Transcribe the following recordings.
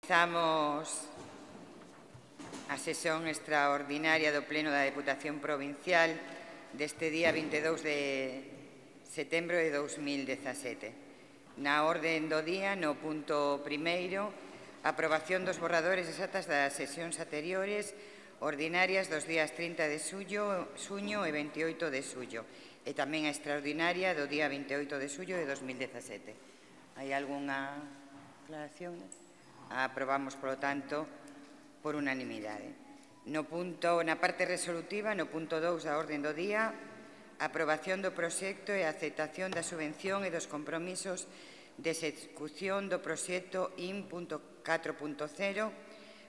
Comezamos a sesión extraordinaria do Pleno da Deputación Provincial deste día 22 de setembro de 2017. Na orde do día, no punto primeiro, aprobación dos borradores exatas das sesións anteriores ordinarias dos días 30 de xuño e 28 de xullo e tamén a extraordinaria do día 28 de xullo de 2017. Hai algunha aclaración? Aprobamos, polo tanto, por unanimidade. Na parte resolutiva, no punto 2 da orde do día, aprobación do proxecto e aceptación da subvención e dos compromisos de execución do proxecto IN.4.0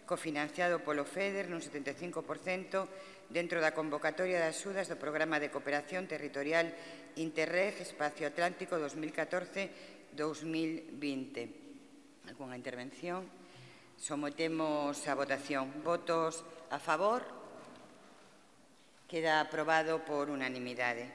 cofinanciado polo FEDER nun 75% dentro da convocatoria de axudas do Programa de Cooperación Territorial Interreg Espacio Atlántico 2014-2020. Alguna intervención? Sometemos a votación. Votos a favor? Queda aprobado por unanimidade.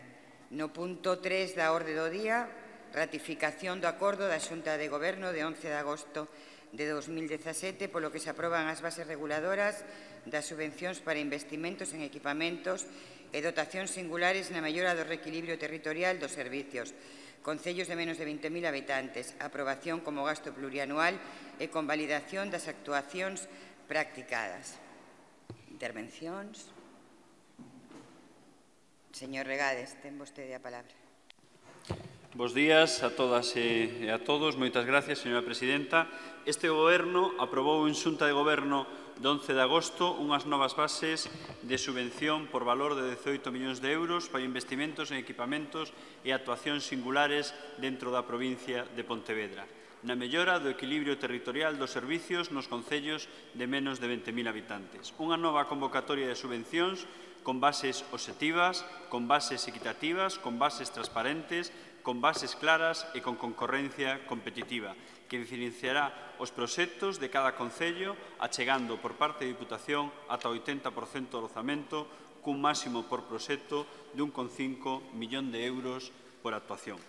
No punto 3 da orde do día, ratificación do acordo da Xunta de Goberno de 11 de agosto de 2017, polo que se aproban as bases reguladoras das subvencións para investimentos en equipamentos e dotacións singulares na mellora do reequilibrio territorial dos servicios. Concellos de menos de 20.000 habitantes, aprobación como gasto plurianual e convalidación das actuacións practicadas. Intervencións. Señor Regades, ten vostede a palabra. Bos días a todas e a todos. Moitas gracias, señora presidenta. Este Goberno aprobou en Xunta de Goberno de 11 de agosto unhas novas bases de subvención por valor de 18 millóns de euros para investimentos en equipamentos e actuacións singulares dentro da provincia de Pontevedra, na mellora do equilibrio territorial dos servicios nos concellos de menos de 20.000 habitantes. Unha nova convocatoria de subvencións con bases obxectivas, con bases equitativas, con bases transparentes, con bases claras e con concorrencia competitiva, que diferenciará os proxectos de cada concello, achegando por parte da Diputación ata o 80% do orzamento, cun máximo por proxecto de 1,5 millón de euros por actuación.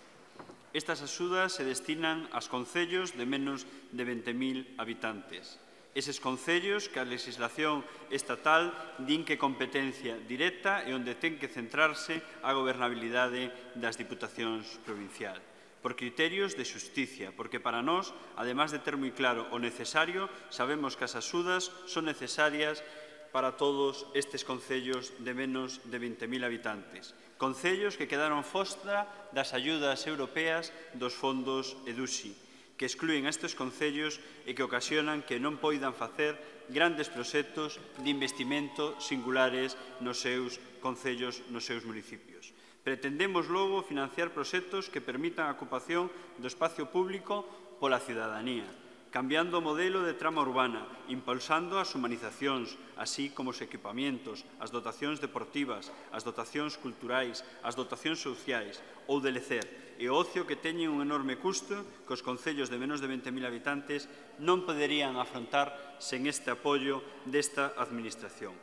Estas axudas se destinan aos concellos de menos de 20.000 habitantes. Eses concellos que a legislación estatal din que competencia directa e onde ten que centrarse a gobernabilidade das diputacións provinciais. Por criterios de xusticia, porque para nós, además de ter moi claro o necesario, sabemos que as axudas son necesarias para todos estes concellos de menos de 20.000 habitantes. Concellos que quedaron fostra das ayudas europeas dos fondos EDUSI, que excluen a estes concellos e que ocasionan que non poidan facer grandes proxectos de investimento singulares nos seus concellos, nos seus municipios. Pretendemos logo financiar proxectos que permitan a ocupación do espacio público pola cidadanía, cambiando o modelo de trama urbana, impulsando as humanizacións, así como os equipamentos, as dotacións deportivas, as dotacións culturais, as dotacións sociais ou de lecer, e o ocio que teñen un enorme custo que os concellos de menos de 20.000 habitantes non poderían afrontar sen este apoio desta administración.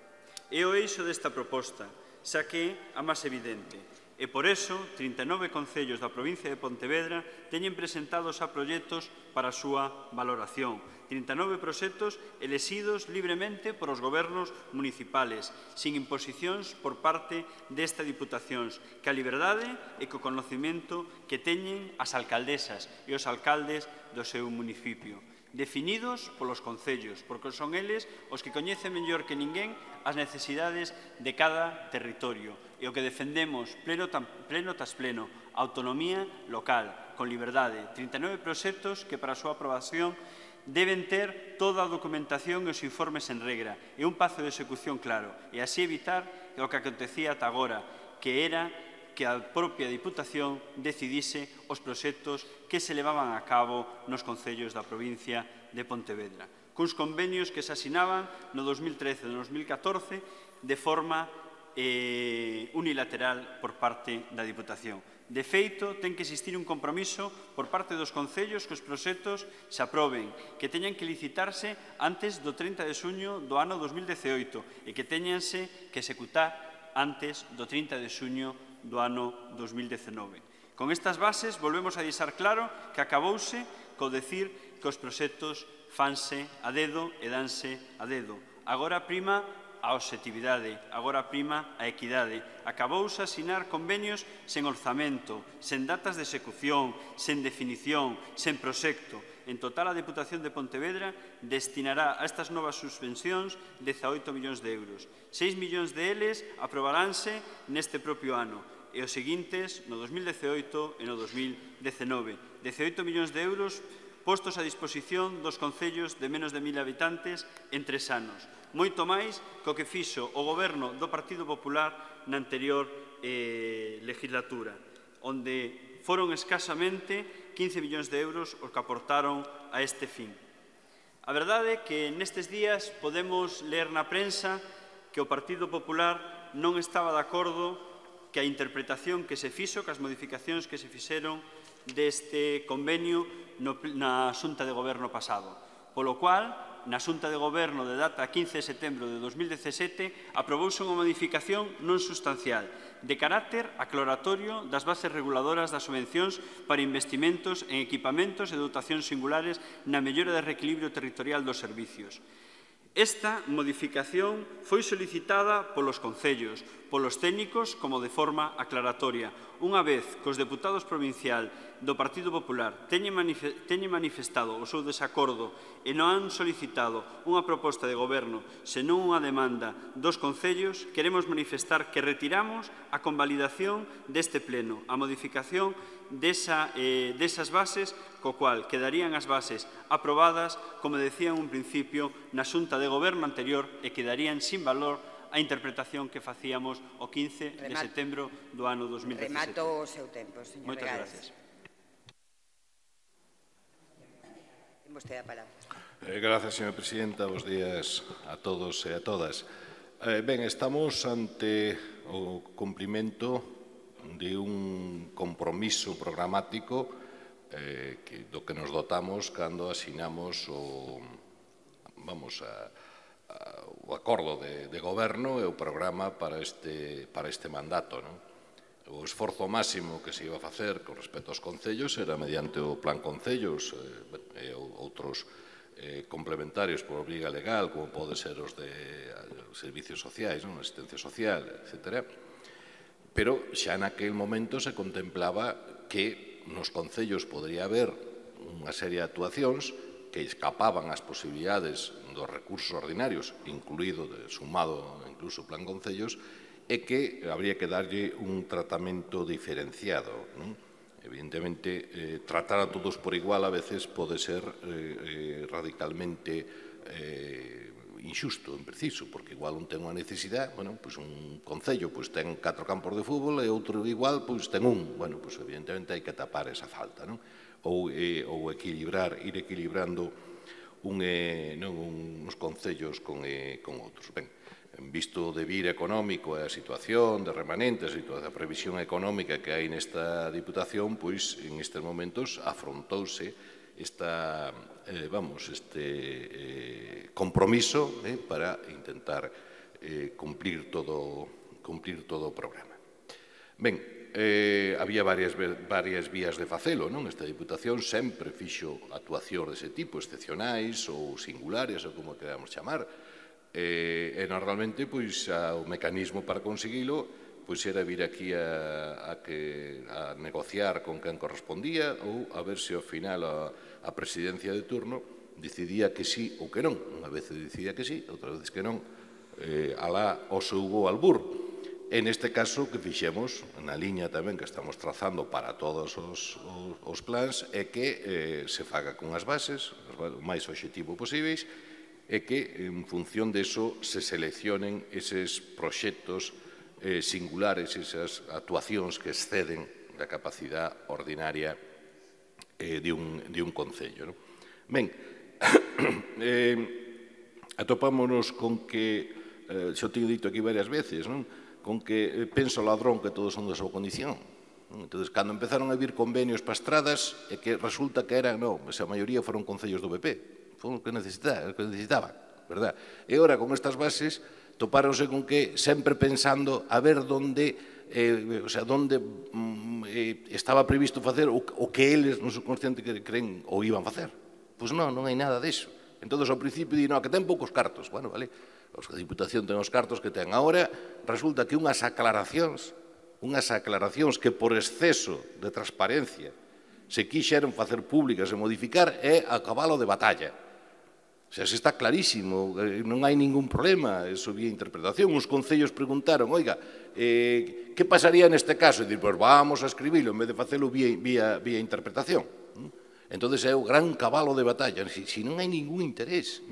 É o eixo desta proposta, xa que é a máis evidente. E por iso, 39 concellos da provincia de Pontevedra teñen presentados a proxectos para a súa valoración. 39 proxectos elexidos libremente por os gobernos municipales, sin imposicións por parte desta diputacións, que a liberdade e co conocimento que teñen as alcaldesas e os alcaldes do seu municipio, definidos polos concellos, porque son eles os que coñecen mellor que ninguén as necesidades de cada territorio e o que defendemos pleno tras pleno, autonomía local, con liberdade, 39 proxectos que para a súa aprobación deben ter toda a documentación e os informes en regra e un pazo de execución claro, e así evitar o que acontecía ata agora, que era que a propia Diputación decidise os proxectos que se levaban a cabo nos concellos da provincia de Pontevedra, cuns convenios que se asinaban no 2013 e no 2014 de forma unilateral por parte da Diputación. De feito, ten que existir un compromiso por parte dos concellos que os proxectos se aproben, que teñan que licitarse antes do 30 de xuño do ano 2018 e que teñanse que executar antes do 30 de xuño do ano 2019. Con estas bases volvemos a deixar claro que acabouse co decir que os proxectos fanse a dedo e danse a dedo. Agora prima a obxectividade, agora prima a equidade. Acabouse a asinar convenios sen orzamento, sen datas de execución, sen definición, sen proxecto. En total, a Deputación de Pontevedra destinará a estas novas subvencións 18 millóns de euros. 6 millóns deles aprobaránse neste propio ano e os seguintes no 2018 e no 2019. 18 millóns de euros postos a disposición dos concellos de menos de 1000 habitantes en 3 anos. Moito máis co que fixo o Goberno do Partido Popular na anterior legislatura, onde foron escasamente 15 millóns de euros os que aportaron a este fin. A verdade é que nestes días podemos ler na prensa que o Partido Popular non estaba de acordo que a interpretación que se fixo, que as modificacións que se fixeron deste convenio na Xunta de Goberno pasado. Polo cual, na Xunta de Goberno de data 15 de setembro de 2017, aprobouse unha modificación non sustancial de carácter aclaratorio das bases reguladoras das subvencións para investimentos en equipamentos e dotacións singulares na mellora de reequilibrio territorial dos servicios. Esta modificación foi solicitada polos concellos, polos técnicos como de forma aclaratoria, unha vez que os deputados provincial do Partido Popular teñen manifestado o seu desacordo e non han solicitado unha proposta de goberno, senón unha demanda dos concellos, queremos manifestar que retiramos a convalidación deste pleno, a modificación desas bases, co cual quedarían as bases aprobadas, como decía en un principio, na Xunta de Goberno anterior e quedarían sin valor a interpretación que facíamos o 15 de setembro do ano 2017. Remato o seu tempo, señor. Moitas gracias. Ten vostede a palabra. Gracias, señora presidenta. Bos días a todos e a todas. Ben, estamos ante o cumprimento de un compromiso programático do que nos dotamos cando asinamos o acordo de goberno e o programa para este mandato. O esforzo máximo que se iba a facer con respecto aos concellos era mediante o Plan Concellos e outros complementarios por obriga legal, como pode ser os de servicios sociais, asistencia social, etc. Pero xa naquel momento se contemplaba que nos concellos podría haber unha serie de actuacións que escapaban ás posibilidades dos recursos ordinarios, sumado incluso o Plan Concellos, e que habría que darlle un tratamento diferenciado. Evidentemente, tratar a todos por igual a veces pode ser radicalmente injusto, impreciso, porque igual un ten unha necesidade, un concello ten 4 campos de fútbol e outro igual ten un. Evidentemente hai que tapar esa falta, ou ir equilibrando uns concellos con outros. Ben, visto o devir económico e a situación de remanentes e toda a previsión económica que hai nesta Diputación, pois en estes momentos afrontouse este compromiso para intentar cumplir todo o programa. Ben, había varias vías de facelo, non? Esta Diputación sempre fixo actuacións dese tipo, excepcionais ou singulares, ou como queramos chamar, e normalmente o mecanismo para conseguilo era vir aquí a negociar con quen correspondía ou a ver se ao final a presidencia de turno decidía que sí ou que non. Unha vez decidía que sí, outra vez que non, alá o seu albur. En este caso, que fixemos, na liña tamén que estamos trazando para todos os plans, é que se faga con as bases, o máis obxectivo posíveis, e que, en función deso, se seleccionen eses proxectos singulares, esas actuacións que exceden da capacidade ordinaria de un concello. Ben, atopámonos con que, xa o teño dito aquí varias veces, con que pensa o ladrón que todos son da súa condición. Entón, cando empezaron a vir convenios para estradas, é que resulta que eran, a maioría foron concellos do PP, foron o que necesitaban, verdad? E ora, con estas bases, topáronse con que, sempre pensando a ver onde estaba previsto facer o que eles, no subconsciente, creen ou iban facer. Pois non hai nada disso. Entón, ao principio, di, no, que ten poucos cartos. Bueno, vale, a Diputación ten os cartos que ten. Agora, resulta que unhas aclaracións que por exceso de transparencia se quixeron facer públicas e modificar é a cabalo de batalla. O sea, se está clarísimo, non hai ningún problema, eso vía interpretación. Os concellos preguntaron, oiga, que pasaría neste caso? E dir, pois vamos a escribilo en vez de facelo vía interpretación. Entón, é o gran cabalo de batalla. Si non hai ningún interés,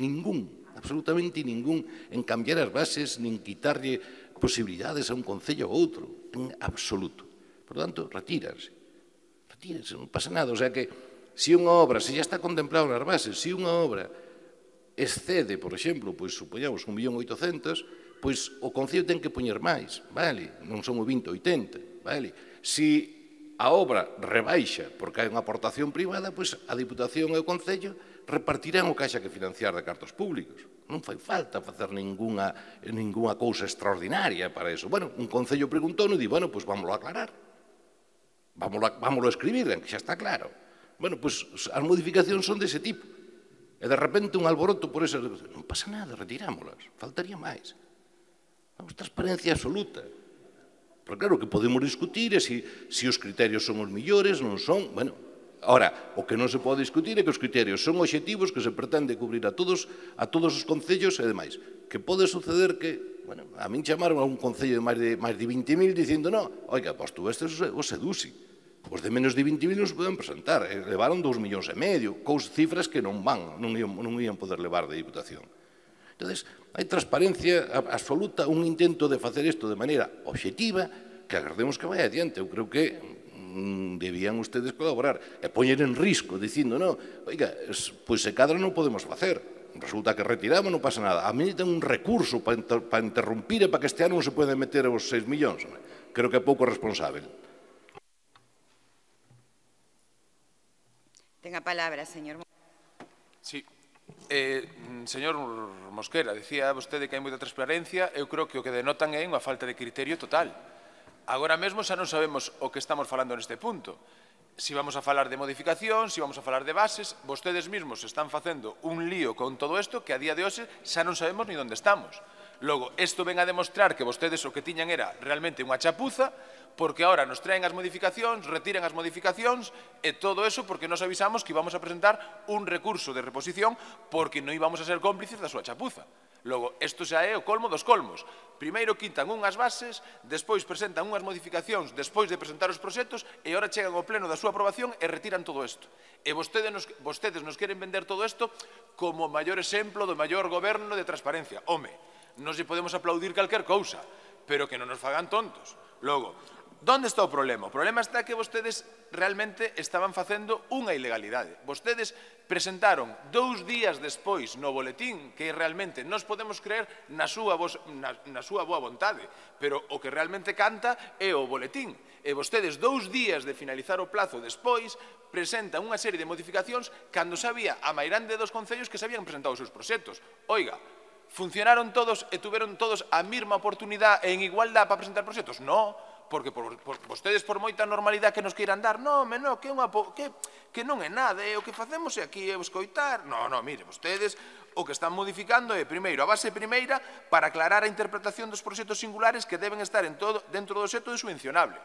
absolutamente ningún, en cambiar as bases, nin quitarlle posibilidades a un concello ou outro, en absoluto. Por tanto, retíranse, non pasa nada. O sea que, se unha obra, se ya está contemplado nas bases, se unha obra excede, por exemplo, pois, supoñamos, 1.800.000, pois o Concello ten que poñer máis, vale? Non son o 20-80, vale? Se a obra rebaixa porque hai unha aportación privada, pois a Diputación e o Concello repartirán o que haxa que financiar de cartos públicos. Non fai falta facer ninguna cousa extraordinaria para eso. Bueno, un Concello preguntou e di, bueno, pois vámoslo a aclarar. Vámoslo a escribir, que xa está claro. Bueno, pois as modificacións son dese tipo. E de repente un alboroto por esas... Non pasa nada, retirámolas, faltaría máis. Vamos, transparencia absoluta. Pero claro que podemos discutir se os criterios son os millores, non son... Bueno, ahora, o que non se pode discutir é que os criterios son obxectivos que se pretende cubrir a todos os concellos e demais. Que pode suceder que... Bueno, a min chamaron a un concello de máis de 20.000 dicindo, no, oiga, pois tú estes os seduci. Os de menos de 20.000 non se poden presentar, levaron 2,5 millóns, cifras que non ian poder levar de Diputación. Entón, hai transparencia absoluta, un intento de facer isto de maneira obxectiva, que agardemos que vai adiante. Eu creo que debían ustedes colaborar e poñer en risco, dicindo, no, oiga, pois se cadra non podemos facer, resulta que retiramos, non pasa nada. A mí ten un recurso para interrumpir e para que este ano non se poden meter os 6 millóns. Creo que é pouco responsable. Ten a palabra, señor. Sí. Señor Mosquera, decía vostede que hai moita transparencia. Eu creo que o que denotan é unha falta de criterio total. Agora mesmo xa non sabemos o que estamos falando neste punto. Si vamos a falar de modificación, si vamos a falar de bases, vostedes mesmos están facendo un lío con todo isto que a día de hoxe xa non sabemos ni onde estamos. Logo, isto ven a demostrar que vostedes o que tiñan era realmente unha chapuza, porque ahora nos traen as modificacións, retiran as modificacións, e todo eso porque nos avisamos que íbamos a presentar un recurso de reposición porque non íbamos a ser cómplices da súa chapuza. Logo, isto xa é o colmo dos colmos. Primeiro quitan unhas bases, despois presentan unhas modificacións, despois de presentar os proxectos, e ahora chegan ao pleno da súa aprobación e retiran todo isto. E vostedes nos queren vender todo isto como o maior exemplo do maior goberno de transparencia. Home, non se podemos aplaudir calquer cousa, pero que non nos fagan tontos. Logo, onde está o problema? O problema está que vostedes realmente estaban facendo unha ilegalidade. Vostedes presentaron 2 días despois no boletín que realmente nos podemos creer na súa boa vontade, pero o que realmente canta é o boletín. E vostedes 2 días de finalizar o plazo despois presentan unha serie de modificacións cando sabía a mairande dos concellos que se habían presentado os seus proxectos. Oiga, funcionaron todos e tuveron todos a mesma oportunidade e en igualdade para presentar proxectos? Non, porque vostedes por moita normalidade que nos queiran dar, non, que non é nada, o que facemos é aquí escoitar. Non, mire, vostedes o que están modificando é, primeiro, a base primeira para aclarar a interpretación dos proxectos singulares que deben estar dentro do xeto de subvencionable.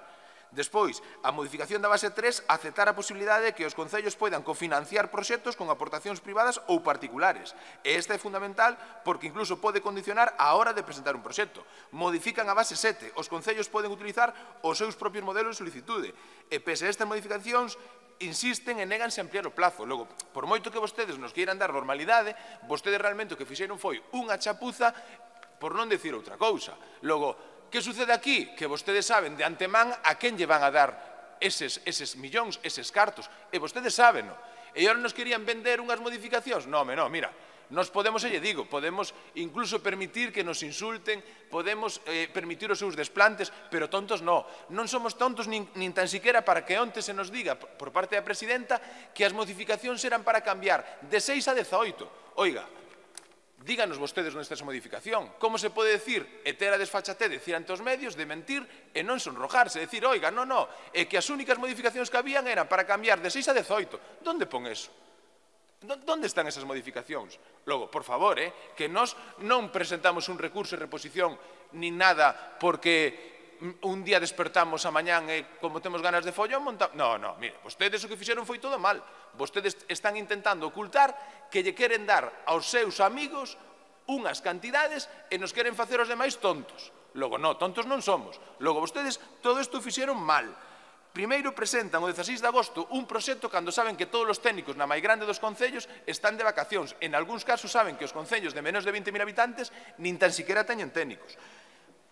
Despois, a modificación da base 3, aceptar a posibilidade de que os concellos poidan cofinanciar proxectos con aportacións privadas ou particulares. E esta é fundamental porque incluso pode condicionar a hora de presentar un proxecto. Modifican a base 7. Os concellos poden utilizar os seus propios modelos de solicitude. E pese a estas modificacións, insisten e néganse a ampliar o plazo. Logo, por moito que vostedes nos queiran dar normalidade, vostedes realmente o que fixeron foi unha chapuza, por non decir outra cousa. Logo, que sucede aquí? Que vostedes saben de antemán a quen lle van a dar eses millóns, eses cartos. E vostedes saben, non? E agora nos querían vender unhas modificacións? Non, mira, nos podemos, lle digo, podemos incluso permitir que nos insulten, podemos permitir os seus desplantes, pero tontos non. Non somos tontos nin tan siquiera para que onte se nos diga por parte da presidenta que as modificacións eran para cambiar de 6 a 18. Oiga, díganos vostedes onde está esa modificación. Como se pode decir e ter a desfachatez de decir ante os medios, de mentir e non sonrojarse, decir, oiga, non, é que as únicas modificacións que habían eran para cambiar de 6 a 18. Donde pon eso? Onde están esas modificacións? Logo, por favor, que nós non presentamos un recurso de reposición ni nada porque un día despertamos a mañán e como temos ganas de follón montamos... No, mire, vostedes o que fixeron foi todo mal. Vostedes están intentando ocultar que lle queren dar aos seus amigos unhas cantidades e nos queren facer os demais tontos. Logo, non, tontos non somos. Logo, vostedes todo isto fixeron mal. Primeiro presentan o 16 de agosto un proxecto cando saben que todos os técnicos na máis grande dos concellos están de vacacións. En algúns casos saben que os concellos de menos de 20.000 habitantes nin tan siquiera teñen técnicos.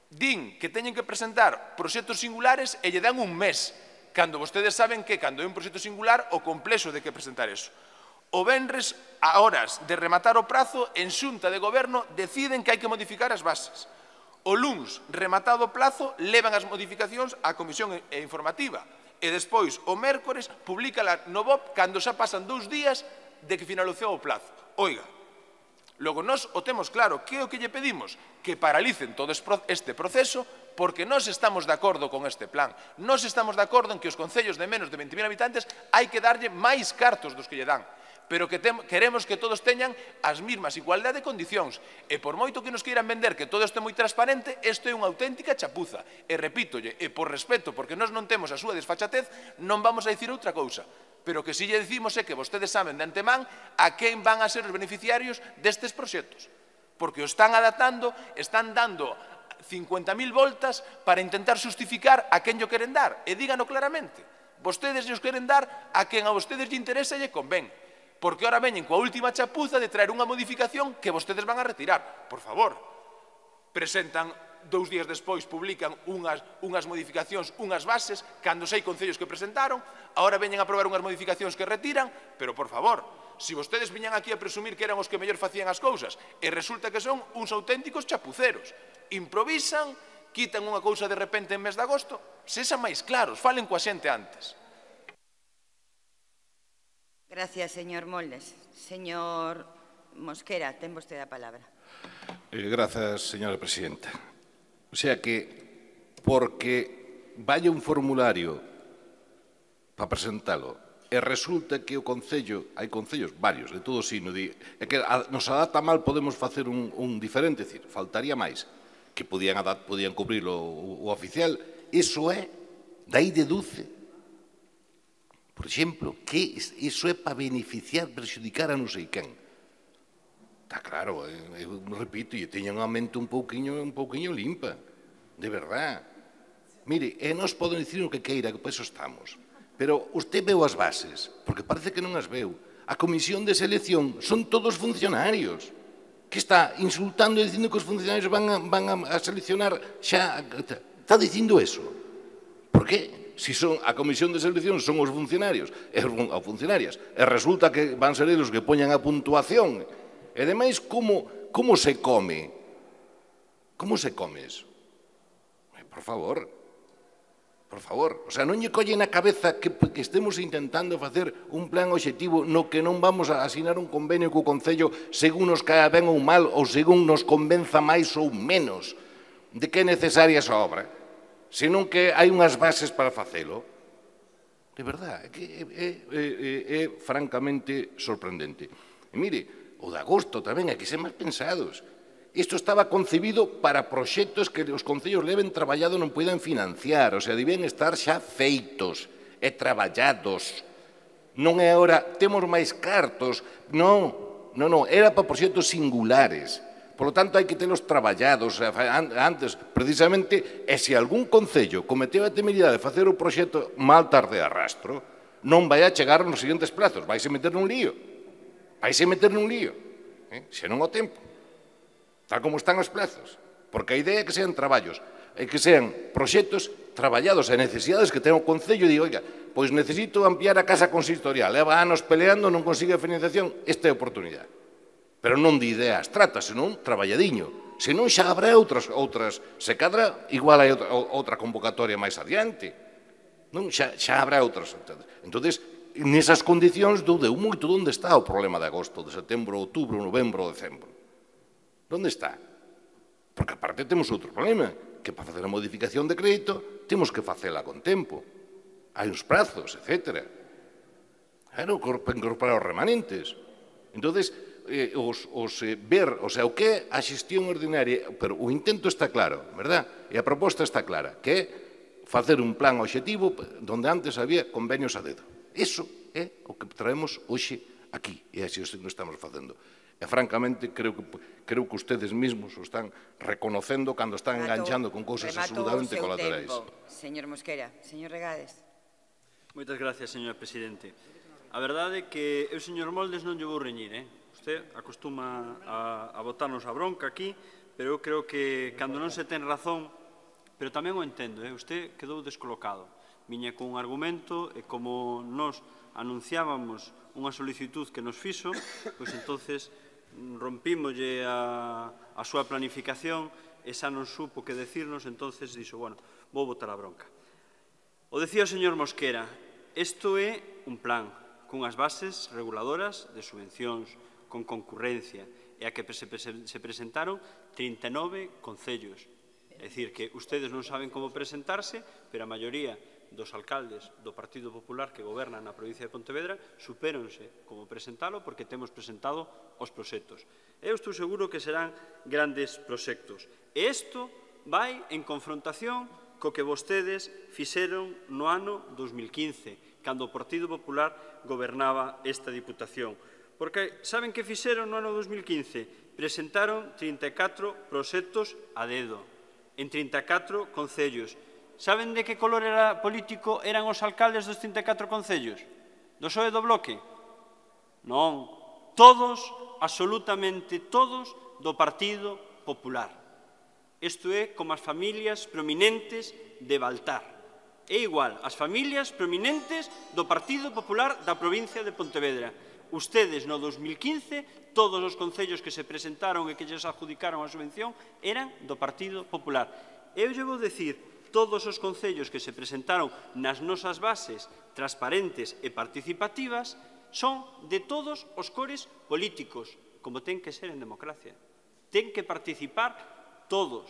Din que teñen que presentar proxectos singulares e lle dan un mes, cando vostedes saben que cando é un proxecto singular o complexo de que presentar eso. O venres, a horas de rematar o prazo, en xunta de goberno deciden que hai que modificar as bases. O luns, rematado o plazo, levan as modificacións á comisión informativa e despois, o mércores, publícala no BOP cando xa pasan 2 días de que finalizou o plazo. Oiga, logo nós o temos claro, que é o que lle pedimos? Que paralicen todo este proceso porque nós estamos de acordo con este plan. Nós estamos de acordo en que os concellos de menos de 20.000 habitantes hai que darlle máis cartos dos que lle dan, pero que queremos que todos teñan as mesmas igualdade de condicións. E por moito que nos queiran vender que todo isto é moi transparente, isto é unha auténtica chapuza. E repítolle, e por respeto, porque nós non temos a súa desfachatez, non vamos a dicir outra cousa. Pero que si lle dicimos é que vostedes saben de antemán a quen van a ser os beneficiarios destes proxectos. Porque o están adaptando, están dando 50.000 voltas para intentar justificar a quen lle queren dar. E dígano claramente. Vostedes lles queren dar a quen a vostedes lle interesa e lle convén. Porque ahora veñen coa última chapuza de traer unha modificación que vostedes van a retirar. Por favor, presentan 2 días despois, publican unhas modificacións, unhas bases, cando sei concellos que presentaron, ahora veñen a aprobar unhas modificacións que retiran, pero por favor, se vostedes viñan aquí a presumir que eran os que mellor facían as cousas, e resulta que son uns auténticos chapuceros. Improvisan, quitan unha cousa de repente en mes de agosto, sexan máis claros, falen coa xente antes. Gracias, señor Moldes. Señor Mosquera, ten vostede a palabra. Grazas, señora presidenta. O sea que, porque vaya un formulario para presentalo e resulta que o Concello, hai concellos varios, de todo sino, é que nos adapta mal, podemos facer un diferente, decir, faltaría máis, que podían cubrir o oficial, iso é, dai deduce, por exemplo, que iso é para beneficiar, perxudicar a non sei quen. Está claro, eu repito, e teñan a mente un pouquiño limpa, de verdad. Mire, nós podemos dicir o que queira, que por eso estamos. Pero usted veu as bases, porque parece que non as veu. A comisión de selección son todos funcionarios. Que está insultando e dicindo que os funcionarios van a seleccionar xa... Está dicindo eso. Por qué? Si son a comisión de selección son os funcionarios ou funcionarias, e resulta que van ser eles que poñan a puntuación. E ademais, como se come? Como se come eso? Por favor. O sea, non lle colle na cabeza que estemos intentando facer un plan obxectivo no que non vamos a asinar un convenio co Concello según nos caia ben ou mal ou según nos convenza máis ou menos de que é necesaria esa obra, senón que hai unhas bases para facelo. De verdad, é francamente sorprendente. E mire, o de agosto tamén hai que ser máis pensados. Isto estaba concebido para proxectos que os concellos leven traballado non poidan financiar, o sea, debían estar xa feitos e traballados. Non é agora, temos máis cartos, non, era para proxectos singulares. Por lo tanto, hai que telos traballados antes, precisamente, e se algún concello cometeu a temeridade de facer o proxecto mal tarde de arrastro, non vai a chegar nos seguintes plazos, vai se meter nun lío. Se non o tempo. Tal como están os plazos. Porque a idea é que sean traballos, é que sean proxectos traballados e necesidades que ten o Concello e digo, oiga, pois necesito ampliar a casa consistorial, leva anos peleando, non consigue a financiación, esta é a oportunidade. Pero non de idea abstracta, senón traballadiño. Senón xa habrá outras, se cadra, igual hai outra convocatoria máis adiante. Non, xa habrá outras. Entón, nesas condicións, dudeu moito onde está o problema de agosto, de setembro, outubro, novembro, decembro. Onde está? Porque aparte temos outro problema, que para facer a modificación de crédito temos que facela con tempo. Hai uns prazos, etc. Claro, para incorporar os remanentes. Entonces, ver, o sea, o que é a xestión ordinaria, pero o intento está claro, verdad? E a proposta está clara, que é facer un plan objetivo donde antes había convenios a dedo. Iso é o que traemos hoxe aquí, e así o estamos facendo. E, francamente, creo que ustedes mesmos o están reconocendo cando están enganchando con cousas absolutamente colaterais. Señor Mosquera. Señor Regades. Moitas gracias, señor presidente. A verdade é que eu, señor Moldes, non lle vou reñir, Usted acostuma a botarnos a bronca aquí, pero eu creo que cando non se ten razón, pero tamén o entendo, Usted quedou descolocado. Viña cun argumento e como nos anunciábamos unha solicitud que nos fixo, pois entonces rompímolle a súa planificación e xa non supo que decirnos, entonces dixo, bueno, vou botar a bronca. O decía o señor Mosquera, isto é un plan cunhas bases reguladoras de subvencións con concurrencia e a que se presentaron 39 concellos. É dicir, que ustedes non saben como presentarse, pero a maioría dos alcaldes do Partido Popular que gobernan na provincia de Pontevedra supéronse como presentalo porque temos presentado os proxectos. Eu estou seguro que serán grandes proxectos. E isto vai en confrontación co que vostedes fixeron no ano 2015, cando o Partido Popular gobernaba esta Diputación. Porque saben que fixeron no ano 2015? Presentaron 34 proxectos a dedo, en 34 concellos. Saben de que color político eran os alcaldes dos 34 concellos? Do PSOE do Bloque? Non. Todos, absolutamente todos, do Partido Popular. Isto é como as familias prominentes de Baltar. É igual, as familias prominentes do Partido Popular da provincia de Pontevedra. Ustedes, no 2015, todos os concellos que se presentaron e que lles adjudicaron a subvención eran do Partido Popular. Eu lle vou dicir, todos os concellos que se presentaron nas nosas bases transparentes e participativas son de todos os cores políticos, como ten que ser en democracia. Ten que participar todos,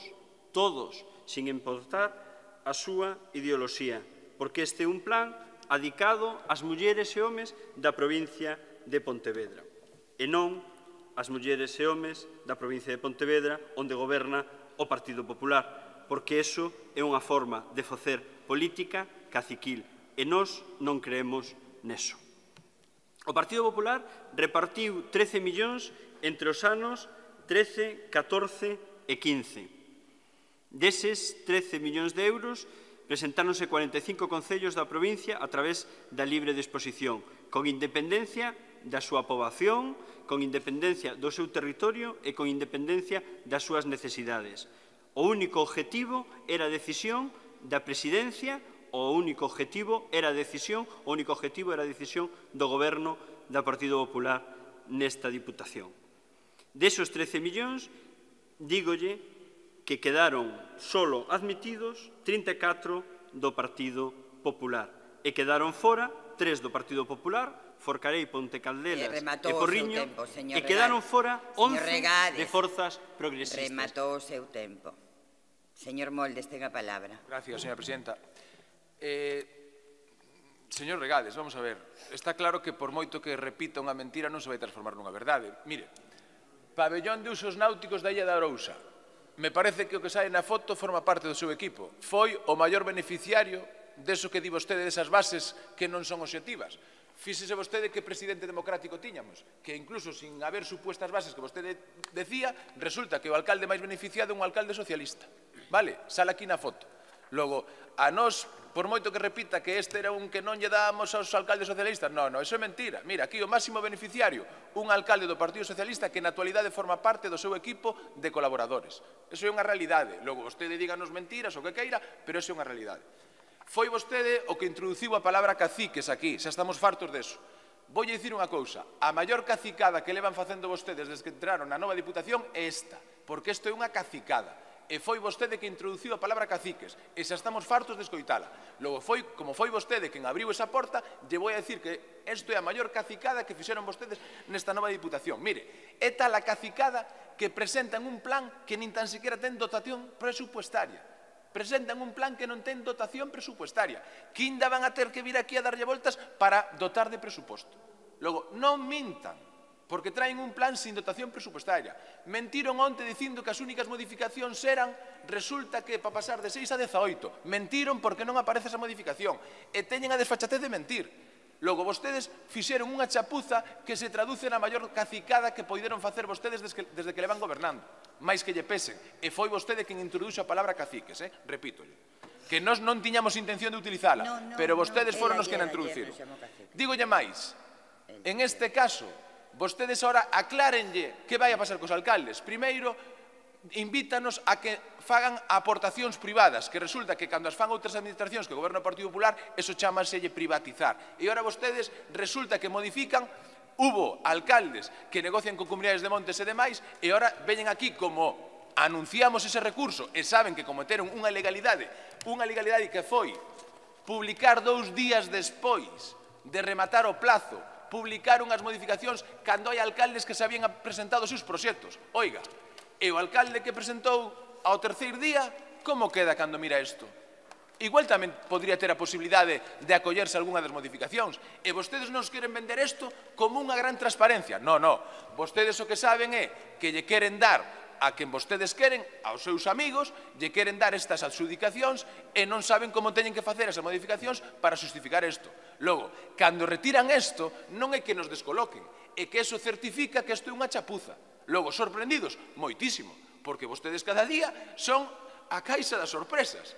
sin importar a súa ideoloxía, porque este é un plan adicado ás mulleres e homes da provincia de Pontevedra, e non ás mulleres e homes da provincia de Pontevedra onde goberna o Partido Popular, porque iso é unha forma de facer política caciquil, e nós non creemos neso. O Partido Popular repartiu 13 millóns entre os anos 13, 14 e 15. Deses 13 millóns de euros presentáronse 45 concellos da provincia a través da libre disposición, con independencia da súa poboación, con independencia do seu territorio e con independencia das súas necesidades. O único objetivo era a decisión da presidencia, o único objetivo era a decisión do goberno do Partido Popular nesta Diputación. Desos 13 millóns, dígolle que quedaron solo admitidos 34 do Partido Popular e quedaron fora 3 do Partido Popular, Forcarei, Ponte Caldelas e Porriño, e quedaron fora 11 de forzas progresistas. Rematou o seu tempo. Señor Moldes, ten a palabra. Gracias, señora presidenta. Señor Regades, vamos a ver. Está claro que por moito que repita unha mentira non se vai transformar nunha verdade. Mire, pabellón de usos náuticos da Illa da Arousa. Me parece que o que sae na foto forma parte do seu equipo. Foi o maior beneficiario deso que di vostede desas bases que non son obxectivas. Fíxese vostede que presidente democrático tiñamos, que incluso sin haber supuestas bases que vostede decía, resulta que o alcalde máis beneficiado é un alcalde socialista. Vale? Sale aquí na foto. Logo, a nós, por moito que repita que este era un que non lle dábamos aos alcaldes socialistas, non, iso é mentira. Mira, aquí o máximo beneficiario, un alcalde do Partido Socialista que na actualidade forma parte do seu equipo de colaboradores. Iso é unha realidade. Logo, vostede díganos mentiras o que queira, pero iso é unha realidade. Foi vostede o que introduciu a palabra caciques aquí, xa estamos fartos deso. Voulle dicir unha cousa, a maior cacicada que levan facendo vostedes desde que entraron na nova Diputación é esta, porque isto é unha cacicada. E foi vostede que introduciu a palabra caciques, e xa estamos fartos de escoitala. Logo, como foi vostede quen abriu esa porta, lle vou a dicir que isto é a maior cacicada que fixeron vostedes nesta nova Diputación. Mire, é tal a cacicada que presentan un plan que nin tan sequera ten dotación presupuestaria. Presentan un plan que non ten dotación presupuestaria, que ainda van a ter que vir aquí a darlle voltas para dotar de presuposto. Logo, non mintan, porque traen un plan sin dotación presupuestaria. Mentiron onte dicindo que as únicas modificacións eran, resulta que para pasar de 6 a 18. Mentiron porque non aparece esa modificación. E teñen a desfachatez de mentir. Logo, vostedes fixeron unha chapuza que se traduce na maior cacicada que poideron facer vostedes desde que levan gobernando. Mais que lle pesen. E foi vostede quen introduxo a palabra caciques, repítolle. Que nós non tiñamos intención de utilizala, pero vostedes foron os que na introduciron. Dígolle máis, en este caso, vostedes ahora aclárenlle que vai a pasar cos alcaldes. Primeiro, invítanos a que fagan aportacións privadas, que resulta que cando as fan outras administracións que o goberno do Partido Popular, eso chámaselle privatizar. E agora vostedes resulta que modifican, hubo alcaldes que negocian con comunidades de montes e demais, e agora veñen aquí como anunciamos ese recurso e saben que cometeron unha ilegalidade que foi publicar 2 días despois de rematar o plazo, publicar unhas modificacións cando hai alcaldes que se habían presentado os seus proxectos. Oiga, e o alcalde que presentou ao terceiro día, como queda cando mira isto? Igual tamén podría ter a posibilidade de acollerse a algunha das modificacións. E vostedes non queren vender isto como unha gran transparencia. Non. Vostedes o que saben é que lle queren dar a quen vostedes queren, aos seus amigos, lle queren dar estas adxudicacións e non saben como teñen que facer esas modificacións para justificar isto. Logo, cando retiran isto, non é que nos descoloquen, é que eso certifica que isto é unha chapuza. Logo, sorprendidos, moitísimo, porque vostedes cada día son a caixa das sorpresas.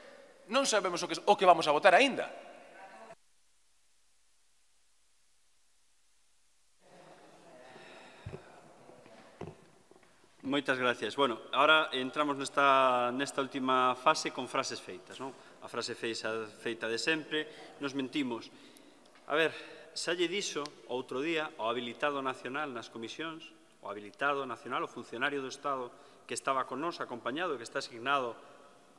Non sabemos o que vamos a votar aínda. Moitas gracias. Bueno, ahora entramos nesta última fase con frases feitas, non? A frase feita de sempre, nos mentimos. A ver, xa lle dixo outro día o habilitado nacional nas comisións, o habilitado nacional, o funcionario do Estado que estaba con nos acompañado e que está asignado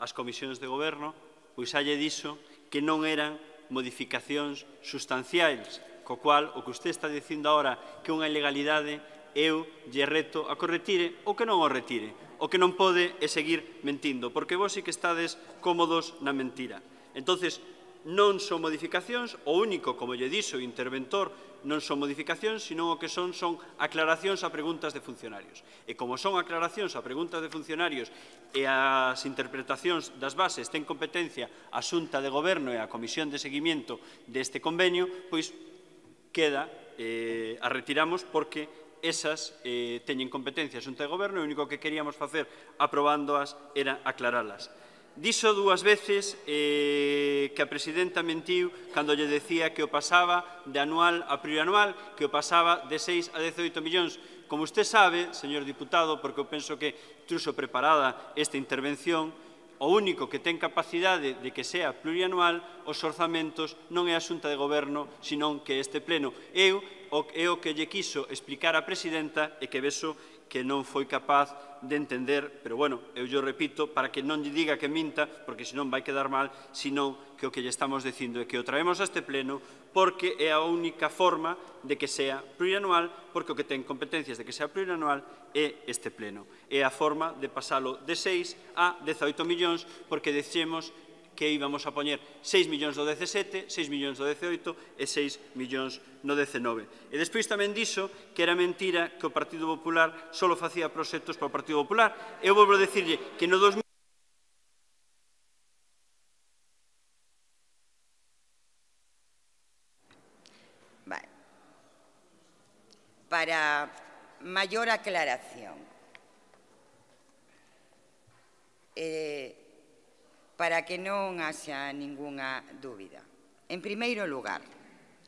ás comisións de goberno, pois xa lle dixo que non eran modificacións sustanciais, co cual o que usted está dicindo agora que unha ilegalidade, eu lle reto a que o retire ou que non o retire. O que non pode é seguir mentindo, porque vos sí que estades cómodos na mentira. Entonces, non son modificacións, o único, como lle dixo o interventor, non son modificacións, senón o que son aclaracións a preguntas de funcionarios. E como son aclaracións a preguntas de funcionarios e as interpretacións das bases ten competencia a Xunta de Goberno e a Comisión de Seguimiento deste convenio, pois queda, a retiramos porque esas teñen competencia a Xunta de Goberno e o único que queríamos facer aprobándoas era aclaralas. Dixo 2 veces que a presidenta mentiu cando lle decía que o pasaba de anual a plurianual, que o pasaba de 6 a 18 millóns. Como usted sabe, señor diputado, porque eu penso que truxo preparada esta intervención, o único que ten capacidade de que sea plurianual os orzamentos non é a Xunta de Goberno, senón que este pleno. É o que lle quiso explicar a presidenta e que vexo que non foi capaz de entender, pero bueno, eu lle repito para que non lle diga que minta, porque senón vai quedar mal, senón que o que lle estamos dicindo é que o traemos a este pleno porque é a única forma de que sea plurianual, porque o que ten competencias de que sea plurianual é este pleno. É a forma de pasalo de 6 a 18 millóns, porque decimos que íbamos a poñer 6 millóns do 17, 6 millóns do 18 e 6 millóns no 19. E despois tamén dixo que era mentira que o Partido Popular só facía proxectos para o Partido Popular. Eu volvo a dicirlle que no 2000... Para maior aclaración, para que non haxa ningunha dúbida. En primeiro lugar,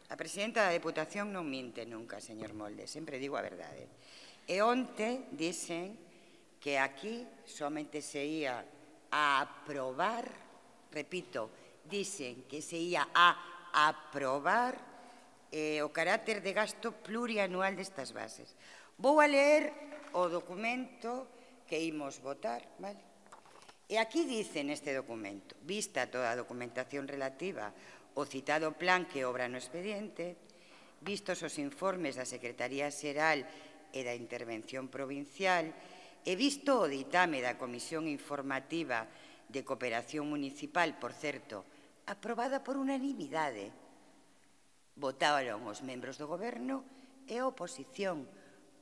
a presidenta da Deputación non minte nunca, señor Molde, sempre digo a verdade. E onte dicen que aquí somente se ia a aprobar, repito, dicen que se ia a aprobar o carácter de gasto plurianual destas bases. Vou a ler o documento que imos votar, vale? E aquí dice neste documento, vista toda a documentación relativa ao citado plan que obra no expediente, vistos os informes da Secretaría Xeral e da Intervención Provincial, e visto o ditame da Comisión Informativa de Cooperación Municipal, por certo, aprobada por unanimidade, votaron os membros do Goberno e a oposición,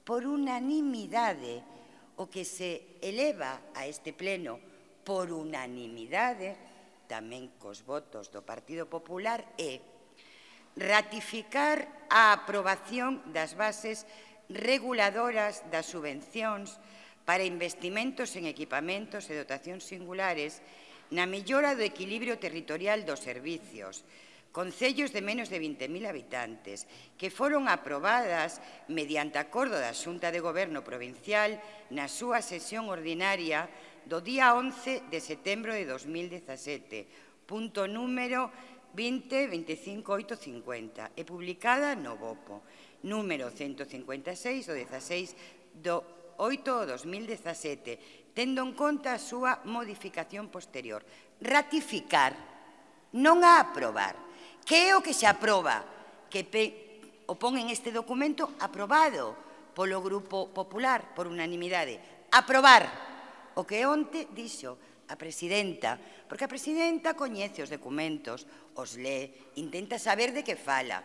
por unanimidade. O que se eleva a este pleno por unanimidade, tamén cos votos do Partido Popular, é ratificar a aprobación das bases reguladoras das subvencións para investimentos en equipamentos e dotacións singulares na mellora do equilibrio territorial dos servicios, concellos de menos de 20.000 habitantes, que foron aprobadas mediante acordo da Xunta de Goberno Provincial na súa sesión ordinaria do día 11 de setembro de 2017, punto número 20.25.850, e publicada no BOPO, número 156 do 16 do 8 do 2017, tendo en conta a súa modificación posterior. Ratificar, non a aprobar. Que é o que se aproba? Que o pon en este documento aprobado polo Grupo Popular por unanimidade. Aprobar o que onte dixo a presidenta, porque a presidenta coñece os documentos, os lee, intenta saber de que fala.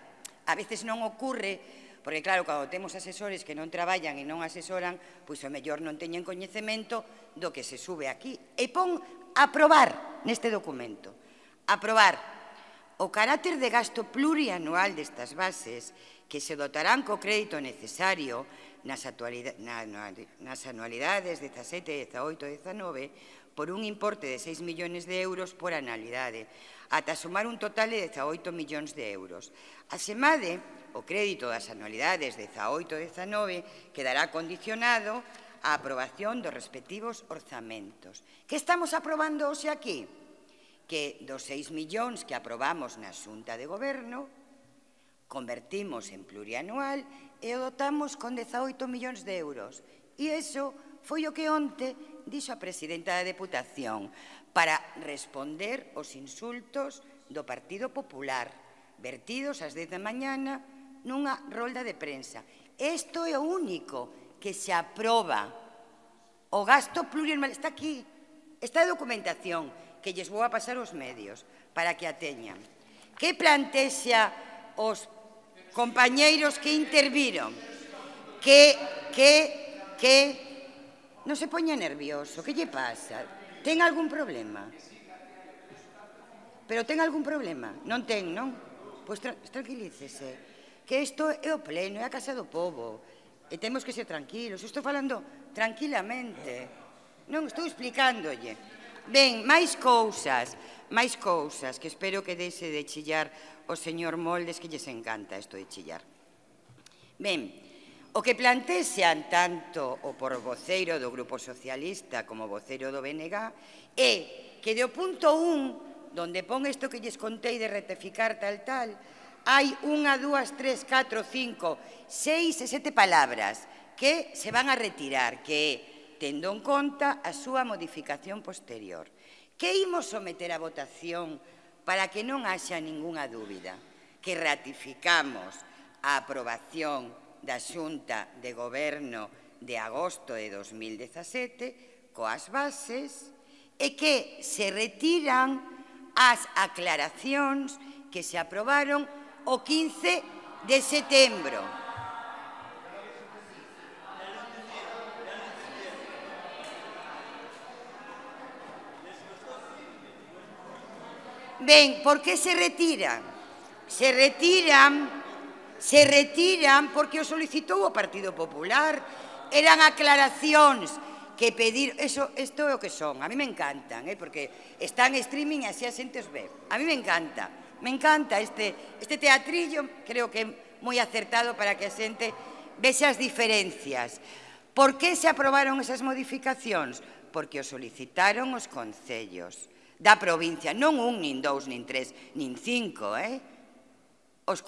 A veces non ocorre, porque claro, cando temos asesores que non traballan e non asesoran, pois o mellor non teñen coñecemento do que se sube aquí. E pon aprobar neste documento. Aprobar o carácter de gasto plurianual destas bases, que se dotarán co crédito necesario nas anualidades 17, 18 e 19 por un importe de 6 millóns de euros por anualidade, ata sumar un total de 18 millóns de euros. Asemade, o crédito das anualidades 18 e 19 quedará condicionado á aprobación dos respectivos orzamentos. Que estamos aprobando hoxe aquí? Que dos 6 millóns que aprobamos na Xunta de Goberno, convertimos en plurianual e o dotamos con 18 millóns de euros. E iso foi o que onte dixo a presidenta da Deputación para responder aos insultos do Partido Popular, vertidos ás 10 da mañana nunha rolda de prensa. Isto é o único que se aproba. O gasto plurianual está aquí, está a documentación que lles vou a pasar aos medios para que a teñan. Que plantexa os compañeiros que interviron? Non se poña nervioso, que lle pasa? Ten algún problema? Pero ten algún problema? Non ten, non? Pois tranquilícese, que isto é o pleno, é a casa do povo, e temos que ser tranquilos. Estou falando tranquilamente, non estou explicándolle. Ben, máis cousas, que espero que deixe de chillar o señor Moldes, que lles encanta isto de chillar. Ben, o que plantexan tanto o porvoceiro do Grupo Socialista como o voceiro do BNG é que do punto 1, donde pon isto que lles contei de ratificar tal, hai 1, 2, 3, 4, 5, 6 e 7 palabras que se van a retirar, que é tendo en conta a súa modificación posterior. Que imos someter a votación para que non haxa ningunha dúbida? Que ratificamos a aprobación da Xunta de Goberno de agosto de 2017 coas bases e que se retiran as aclaracións que se aprobaron o 15 de setembro. Ben, por que se retiran? Se retiran porque o solicitou o Partido Popular. Eran aclaracións que pedir... Isto é o que son. A mí me encantan, porque están en streaming e así a xente os ve. A mí me encanta. Me encanta este teatrillo. Creo que é moi acertado para que a xente vexe as diferencias. Por que se aprobaron esas modificacións? Porque o solicitaron os concellos da provincia, non un, nin dous, nin tres, nin cinco,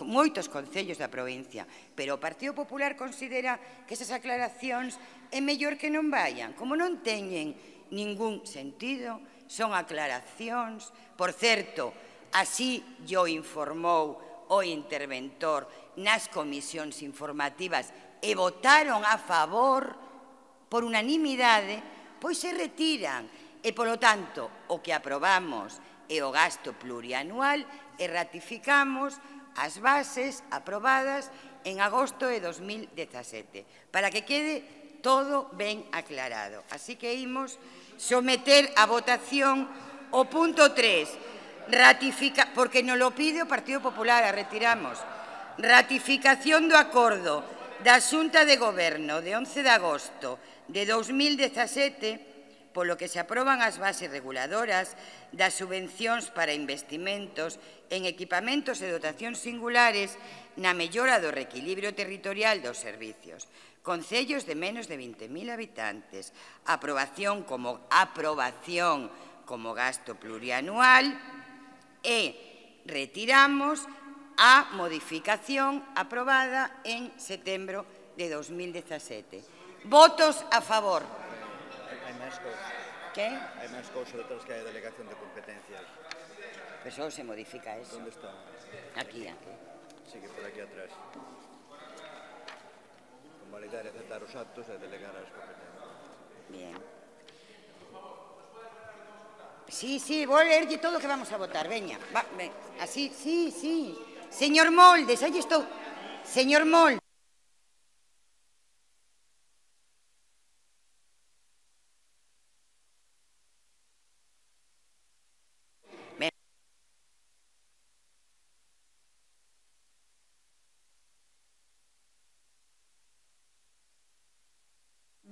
moitos concellos da provincia, pero o Partido Popular considera que esas aclaracións é mellor que non vayan. Como non teñen ningún sentido, son aclaracións. Por certo, así yo informou o interventor nas comisións informativas e votaron a favor por unanimidade, pois se retiran. E, polo tanto, o que aprobamos é o gasto plurianual e ratificamos as bases aprobadas en agosto de 2017, para que quede todo ben aclarado. Así que imos someter a votación o punto 3, porque nos lo pide o Partido Popular, a retiramos. Ratificación do acordo da Xunta de Goberno de 11 de agosto de 2017, polo que se aproban as bases reguladoras das subvencións para investimentos en equipamentos e dotacións singulares na mellora do reequilibrio territorial dos servicios. Concellos de menos de 20.000 habitantes. Aprobación como gasto plurianual e retiramos a modificación aprobada en setembro de 2017. Votos a favor. Hai máis cousas. ¿Qué? Hai máis cousas detrás que hai a delegación de competencias. Pero solo se modifica eso. Onde está? Aquí. Sí, que por aquí atrás. Convalidar e aceptar os actos e delegar as competencias. Bien. Sí, voy a leerlle todo o que vamos a votar. Veña, así, sí. Señor Moldes, aí estou. Señor Moldes.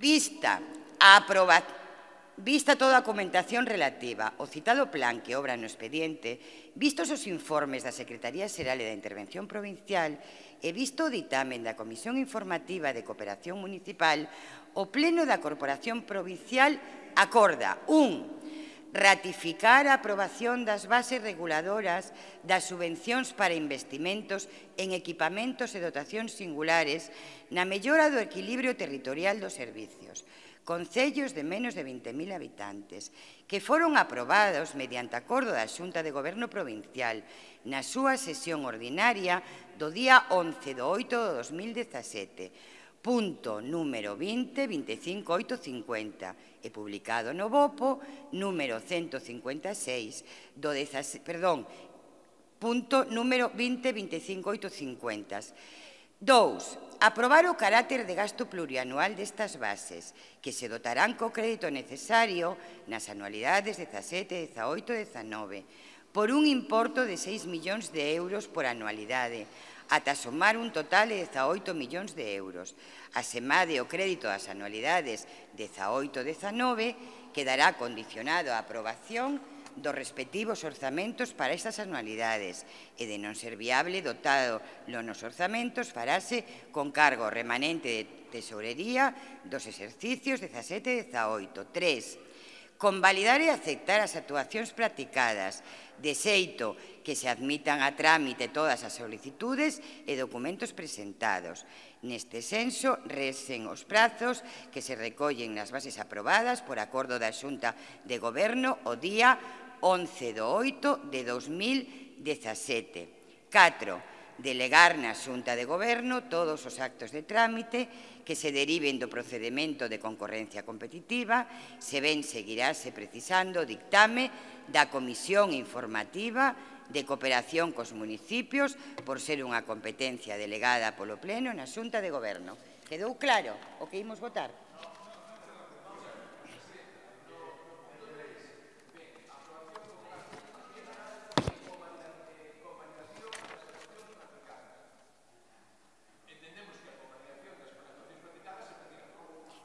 Vista toda a documentación relativa ao citado plan que obra no expediente, vistos os informes da Secretaría Xeral e da Intervención Provincial e visto o ditamen da Comisión Informativa de Cooperación Municipal, o Pleno da Corporación Provincial acorda 1. Ratificar a aprobación das bases reguladoras das subvencións para investimentos en equipamentos e dotacións singulares na mellora do equilibrio territorial dos servicios. Concellos de menos de 20.000 habitantes, que foron aprobados mediante acordo da Xunta de Goberno Provincial na súa sesión ordinaria do día 11 de 8 de 2017, punto número 20.25.850, e publicado no BOPO número 156 punto número 20.25.850. 2. Aprobar o carácter de gasto plurianual destas bases, que se dotarán co crédito necesario nas anualidades 17, 18 e 19, por un importo de 6 millóns de euros por anualidade, ata somar un total de 18 millóns de euros. Asemade o crédito das anualidades 18 e 19 quedará condicionado á aprobación dos respectivos orzamentos para estas anualidades e, de non ser viable dotado nos orzamentos, farase con cargo remanente de tesorería dos exercicios 17 e 18. 3. Convalidar e aceptar as actuacións practicadas, de xeito que se admitan a trámite todas as solicitudes e documentos presentados. Neste senso, recen os prazos que se recollen nas bases aprobadas por acordo da Xunta de Goberno o día 11 de 8 de 2017. 4. Delegar na Xunta de Goberno todos os actos de trámite que se deriven do procedemento de concorrencia competitiva, se ben seguirase precisando o dictame da Comisión Informativa de Cooperación cos municipios por ser unha competencia delegada polo Pleno na Xunta de Goberno. Quedou claro o que imos votar?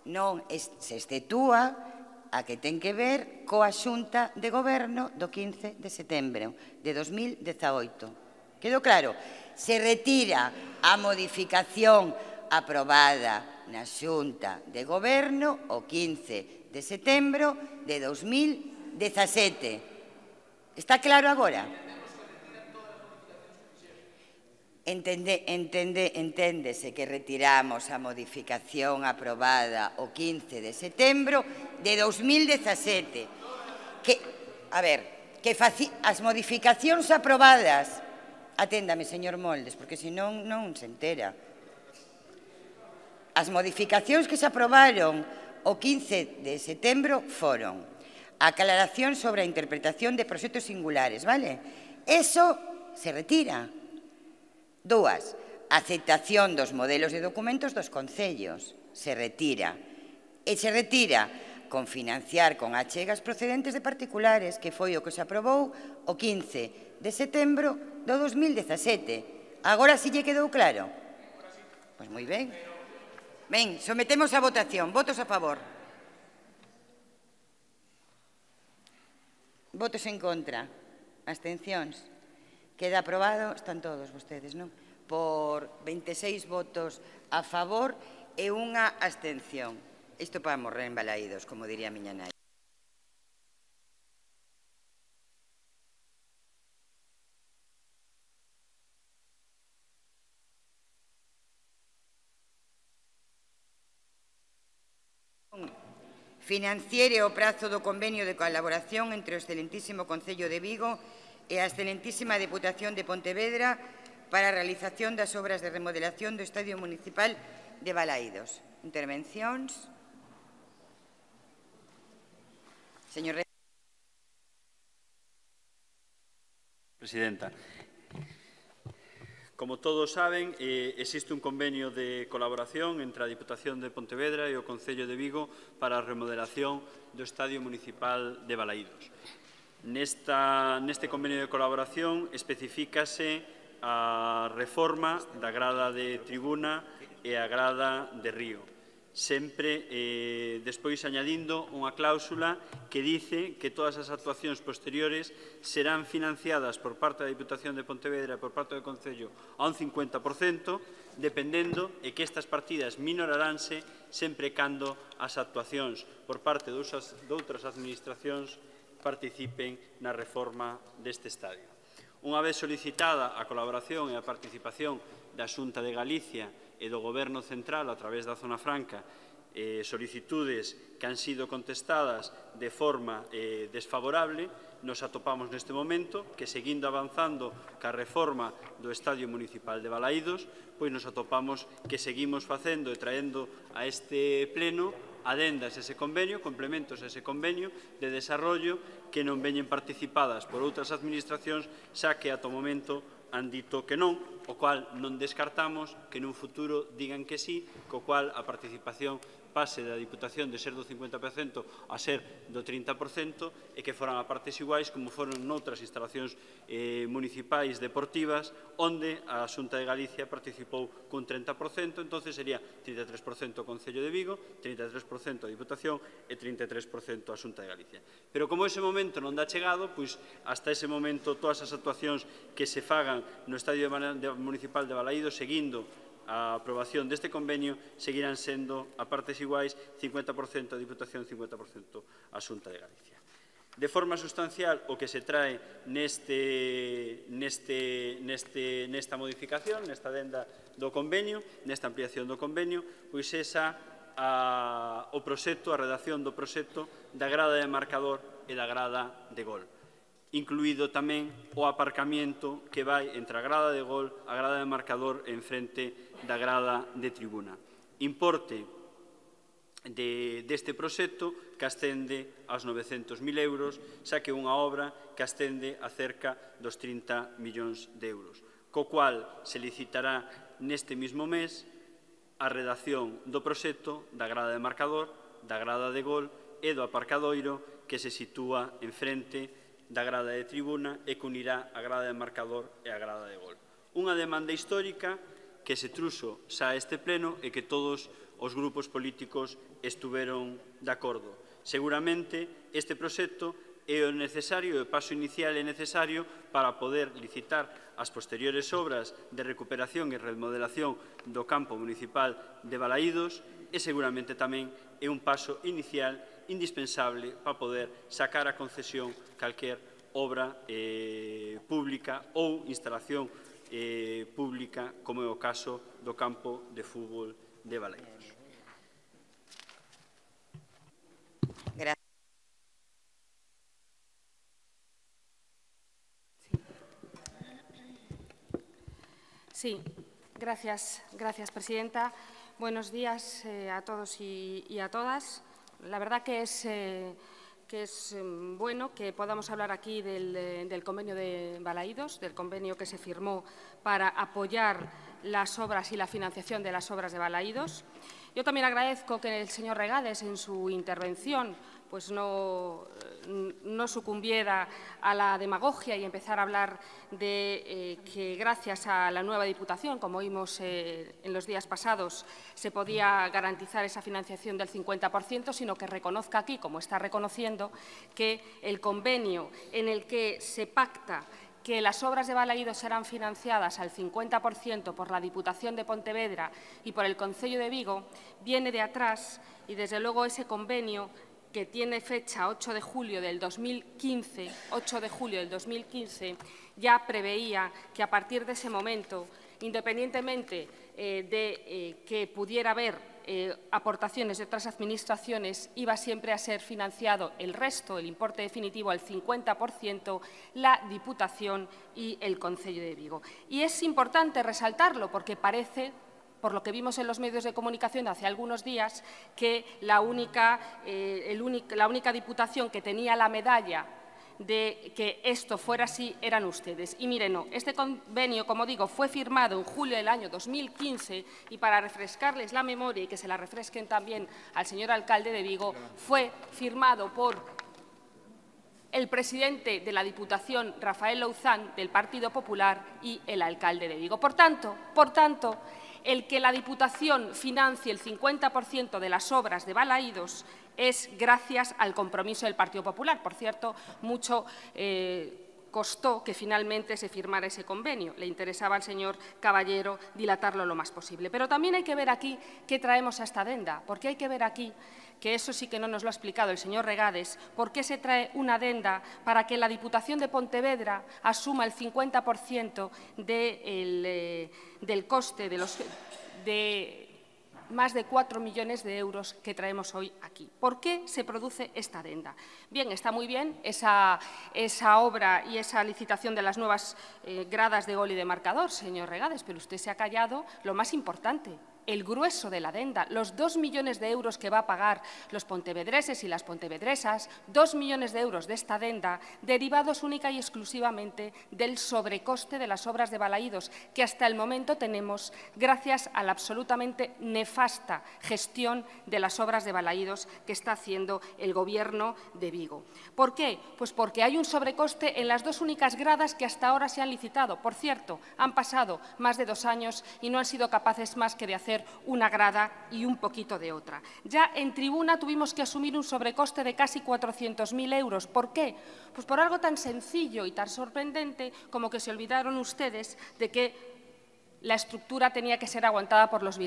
Non, se exceptúa a que ten que ver coa Xunta de Goberno do 15 de setembro de 2018. Quedou claro? Se retira a modificación aprobada na Xunta de Goberno o 15 de setembro de 2017. Está claro agora? Enténdese que retiramos a modificación aprobada o 15 de setembro de 2017. As modificacións aprobadas, aténdame, señor Moldes, porque senón non se entera. As modificacións que se aprobaron o 15 de setembro foron aclaración sobre a interpretación de proxectos singulares, vale? Eso se retira. 2. Aceptación dos modelos de documentos dos concellos. Se retira. E se retira con financiar con achegas procedentes de particulares, que foi o que se aprobou o 15 de setembro do 2017. Agora si lle quedou claro? Pois moi ben. Ben, sometemos a votación. Votos a favor. Votos en contra. Abstencións. Queda aprobado, están todos vostedes, non? Por 26 votos a favor e unha abstención. Isto para morrer en Balaídos, como diría a miña nai. Financiere o prazo do convenio de colaboración entre o excelentísimo Concello de Vigo e a excelentísima Deputación de Pontevedra para a realización das obras de remodelación do Estadio Municipal de Balaídos. Intervencións. Señor Presidenta, como todos saben, existe un convenio de colaboración entre a Diputación de Pontevedra e o Concello de Vigo para a remodelación do Estadio Municipal de Balaídos. Neste convenio de colaboración especifícase a reforma da grada de tribuna e a grada de río, sempre despois añadindo unha cláusula que dice que todas as actuacións posteriores serán financiadas por parte da Diputación de Pontevedra e por parte do Concello a un 50%, dependendo e que estas partidas minoraránse sempre cando as actuacións por parte de outras administracións participen na reforma deste estadio. Unha vez solicitada a colaboración e a participación da Xunta de Galicia e do Goberno Central a través da Zona Franca, solicitudes que han sido contestadas de forma desfavorable, nos atopamos neste momento que, seguindo avanzando ca reforma do Estadio Municipal de Balaídos, pois nos atopamos que seguimos facendo e traendo a este pleno adendas a ese convenio, complementos a ese convenio de desarrollo que non veñen participadas por outras administracións, xa que ata o momento han dito que non, o cual non descartamos que nun futuro digan que sí, co cual a participación pase da Diputación de ser do 50% a ser do 30% e que foran a partes iguais como foron noutras instalacións municipais deportivas onde a Xunta de Galicia participou cun 30%, entonces sería 33% o Concello de Vigo, 33% a Diputación e 33% a Xunta de Galicia. Pero como ese momento non dá chegado, pois hasta ese momento todas as actuacións que se fagan no Estadio Municipal de Balaídos seguindo a aprobación deste convenio seguirán sendo a partes iguais 50% a Diputación, 50% a Xunta de Galicia. De forma sustancial, o que se trae nesta modificación, nesta adenda do convenio, nesta ampliación do convenio, pois esa o proxecto, a redacción do proxecto da grada de marcador e da grada de gol, incluído tamén o aparcamiento que vai entre a grada de gol, a grada de marcador en frente da grada de tribuna. Importe deste proxecto que ascende aos 900.000 euros, xa que é unha obra que ascende a cerca dos 30 millóns de euros, co cual se licitará neste mesmo mes a redacción do proxecto da grada de marcador, da grada de gol e do aparcadoiro que se sitúa en frente da grada de tribuna e que unirá a grada de marcador e a grada de gol. Unha demanda histórica que se truxo xa a este pleno e que todos os grupos políticos estuveron de acordo. Seguramente este proxecto é o necesario, o paso inicial é necesario para poder licitar as posteriores obras de recuperación e remodelación do campo municipal de Balaídos e seguramente tamén é un paso inicial indispensable para poder sacar a concesión calquer obra pública ou instalación pública, como é o caso do campo de fútbol de Balaídos. Sí, gracias, Presidenta. Buenos días a todos y a todas. La verdad que es que es bueno que podamos hablar aquí del convenio de Balaídos, del convenio que se firmó para apoyar las obras y la financiación de las obras de Balaídos. Yo también agradezco que el señor Regades, en su intervención, pues no sucumbiera a la demagogia y empezar a hablar de que gracias a la nueva Diputación, como oímos en los días pasados, se podía garantizar esa financiación del 50%, sino que reconozca aquí, como está reconociendo, que el convenio en el que se pacta que las obras de Balaídos serán financiadas al 50% por la Diputación de Pontevedra y por el Concello de Vigo, viene de atrás y, desde luego, ese convenio que tiene fecha 8 de julio del 2015, ya preveía que a partir de ese momento, independientemente de que pudiera haber aportaciones de otras administraciones, iba siempre a ser financiado el resto, el importe definitivo, al 50%, la Diputación y el Concello de Vigo. Y es importante resaltarlo porque parece, por lo que vimos en los medios de comunicación hace algunos días, que la única Diputación que tenía la medalla de que esto fuera así eran ustedes. Y miren, no, este convenio, como digo, fue firmado en julio del año 2015 y, para refrescarles la memoria y que se la refresquen también al señor alcalde de Vigo, fue firmado por el presidente de la Diputación, Rafael Louzán, del Partido Popular, y el alcalde de Vigo. Por tanto, el que la Diputación financie el 50% de las obras de Balaídos es gracias al compromiso del Partido Popular. Por cierto, mucho costó que finalmente se firmara ese convenio. Le interesaba al señor Caballero dilatarlo lo más posible. Pero también hay que ver aquí qué traemos a esta adenda, porque hay que ver aquí, que eso sí que no nos lo ha explicado el señor Regades, por qué se trae una adenda para que la Diputación de Pontevedra asuma el 50% del coste de más de 4 millones de euros que traemos hoy aquí. ¿Por qué se produce esta adenda? Bien, está muy bien esa obra y esa licitación de las nuevas gradas de gol y de marcador, señor Regades, pero usted se ha callado lo más importante, el grueso de la adenda, los 2 millones de euros que va a pagar los pontevedreses y las pontevedresas, 2 millones de euros de esta adenda, derivados única y exclusivamente del sobrecoste de las obras de Balaídos, que hasta el momento tenemos gracias a la absolutamente nefasta gestión de las obras de Balaídos que está haciendo el Gobierno de Vigo. ¿Por qué? Pues porque hay un sobrecoste en las dos únicas gradas que hasta ahora se han licitado. Por cierto, han pasado más de 2 años y no han sido capaces más que de hacer una grada y un poquito de otra. Ya en tribuna tuvimos que asumir un sobrecoste de casi 400.000 euros. ¿Por qué? Pues por algo tan sencillo y tan sorprendente como que se olvidaron ustedes de que la estructura tenía que ser aguantada por los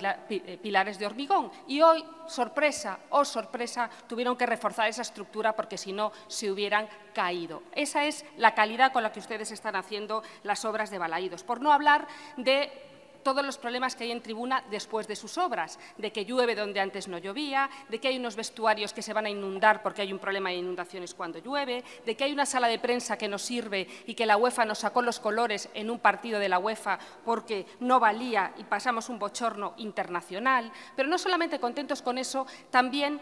pilares de hormigón. Y hoy, sorpresa, oh sorpresa, tuvieron que reforzar esa estructura porque si no se hubieran caído. Esa es la calidad con la que ustedes están haciendo las obras de Balaídos. Por no hablar de todos los problemas que hay en tribuna después de sus obras, de que llueve donde antes no llovía, de que hay unos vestuarios que se van a inundar porque hay un problema de inundaciones cuando llueve, de que hay una sala de prensa que no sirve y que la UEFA nos sacó los colores en un partido de la UEFA porque no valía y pasamos un bochorno internacional. Pero no solamente contentos con eso, también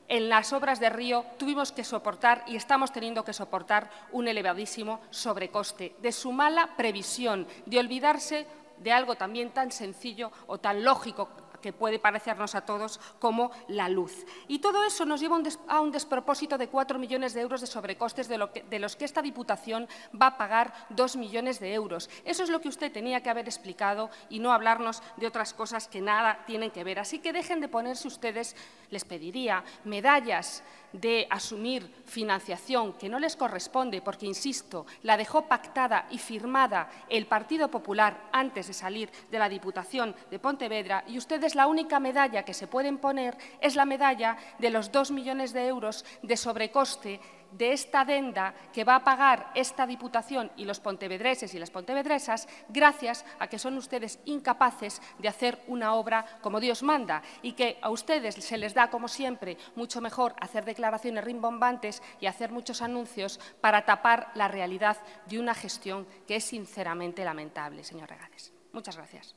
en las obras de Río tuvimos que soportar y estamos teniendo que soportar un elevadísimo sobrecoste de su mala previsión, de olvidarse de algo también tan sencillo o tan lógico que puede parecernos a todos como la luz. Y todo eso nos lleva a un despropósito de 4 millones de euros de sobrecostes de los que esta Diputación va a pagar 2 millones de euros. Eso es lo que usted tenía que haber explicado y no hablarnos de otras cosas que nada tienen que ver. Así que dejen de ponerse ustedes, les pediría, medallas de asumir financiación que no les corresponde porque, insisto, la dejó pactada y firmada el Partido Popular antes de salir de la Diputación de Pontevedra, y ustedes la única medalla que se pueden poner es la medalla de los 2 millones de euros de sobrecoste de esta adenda que va a pagar esta Diputación y los pontevedreses y las pontevedresas gracias a que son ustedes incapaces de hacer una obra como Dios manda y que a ustedes se les da, como siempre, mucho mejor hacer declaraciones rimbombantes y hacer muchos anuncios para tapar la realidad de una gestión que es sinceramente lamentable, señor Regades. Muchas gracias.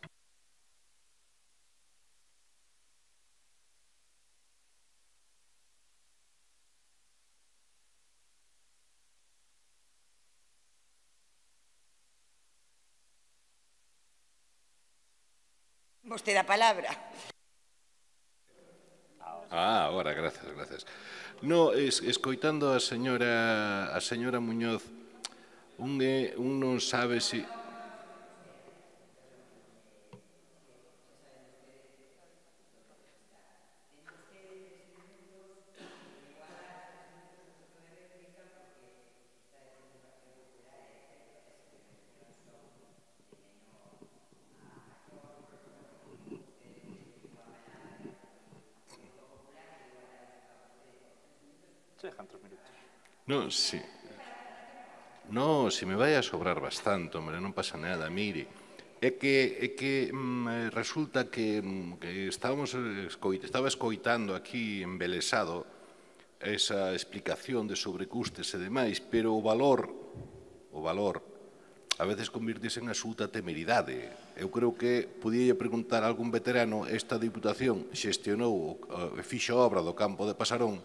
Vostede a palabra. Agora, gracias. No, escoitando a señora Muñoz, un non sabe se... Non, si... No, se me vai a sobrar bastante, hombre, non pasa nada, mire. É que resulta que estaba escoitando aquí embelesado esa explicación de sobrecustes e demais, pero o valor, a veces convirtese en absoluta temeridade. Eu creo que podía preguntar a algún veterano, esta Diputación xestionou e fixo obra do campo de Pasarón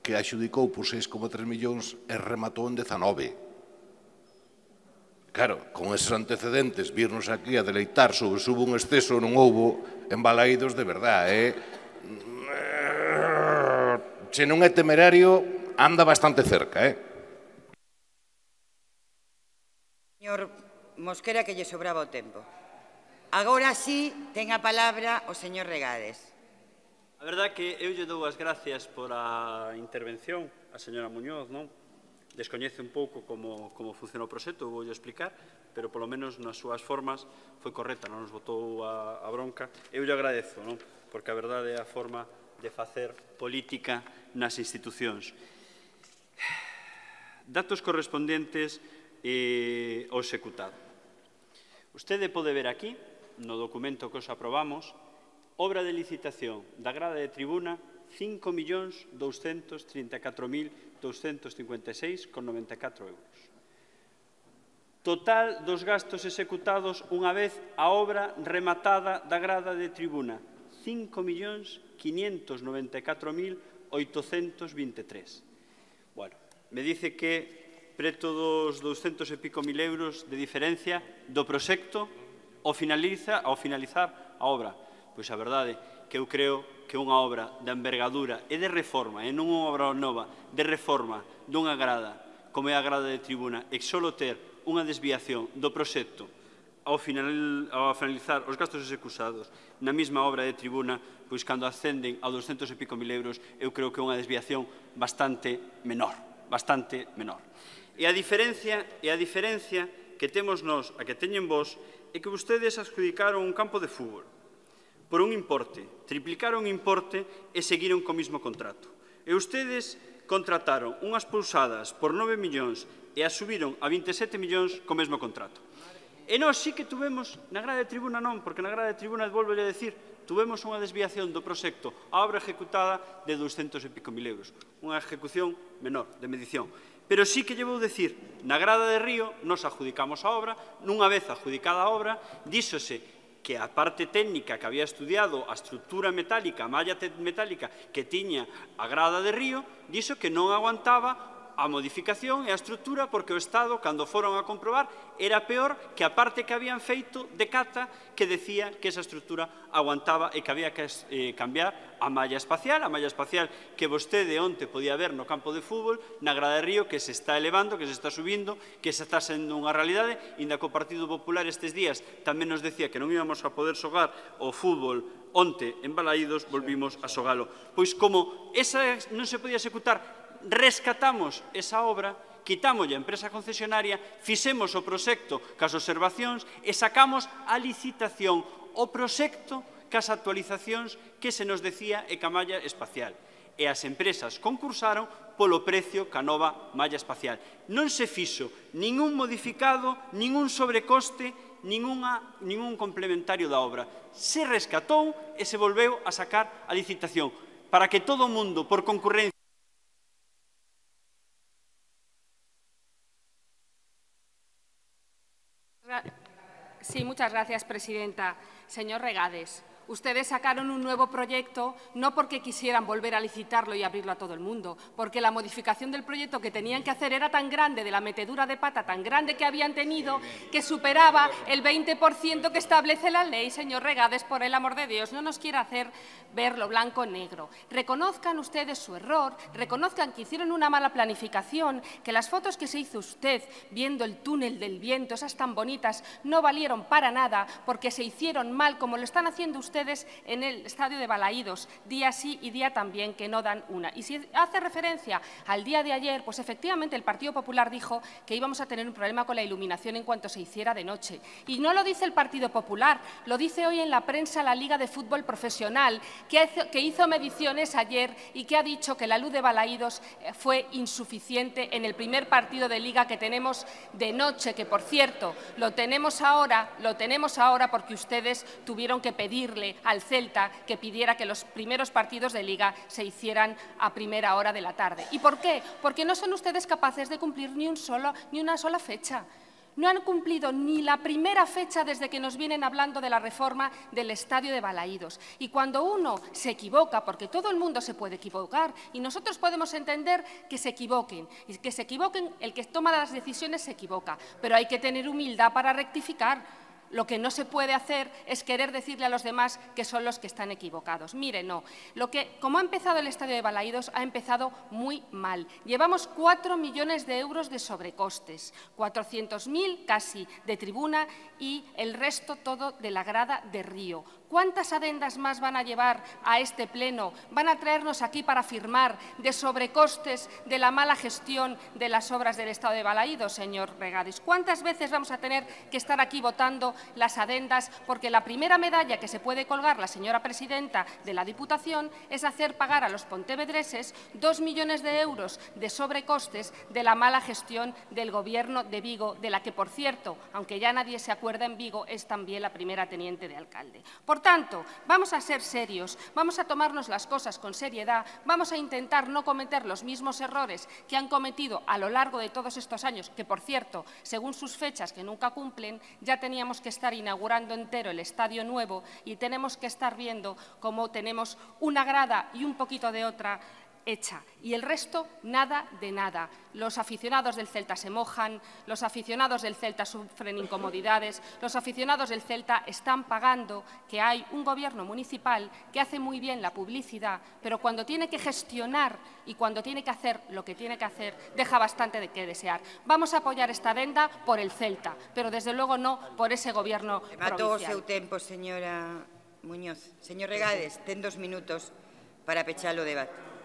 que axudicou por 6,3 millóns e rematou en 19. Claro, con eses antecedentes, virnos aquí a deleitar sobre se hubo un exceso ou non houbo embalaídos de verdade, Se non é temerario, anda bastante cerca, Señor Mosquera, que lle sobraba o tempo. Agora sí, ten a palabra o señor Regades. A verdade que eu lle dou as gracias por a intervención a señora Muñoz, non? Descoñece un pouco como funciona o proxecto, vou explicar, pero polo menos nas súas formas foi correcta, non nos botou a bronca. Eu lle agradezo, non? Porque a verdade é a forma de facer política nas institucións. Datos correspondentes ao executado. Usted pode ver aquí, no documento que os aprobamos, obra de licitación da grada de tribuna 5.234.256,94 euros. Total dos gastos executados unha vez a obra rematada da grada de tribuna 5.594.823. Bueno, me dice que preto dos 200 e pico mil euros de diferencia do proxecto ao finalizar a obra. Pois a verdade que eu creo que unha obra de envergadura e de reforma, e non unha obra nova, de reforma dunha grada, como é a grada de tribuna, e só ter unha desviación do proxecto ao finalizar os gastos executados na mesma obra de tribuna, pois cando ascenden a 200 e pico mil euros, eu creo que é unha desviación bastante menor. E a diferencia que temos nós, a que teñen vos, é que vostedes adjudicaron un campo de fútbol por un importe, triplicaron o importe e seguiron co mesmo contrato. E ustedes contrataron unhas pousadas por 9 millóns e as subiron a 27 millóns co mesmo contrato. E nós sí que tuvemos, na grada de tribuna non, porque na grada de tribuna, volvo a decir, tuvemos unha desviación do proxecto a obra ejecutada de 200 e pico mil euros. Unha ejecución menor, de medición. Pero sí que lle vou decir, na grada de Río, nos adjudicamos a obra, nunha vez adjudicada a obra, díxose que a parte técnica que había estudiado a estrutura metálica, a malla metálica que tiña a grada de Río, dixo que non aguantaba a modificación e a estrutura porque o Estado, cando foron a comprobar, era peor que a parte que habían feito de cata que decía que esa estrutura aguantaba e que había que cambiar a malla espacial que vostede onte podía ver no campo de fútbol, na grada de Río, que se está elevando, que se está subindo, que se está sendo unha realidade, inda que o Partido Popular estes días tamén nos decía que non íbamos a poder xogar o fútbol onte en Balaídos, volvimos a xogalo. Pois como esa non se podía executar, rescatamos esa obra, quitámoslle a empresa concesionaria, fixemos o proxecto cas observacións e sacamos a licitación o proxecto cas actualizacións que se nos decía e ca malla espacial. E as empresas concursaron polo precio ca nova malla espacial. Non se fixo ningún modificado, ningún sobrecoste, ningún complementario da obra. Se rescatou e se volveu a sacar a licitación para que todo o mundo, por concurrencia, Sí, muchas gracias, presidenta. Señor Regades, Ustedes sacaron un nuevo proyecto no porque quisieran volver a licitarlo y abrirlo a todo el mundo, porque la modificación del proyecto que tenían que hacer era tan grande, de la metedura de pata tan grande que habían tenido, que superaba el 20% que establece la ley. Señor Regades, por el amor de Dios, no nos quiera hacer verlo blanco-negro. Reconozcan ustedes su error, reconozcan que hicieron una mala planificación, que las fotos que se hizo usted viendo el túnel del viento, esas tan bonitas, no valieron para nada porque se hicieron mal, como lo están haciendo ustedes en el estadio de Balaídos, día sí y día también, que no dan una. Y si hace referencia al día de ayer, pues efectivamente el Partido Popular dijo que íbamos a tener un problema con la iluminación en cuanto se hiciera de noche. Y no lo dice el Partido Popular, lo dice hoy en la prensa la Liga de Fútbol Profesional, que hizo mediciones ayer y que ha dicho que la luz de Balaídos fue insuficiente en el primer partido de Liga que tenemos de noche, que, por cierto, lo tenemos ahora porque ustedes tuvieron que pedirle al Celta que pidiera que los primeros partidos de Liga se hicieran a primera hora de la tarde. ¿Y por qué? Porque no son ustedes capaces de cumplir ni una sola fecha. No han cumplido ni la primera fecha desde que nos vienen hablando de la reforma del estadio de Balaídos. Y cuando uno se equivoca, porque todo el mundo se puede equivocar, y nosotros podemos entender que se equivoquen, el que toma las decisiones se equivoca, pero hay que tener humildad para rectificar. Lo que no se puede hacer es querer decirle a los demás que son los que están equivocados. Mire, no. Como ha empezado el estadio de Balaídos, ha empezado muy mal. Llevamos 4 millones de euros de sobrecostes, 400.000 casi de tribuna y el resto todo de la grada de Río. ¿Cuántas adendas más van a llevar a este pleno? ¿Van a traernos aquí para firmar de sobrecostes de la mala gestión de las obras del Estado de Balaídos, señor Regades? ¿Cuántas veces vamos a tener que estar aquí votando las adendas? Porque la primera medalla que se puede colgar la señora presidenta de la Diputación es hacer pagar a los pontevedreses 2 millones de euros de sobrecostes de la mala gestión del Gobierno de Vigo, de la que, por cierto, aunque ya nadie se acuerda en Vigo, es también la primera teniente de alcalde. Por tanto, vamos a ser serios, vamos a tomarnos las cosas con seriedad, vamos a intentar no cometer los mismos errores que han cometido a lo largo de todos estos años, que, por cierto, según sus fechas que nunca cumplen, ya teníamos que estar inaugurando entero el estadio nuevo y tenemos que estar viendo cómo tenemos una grada y un poquito de otra hecha. Y el resto, nada de nada. Los aficionados del Celta se mojan, los aficionados del Celta sufren incomodidades, los aficionados del Celta están pagando que hay un gobierno municipal que hace muy bien la publicidad, pero cuando tiene que gestionar y cuando tiene que hacer lo que tiene que hacer, deja bastante de qué desear. Vamos a apoyar esta adenda por el Celta, pero desde luego no por ese gobierno provincial. Matou o seu tempo, señora Muñoz. Señor Regades, ten 2 minutos para pechar o debate.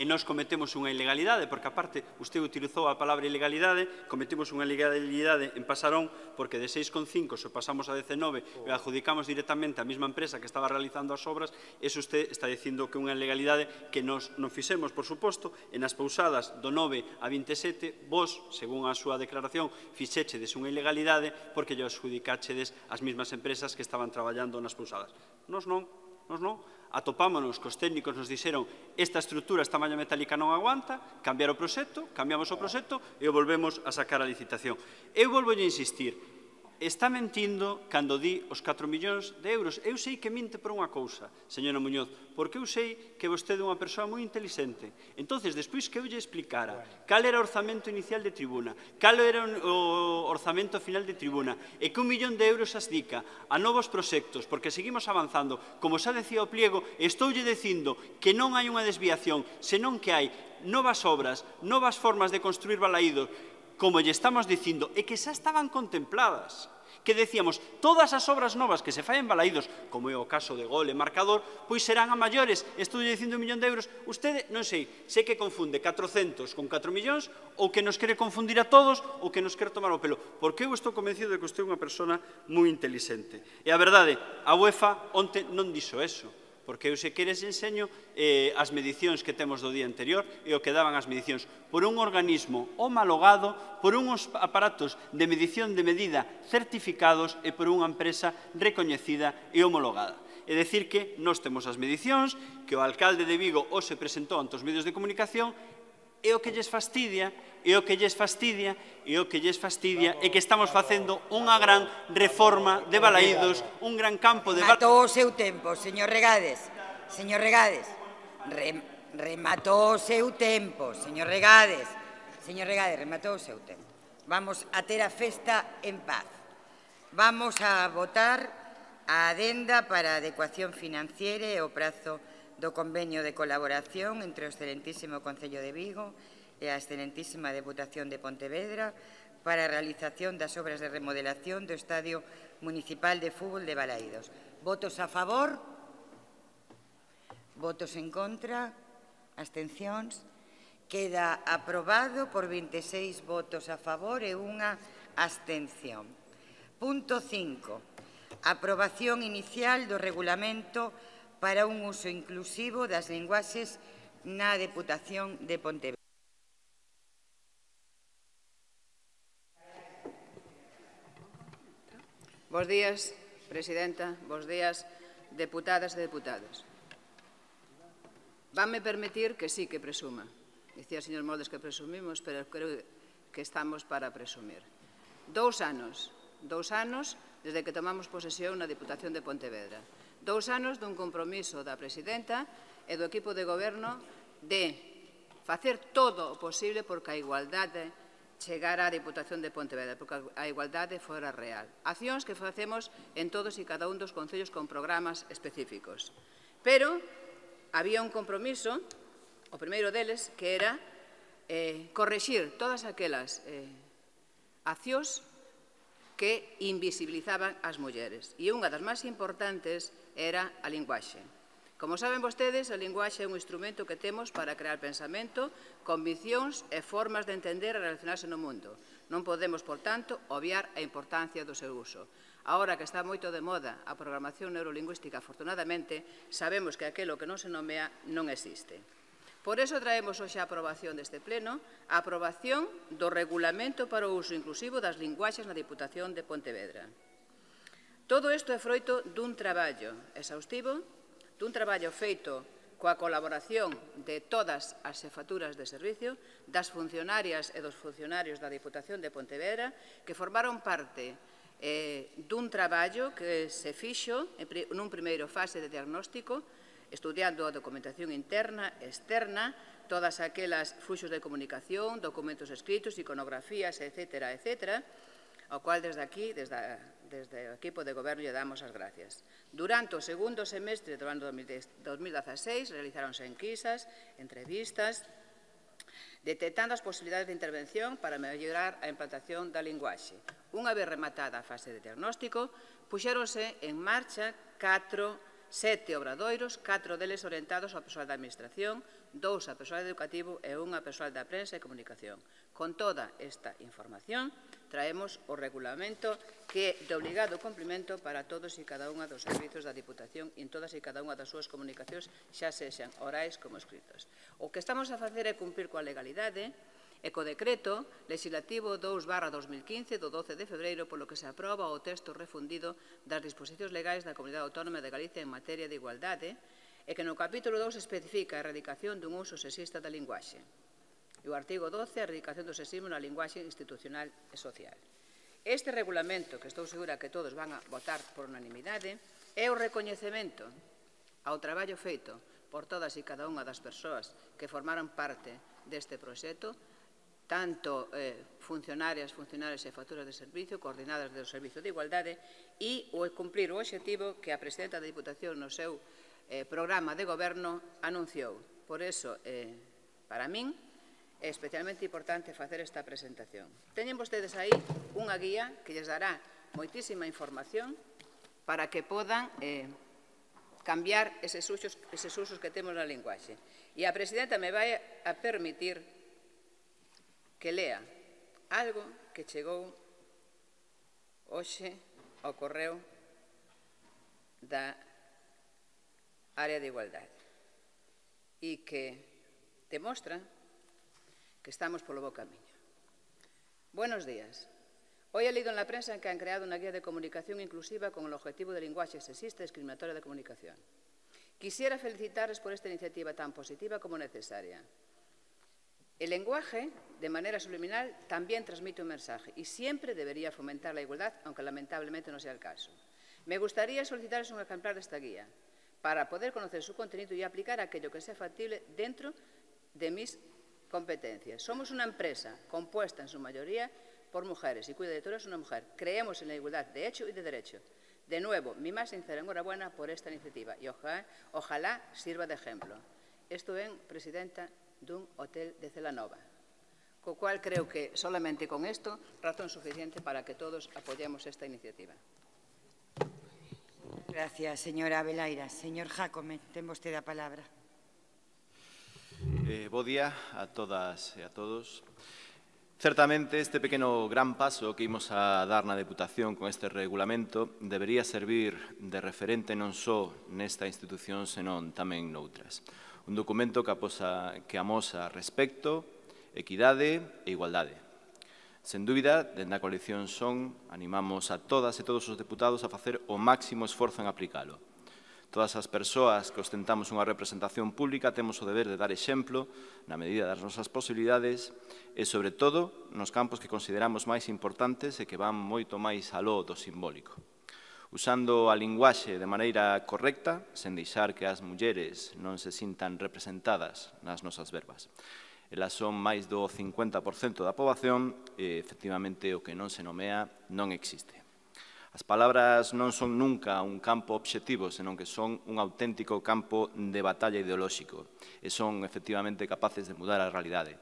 E nós cometemos unha ilegalidade, porque aparte, usted utilizou a palabra ilegalidade, cometemos unha ilegalidade en Pasarón, porque de 6,5 se pasamos a 19 e adjudicamos directamente á mesma empresa que estaba realizando as obras, eso usted está dicindo que é unha ilegalidade que nos non fixemos, por suposto, e nas pousadas do 9 a 27, vos, según a súa declaración, fixéchedes unha ilegalidade porque lle adjudicáchedes as mesmas empresas que estaban traballando nas pousadas. Nos non. Atopámonos que os técnicos nos dixeron esta estrutura, esta malla metálica non aguanta, cambiar o proxecto, cambiamos o proxecto e o volvemos a sacar a licitación. Eu volvo a insistir, está mentindo cando di os 4 millóns de euros. Eu sei que minte por unha cousa, señora Muñoz, porque eu sei que vostede é unha persoa moi inteligente. Entonces, despois que eu lle explicara cal era o orzamento inicial de tribuna, cal era o orzamento final de tribuna, e que 1 millón de euros as dica a novos proxectos, porque seguimos avanzando, como xa decía o pliego, estoulle dicindo que non hai unha desviación, senón que hai novas obras, novas formas de construir Balaídos, como lle estamos dicindo, e que xa estaban contempladas, que decíamos, todas as obras novas que se fai en Balaídos, como é o caso de Gol e Marcador, pois serán a maiores, estou dicindo 1 millón de euros, usted, non sei que confunde 400 con 4 millóns, ou que nos quere confundir a todos, ou que nos quere tomar o pelo, porque eu estou convencido de que usted é unha persona moi inteligente. E a verdade, a UEFA onte non dixo eso, porque eu se queres enseño as medicións que temos do día anterior e o que daban as medicións por un organismo homologado, por uns aparatos de medición de medida certificados e por unha empresa recoñecida e homologada. e decir que nós temos as medicións, que o alcalde de Vigo hoxe presentou ante os medios de comunicación, e o que lles fastidia, é que estamos facendo unha gran reforma de balaídos, un gran campo de... Rematou o seu tempo, señor Regades. Señor Regades. Rematou o seu tempo, señor Regades. Señor Regades, rematou o seu tempo. Vamos a ter a festa en paz. Vamos a votar a adenda para a adecuación financiera e o prazo do convenio de colaboración entre o excelentísimo Concello de Vigo e a excelentísima Deputación de Pontevedra para a realización das obras de remodelación do Estadio Municipal de Fútbol de Balaídos. Votos a favor? Votos en contra? Abstencións? Queda aprobado por 26 votos a favor e unha abstención. Punto 5. Aprobación inicial do regulamento para un uso inclusivo das linguaxes na Deputación de Pontevedra. Bos días, presidenta. Bos días, deputadas e deputados. Vanme permitir que sí que presuma. Dicía o señor Moldes que presumimos, pero creo que estamos para presumir. 2 anos desde que tomamos posesión na Deputación de Pontevedra. 2 anos dun compromiso da presidenta e do equipo de goberno de facer todo o posible porque a igualdade chegara á Deputación de Pontevedra, porque a igualdade fora real. Accións que facemos en todos e cada un dos concellos con programas específicos. Pero había un compromiso, o primeiro deles, que era correxir todas aquelas accións que invisibilizaban as mulleres. E unha das máis importantes era a linguaxe. Como saben vostedes, a linguaxe é un instrumento que temos para crear pensamento, conviccións e formas de entender e relacionarse no mundo. Non podemos, por tanto, obviar a importancia do seu uso. Agora que está moito de moda a programación neurolingüística, afortunadamente, sabemos que aquilo que non se nomea non existe. Por iso traemos hoxe a aprobación deste pleno a aprobación do regulamento para o uso inclusivo das linguaxes na Deputación de Pontevedra. Todo isto é froito dun traballo exhaustivo, dun traballo feito coa colaboración de todas as xefaturas de servicio, das funcionarias e dos funcionarios da Deputación de Pontevedra, que formaron parte dun traballo que se fixo nun primeiro fase de diagnóstico, estudiando a documentación interna e externa, todas aquelas fluxos de comunicación, documentos escritos, iconografías, etc., ao cual desde aquí, desde o equipo de goberno, lle damos as gracias. Durante o segundo semestre do ano 2016 realizáronse enquisas, entrevistas, detectando as posibilidades de intervención para mellorar a implantación da linguaxe. Unha vez rematada a fase de diagnóstico, puxéronse en marcha 7 obradoiros, 4 deles orientados ao persoal da Administración, 2 ao persoal educativo e 1 ao persoal da prensa e comunicación. Con toda esta información, traemos o regulamento que é de obligado cumprimento para todos e cada unha dos servizos da Diputación en todas e cada unha das súas comunicacións, xa sexan orais como escritos. O que estamos a facer é cumprir coa legalidade e co decreto legislativo 2/2015 do 12 de febreiro, polo que se aproba o texto refundido das disposicións legais da Comunidade Autónoma de Galicia en materia de igualdade e que no capítulo 2 especifica a erradicación dun uso sexista da linguaxe. E o artigo 12, a erradicación do sexismo na linguaxe institucional e social. Este regulamento, que estou segura que todos van a votar por unanimidade, é o recoñecemento ao traballo feito por todas e cada unha das persoas que formaron parte deste proxecto, tanto funcionarias e facturas de servicio, coordinadas do Servicio de Igualdade, e o cumprir o obxectivo que a presidenta da Diputación no seu programa de goberno anunciou. Por iso, para min, é especialmente importante facer esta presentación. Teñen vostedes aí unha guía que lles dará moitísima información para que podan cambiar eses usos que temos na linguaxe. E a presidenta me vai a permitir que lea algo que chegou hoxe ao correo da área de igualdade e que demostra que estamos polo bo camiño. Buenos días. Hoy he leído en la prensa que han creado una guía de comunicación inclusiva con el objetivo de lenguaje sexista y discriminatorio de comunicación. Quisiera felicitarles por esta iniciativa tan positiva como necesaria. El lenguaje, de manera subliminal, también transmite un mensaje y siempre debería fomentar la igualdad, aunque lamentablemente no sea el caso. Me gustaría solicitarles un ejemplar de esta guía para poder conocer su contenido y aplicar aquello que sea factible dentro de mis competencias. Somos una empresa compuesta en su mayoría por mujeres y cuya directora es una mujer. Creemos en la igualdad de hecho y de derecho. De nuevo, mi más sincera enhorabuena por esta iniciativa y ojalá sirva de ejemplo. Estuve en presidenta dun hotel de Celanova, co cual creo que solamente con esto razón suficiente para que todos apoyemos esta iniciativa. Gracias, señora Abelaira. Señor Jácome, ten vostede a palabra. Bo día a todas e a todos. Certamente, este pequeno gran paso que imos a dar na Deputación con este regulamento debería servir de referente non só nesta institución, senón tamén noutras. Un documento que amosa respecto, equidade e igualdade. Sen dúbida, dende a coalición Son, animamos a todas e todos os deputados a facer o máximo esforzo en aplicalo. Todas as persoas que ostentamos unha representación pública temos o deber de dar exemplo na medida das nosas posibilidades e, sobre todo, nos campos que consideramos máis importantes e que van moito máis aló do simbólico. Usando a linguaxe de maneira correcta, sen deixar que as mulleres non se sintan representadas nas nosas verbas. Elas son máis do 50% da poboación e, efectivamente, o que non se nomea non existe. As palabras non son nunca un campo obxectivo, senón que son un auténtico campo de batalla ideolóxico e son, efectivamente, capaces de mudar a realidade.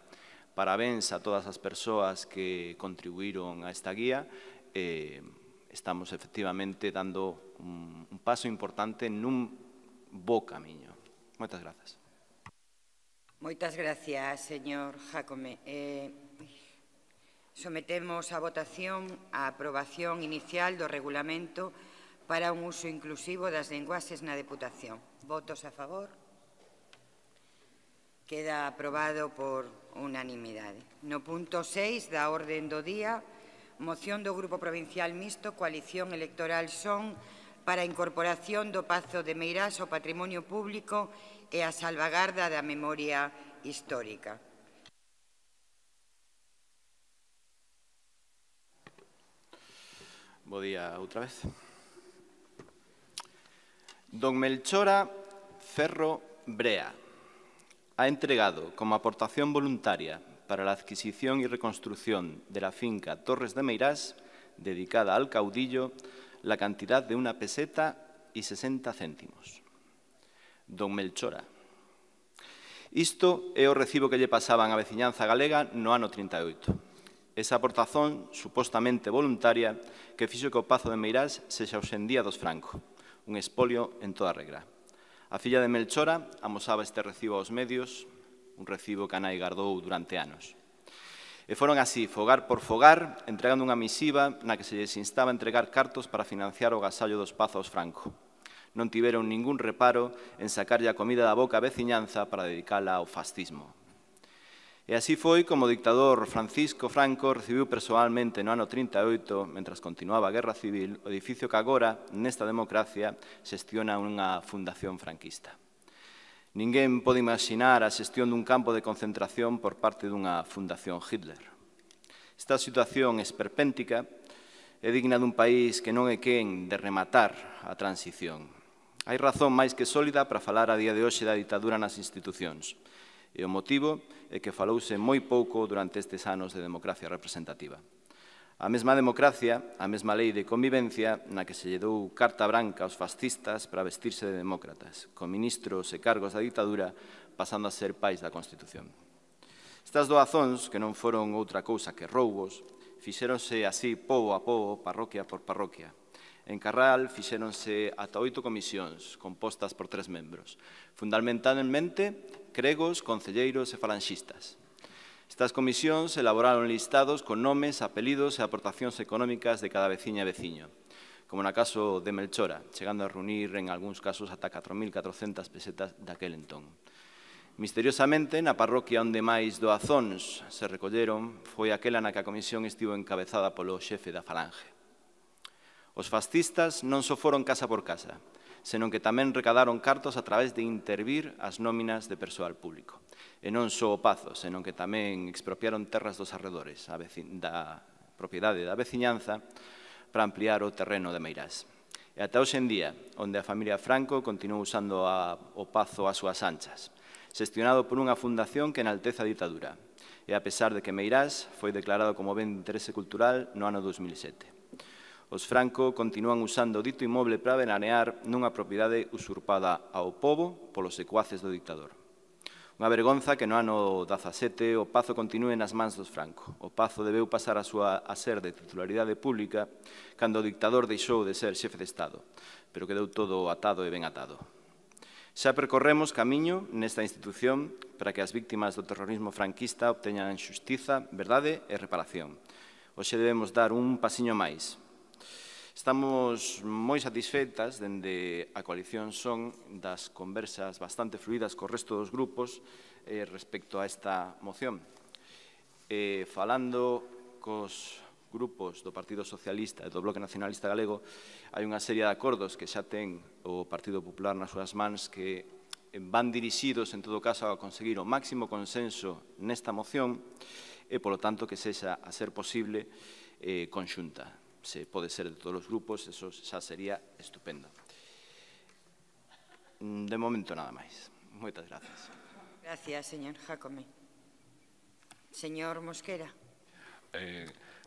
Parabéns a todas as persoas que contribuíron a esta guía. Estamos, efectivamente, dando un paso importante nun bo camiño. Moitas grazas. Moitas gracias, señor Jácome. Sometemos a votación a aprobación inicial do regulamento para un uso inclusivo das linguaxes na Deputación. Votos a favor? Queda aprobado por unanimidade. No punto 6 da orden do día, moción do Grupo Provincial Mixto Coalición Electoral Son para a incorporación do Pazo de Meirás ao patrimonio público e a salvagarda da memoria histórica. Bo día outra vez. Don Melchora Ferro Brea ha entregado como aportación voluntaria para la adquisición y reconstrucción de la finca Torres de Meirás, dedicada al caudillo, la cantidad de 1 peseta y 60 céntimos. Don Melchora. Isto é o recibo que lle pasaban a veciñanza galega no ano 38. Esa aportación, supostamente voluntaria, que fixo que o Pazo de Meirás sexa hoxendía dos Franco, un expolio en toda regra. A filla de Melchora amosaba este recibo aos medios, un recibo que a nai gardou durante anos. E foron así, fogar por fogar, entregando unha misiva na que se lles instaba a entregar cartos para financiar o gasallo dos Pazos Franco. Non tiveron ningún reparo en sacarlle a comida da boca a veciñanza para dedicala ao fascismo. E así foi como o dictador Francisco Franco recibiu persoalmente no ano 38, mentras continuaba a Guerra Civil, o edificio que agora, nesta democracia, xestiona unha fundación franquista. Ninguén pode imaginar a xestión dun campo de concentración por parte dunha fundación Hitler. Esta situación esperpéntica é digna dun país que non é quen de rematar a transición. Hai razón máis que sólida para falar a día de hoxe da ditadura nas institucións. E o motivo é que falouse moi pouco durante estes anos de democracia representativa. A mesma democracia, a mesma lei de convivencia na que se lle dou carta branca aos fascistas para vestirse de demócratas, con ministros e cargos da ditadura pasando a ser pais da Constitución. Estas doazóns, que non foron outra cousa que roubos, fixéronse así pobo a pobo, parroquia por parroquia. En Carral fixéronse ata 8 comisións, compostas por 3 membros, fundamentalmente cregos, concelleiros e falanxistas. Estas comisións elaboraron listados con nomes, apelidos e aportacións económicas de cada veciña e veciño, como na caso de Melchora, chegando a reunir en algúns casos ata 4.400 pesetas daquel entón. Misteriosamente, na parroquia onde máis doazóns se recolleron foi aquela na que a comisión estivo encabezada polo xefe da Falange. Os fascistas non só foron casa por casa, senón que tamén recadaron cartos a través de intervir as nóminas de persoal público. E non só o Pazo, senón que tamén expropiaron terras dos arredores da propiedade da veciñanza para ampliar o terreno de Meirás. E ata hoxe en día, onde a familia Franco continuou usando o Pazo ás súas anchas, xestionado por unha fundación que enaltece a ditadura, e a pesar de que Meirás foi declarado como ben de interese cultural no ano 2007. Os Franco continúan usando o dito inmoble para veranear nunha propiedade usurpada ao pobo polos secuaces do dictador. Unha vergonza que no ano 17 o Pazo continúe nas mans dos Franco. O Pazo debeu pasar a ser de titularidade pública cando o dictador deixou de ser xefe de Estado, pero quedou todo atado e ben atado. Xa percorremos camiño nesta institución para que as víctimas do terrorismo franquista obteñan xustiza, verdade e reparación. Hoxe debemos dar un pasiño máis. Estamos moi satisfeitas dende a coalición Son das conversas bastante fluídas co resto dos grupos respecto a esta moción. Falando cos grupos do Partido Socialista e do Bloque Nacionalista Galego, hai unha serie de acordos que xa ten o Partido Popular nas súas mans que van dirixidos, en todo caso, a conseguir o máximo consenso nesta moción e, polo tanto, que sexa, a ser posible, conxunta. Se pode ser de todos os grupos, eso xa sería estupendo. De momento, nada máis. Moitas gracias. Gracias, señor Jácome. Señor Mosquera.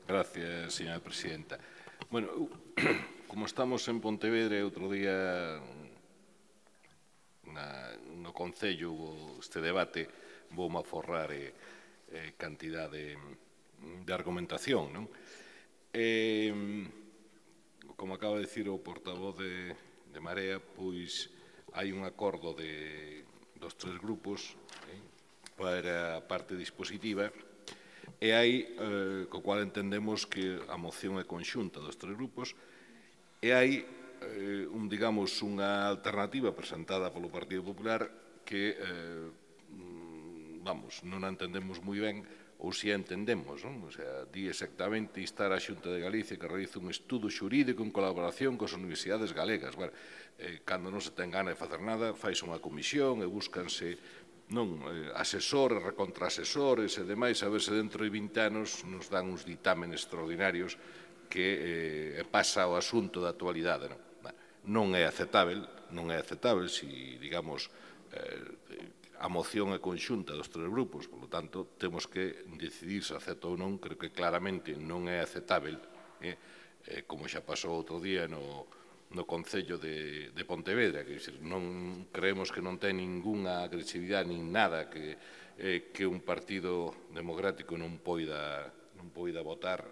Gracias, señora presidenta. Bueno, como estamos en Pontevedra, outro día no Concello este debate, voume aforrar cantidad de argumentación, non? Como acaba de dicir o portavoz de Marea, pois hai un acordo dos tres grupos para a parte dispositiva e hai, co cual entendemos que a moción é conxunta dos tres grupos e hai, digamos, unha alternativa presentada polo Partido Popular que, vamos, non a entendemos moi ben ou si a entendemos, non? O sea, di exactamente instar a Xunta de Galicia que realice un estudo xurídico en colaboración coas universidades galegas. Bueno, cando non se ten gana de facer nada, faise unha comisión e búscanse asesores, recontraasesores e demais, a ver se dentro de 20 anos nos dan uns ditámenes extraordinarios que pasa o asunto da actualidade. Non é aceptável, se, digamos, a moción é conxunta dos tres grupos, polo tanto, temos que decidir se acepta ou non, creo que claramente non é aceptável, como xa pasou outro día no Concello de Pontevedra, que non creemos que non ten ningunha agresividade nin nada que un partido democrático non poida votar,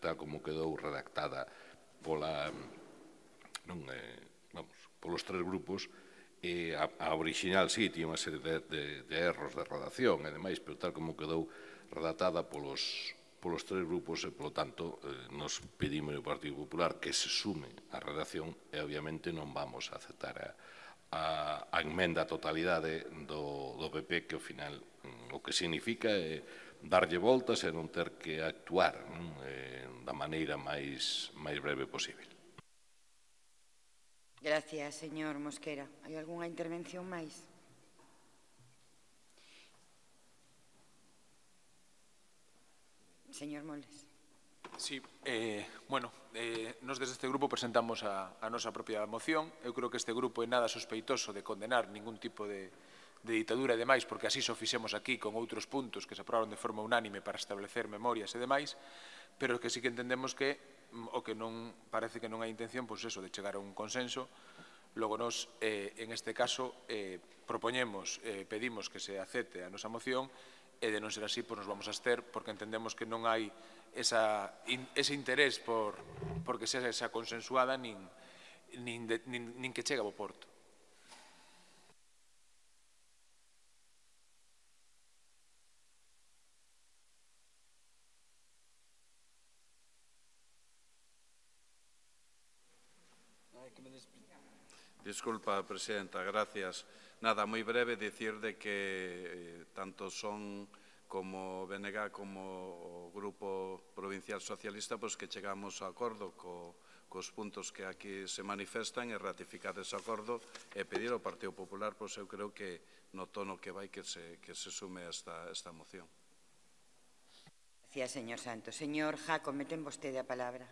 tal como quedou redactada polos tres grupos. A original, sí, tiña unha serie de erros de redacción e demais, pero tal como quedou redactada polos tres grupos e, polo tanto, nos pedimos ao Partido Popular que se sume á redacción e, obviamente, non vamos a aceptar a emenda a totalidade do PP, que, ao final, o que significa é darlle voltas e non ter que actuar da maneira máis breve posible. Gracias, señor Mosquera. Hai algunha intervención máis? Señor Moldes. Sí, bueno, nos desde este grupo presentamos a nosa propia moción. Eu creo que este grupo é nada sospeitoso de condenar ningún tipo de ditadura e demais, porque así só fixemos aquí con outros puntos que se aprobaron de forma unánime para establecer memorias e demais, pero que sí que entendemos que o que non parece que non hai intención, pois eso, de chegar a un consenso. Logo nos, en este caso, propoñemos, pedimos que se acepte a nosa moción e de non ser así, pois nos vamos a abster, porque entendemos que non hai ese interés por que sexa consensuada nin que chegue ao porto. Disculpa, Presidenta, gracias. Nada, moi breve, dicir de que tanto son como BNG como o Grupo Provincial Socialista pois que chegamos a acordo cos puntos que aquí se manifestan e ratificar ese acordo e pedir ao Partido Popular, pois eu creo que no tono que vai que se sume a esta moción. Gracias, señor Santos. Señor Jácome, ten vostede a palabra.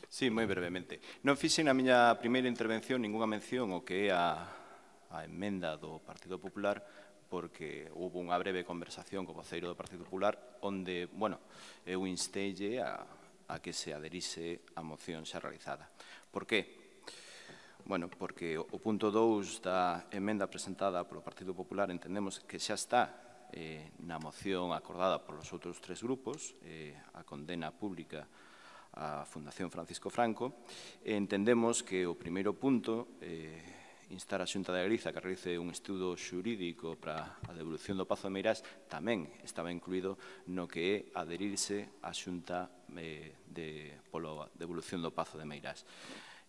Sí, moi brevemente. Non fixen na miña primeira intervención ninguna mención ao que é a emenda do Partido Popular porque houve unha breve conversación co voceiro do Partido Popular onde, bueno, eu instelle a que se aderise a moción xa realizada. Por qué? Bueno, porque o punto 2 da emenda presentada polo Partido Popular entendemos que xa está na moción acordada polos outros tres grupos, a condena pública a Fundación Francisco Franco, e entendemos que o primeiro punto, instar a Xunta de Galiza que realice un estudo xurídico para a devolución do Pazo de Meirás, tamén estaba incluído no que é adherirse á Xunta pola devolución do Pazo de Meirás.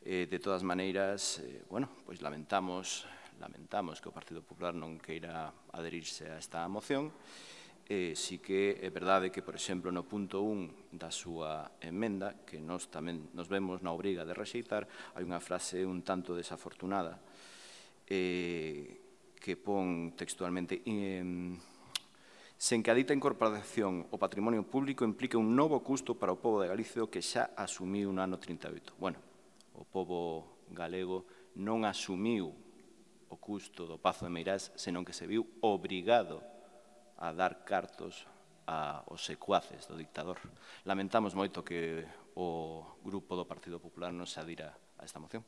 De todas maneiras, bueno, pois lamentamos que o Partido Popular non queira adherirse a esta moción. Sí que é verdade que, por exemplo, no punto 1 da súa emenda, que nós tamén nos vemos na obriga de rexeitar, hai unha frase un tanto desafortunada que pon textualmente sen que a dita incorporación ao patrimonio público implique un novo custo para o pobo de Galicia que xa asumiu no ano 38. Bueno, o pobo galego non asumiu o custo do Pazo de Meirás, senón que se viu obrigado a dar cartos aos secuaces do dictador. Lamentamos moito que o grupo do Partido Popular non se adira a esta moción.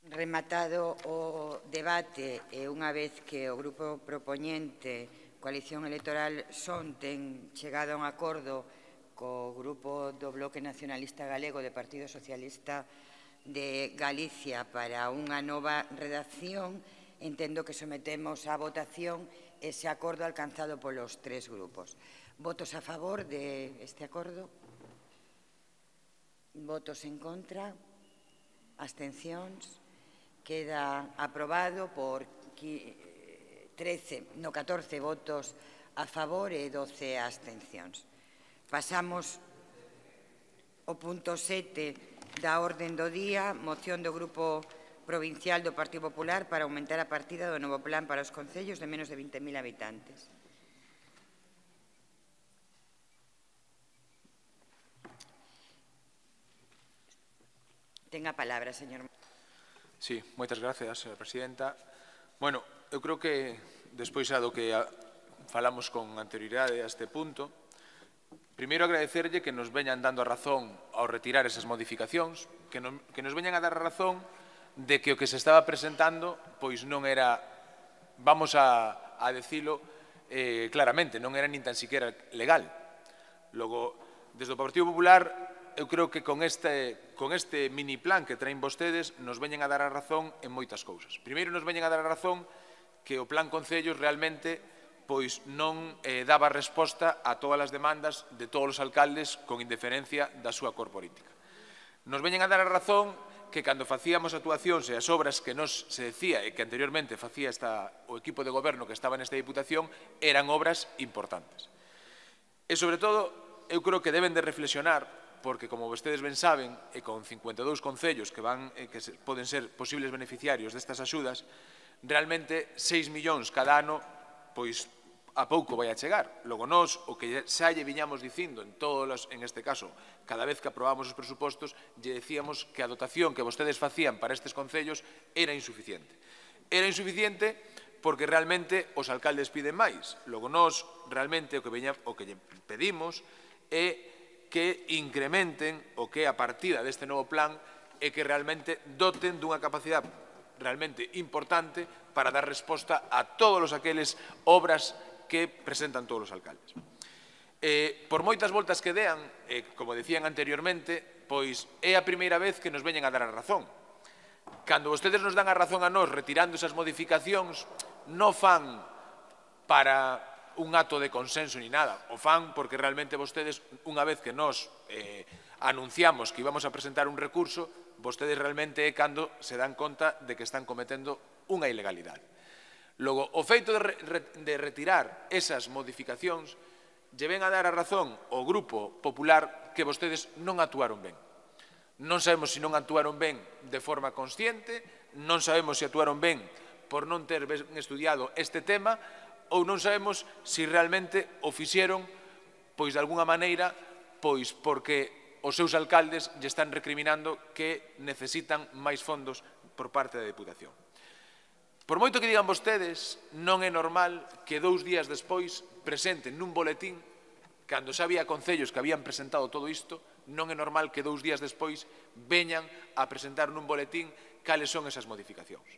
Rematado o debate e unha vez que o grupo propoñente Coalición Electoral SON ten chegado a un acordo co grupo do Bloque Nacionalista Galego de Partido Socialista de Galicia para unha nova redacción, entendo que sometemos á votación ese acordo alcanzado polos tres grupos. Votos a favor deste acordo? Votos en contra? Abstencións? Queda aprobado por 14 votos a favor e 12 abstencións. Pasamos ao punto 7 da orden do día, moción do Grupo Provincial do Partido Popular para aumentar a partida do novo plan para os concellos de menos de 20.000 habitantes. Ten a palabra, señor. Sí, moitas gracias, señora presidenta. Bueno, eu creo que, despois do que falamos con anterioridade a este punto, primeiro agradecerlle que nos veñan dando a razón ao retirar esas modificacións, que nos veñan a dar a razón de que o que se estaba presentando pois non era, vamos a decilo claramente, non era nin tan siquiera legal. Logo, desde o Partido Popular, eu creo que con este mini plan que traen vostedes nos veñen a dar a razón en moitas cousas. Primeiro nos veñen a dar a razón que o plan Concellos realmente pois non daba resposta a todas as demandas de todos os alcaldes con indiferencia da súa cor política. Nos veñen a dar a razón que cando facíamos actuacións e as obras que nos se decía e que anteriormente facía o equipo de goberno que estaba nesta Diputación eran obras importantes. E, sobre todo, eu creo que deben de reflexionar, porque, como vostedes ben saben, e con 52 concellos que poden ser posibles beneficiarios destas axudas, realmente 6 millóns cada ano, pois, a pouco vai a chegar. Logo, nós, o que xa lle viñamos dicindo en este caso, cada vez que aprobamos os presupostos, lle decíamos que a dotación que vostedes facían para estes concellos era insuficiente. Era insuficiente porque realmente os alcaldes piden máis. Logo, nós, realmente, o que lle pedimos é que incrementen o que é a partida deste novo plan e que realmente doten dunha capacidade realmente importante para dar resposta a todas aqueles obras que presentan todos os alcaldes. Por moitas voltas que dean, como decían anteriormente, pois é a primeira vez que nos veñen a dar a razón. Cando vostedes nos dan a razón a nós retirando esas modificacións, non fan para un acto de consenso ni nada, o fan porque realmente vostedes, unha vez que nós anunciamos que íbamos a presentar un recurso, vostedes realmente é cando se dan conta de que están cometendo unha ilegalidade. Logo, o feito de retirar esas modificacións lle ven a dar a razón ao Grupo Popular que vostedes non actuaron ben. Non sabemos se non actuaron ben de forma consciente, non sabemos se actuaron ben por non ter ben estudiado este tema ou non sabemos se realmente o fixeron, pois de alguna maneira, pois porque os seus alcaldes lle están recriminando que necesitan máis fondos por parte da Deputación. Por moito que digan vostedes, non é normal que 2 días despois presenten nun boletín, cando xa había concellos que habían presentado todo isto, non é normal que 2 días despois veñan a presentar nun boletín cales son esas modificacións.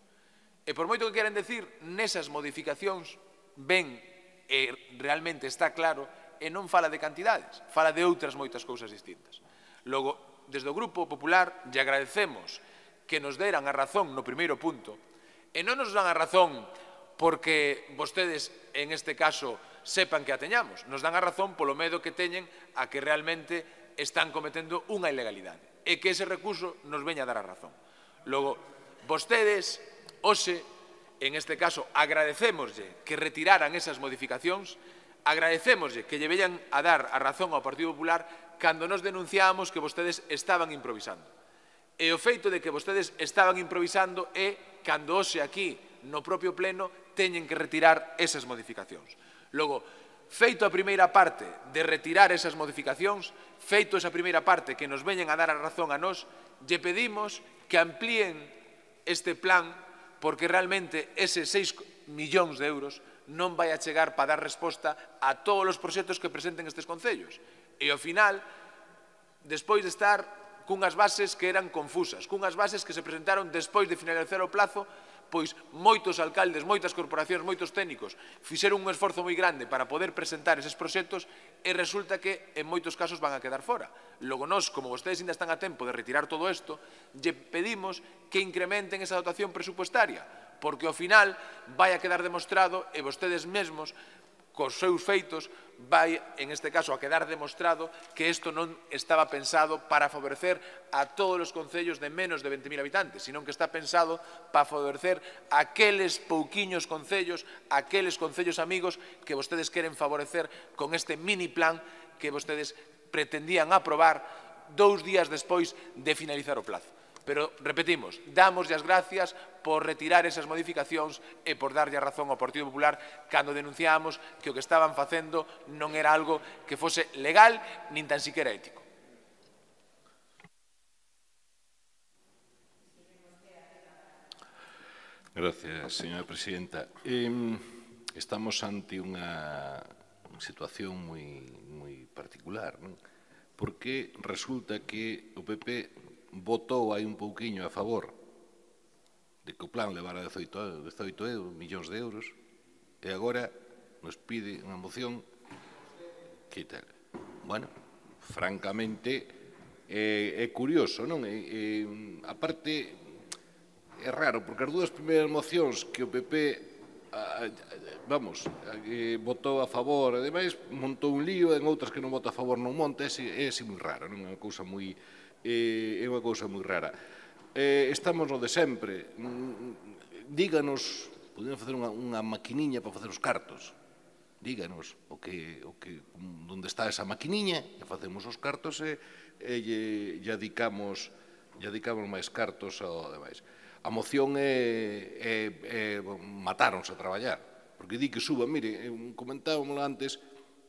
E por moito que queren decir, nesas modificacións ven e realmente está claro e non fala de cantidades, fala de outras moitas cousas distintas. Logo, desde o Grupo Popular, lle agradecemos que nos deran a razón no primeiro punto, e non nos dan a razón porque vostedes, en este caso, sepan que a teñamos. Nos dan a razón polo medo que teñen a que realmente están cometendo unha ilegalidade e que ese recurso nos veña a dar a razón. Logo, vostedes, hoxe, en este caso, agradecémoslle que retiraran esas modificacións, agradecémoslle que lle veñan a dar a razón ao Partido Popular cando nos denunciábamos que vostedes estaban improvisando. E o feito de que vostedes estaban improvisando é cando hoxe aquí, no propio pleno, teñen que retirar esas modificacións. Logo, feito a primeira parte de retirar esas modificacións, feito esa primeira parte que nos veñen a dar a razón a nós, lle pedimos que amplíen este plan porque realmente eses 6 millóns de euros non vai a chegar para dar resposta a todos os proxectos que presenten estes concellos. E ao final, despois de estar cunhas bases que eran confusas, cunhas bases que se presentaron despois de finalizar o plazo, pois moitos alcaldes, moitas corporacións, moitos técnicos fixeron un esforzo moi grande para poder presentar eses proxectos e resulta que en moitos casos van a quedar fora. Logo nós, como vostedes ainda están a tempo de retirar todo isto, lle pedimos que incrementen esa dotación presupuestaria, porque ao final vai a quedar demostrado e vostedes mesmos cos seus feitos vai, en este caso, a quedar demostrado que isto non estaba pensado para favorecer a todos os concellos de menos de 20.000 habitantes, sino que está pensado para favorecer aqueles pouquiños concellos, aqueles concellos amigos que vostedes queren favorecer con este mini plan que vostedes pretendían aprobar 2 días despois de finalizar o plazo. Pero, repetimos, damos as gracias por retirar esas modificacións e por darlle a razón ao Partido Popular cando denunciábamos que o que estaban facendo non era algo que fose legal nin tan siquiera ético. Gracias, señora presidenta. Estamos ante unha situación moi particular, non? Porque resulta que o PP votou aí un pouquiño a favor de que o plan levara 18 millóns de euros e agora nos pide unha moción que tal. Bueno, francamente é curioso, non? Aparte, é raro, porque as dúas primeiras mocións que o PP votou a favor, e ademais montou un lío, en outras que non vota a favor non monta, é así moi raro, non? É unha cousa moi rara. Estamos no de sempre. Díganos, podemos facer unha maquiniña para facer os cartos. Díganos onde está esa maquiniña, e facemos os cartos e lle dedicamos máis cartos ao demais. A moción é matáronse a traballar, porque di que suba, mire, comentábamos antes,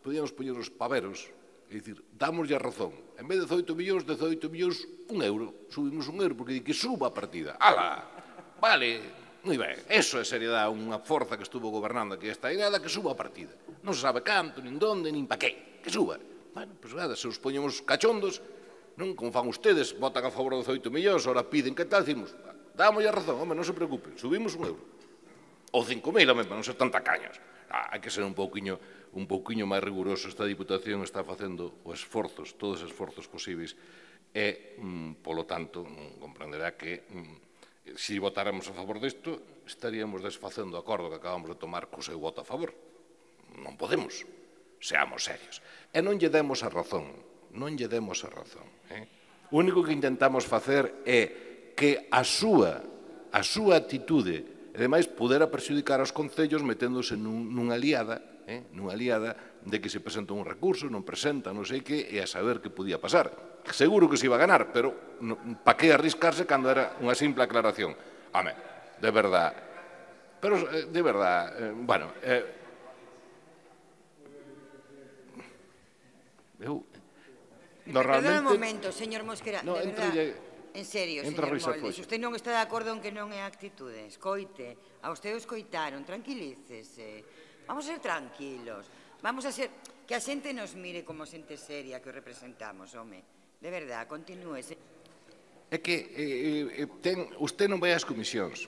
podíamos poñer os paveros. É dicir, damoslle a razón. En vez de 18 millóns, 1 euro. Subimos 1 euro porque di que suba a partida. Ala, vale, moi ben. Eso é seriedade, unha forza que estuvo gobernando aquí esta idea que suba a partida. Non se sabe canto, nin donde, nin pa qué. Que suba. Bueno, pois nada, se os poñemos cachondos, non como fan ustedes, votan a favor de 18 millóns, ahora piden que tal, decimos, damoslle a razón, home, non se preocupen, subimos 1 euro. Ou 5.000, home, para non ser tan tacaños. Hai que ser un pouquiño máis riguroso. Esta Diputación está facendo os esforzos, todos os esforzos posibles e, polo tanto, comprenderá que se votáramos a favor disto estaríamos desfacendo o acordo que acabamos de tomar co seu voto a favor. Non podemos, seamos serios. E non lle demos a razón non lle demos a razón. O único que intentamos facer é que a súa actitude, e ademais, pudera perxudicar aos concellos meténdose nunha liada de que se presenta un recurso, non presenta, non sei que, e a saber que podía pasar. Seguro que se iba a ganar, pero pa que arriscarse cando era unha simple aclaración? Home, de verdad. Pero, de verdad, bueno... Perdón un momento, señor Mosquera, de verdad, en serio, señor Moldes, usted non está de acordo en que non é actitude, escoite, a usted o escoitaron, tranquilícese, vamos a ser tranquilos, vamos a ser, que a xente nos mire como xente seria que o representamos, home, de verdad, continúese. É que usted non vai ás comisións,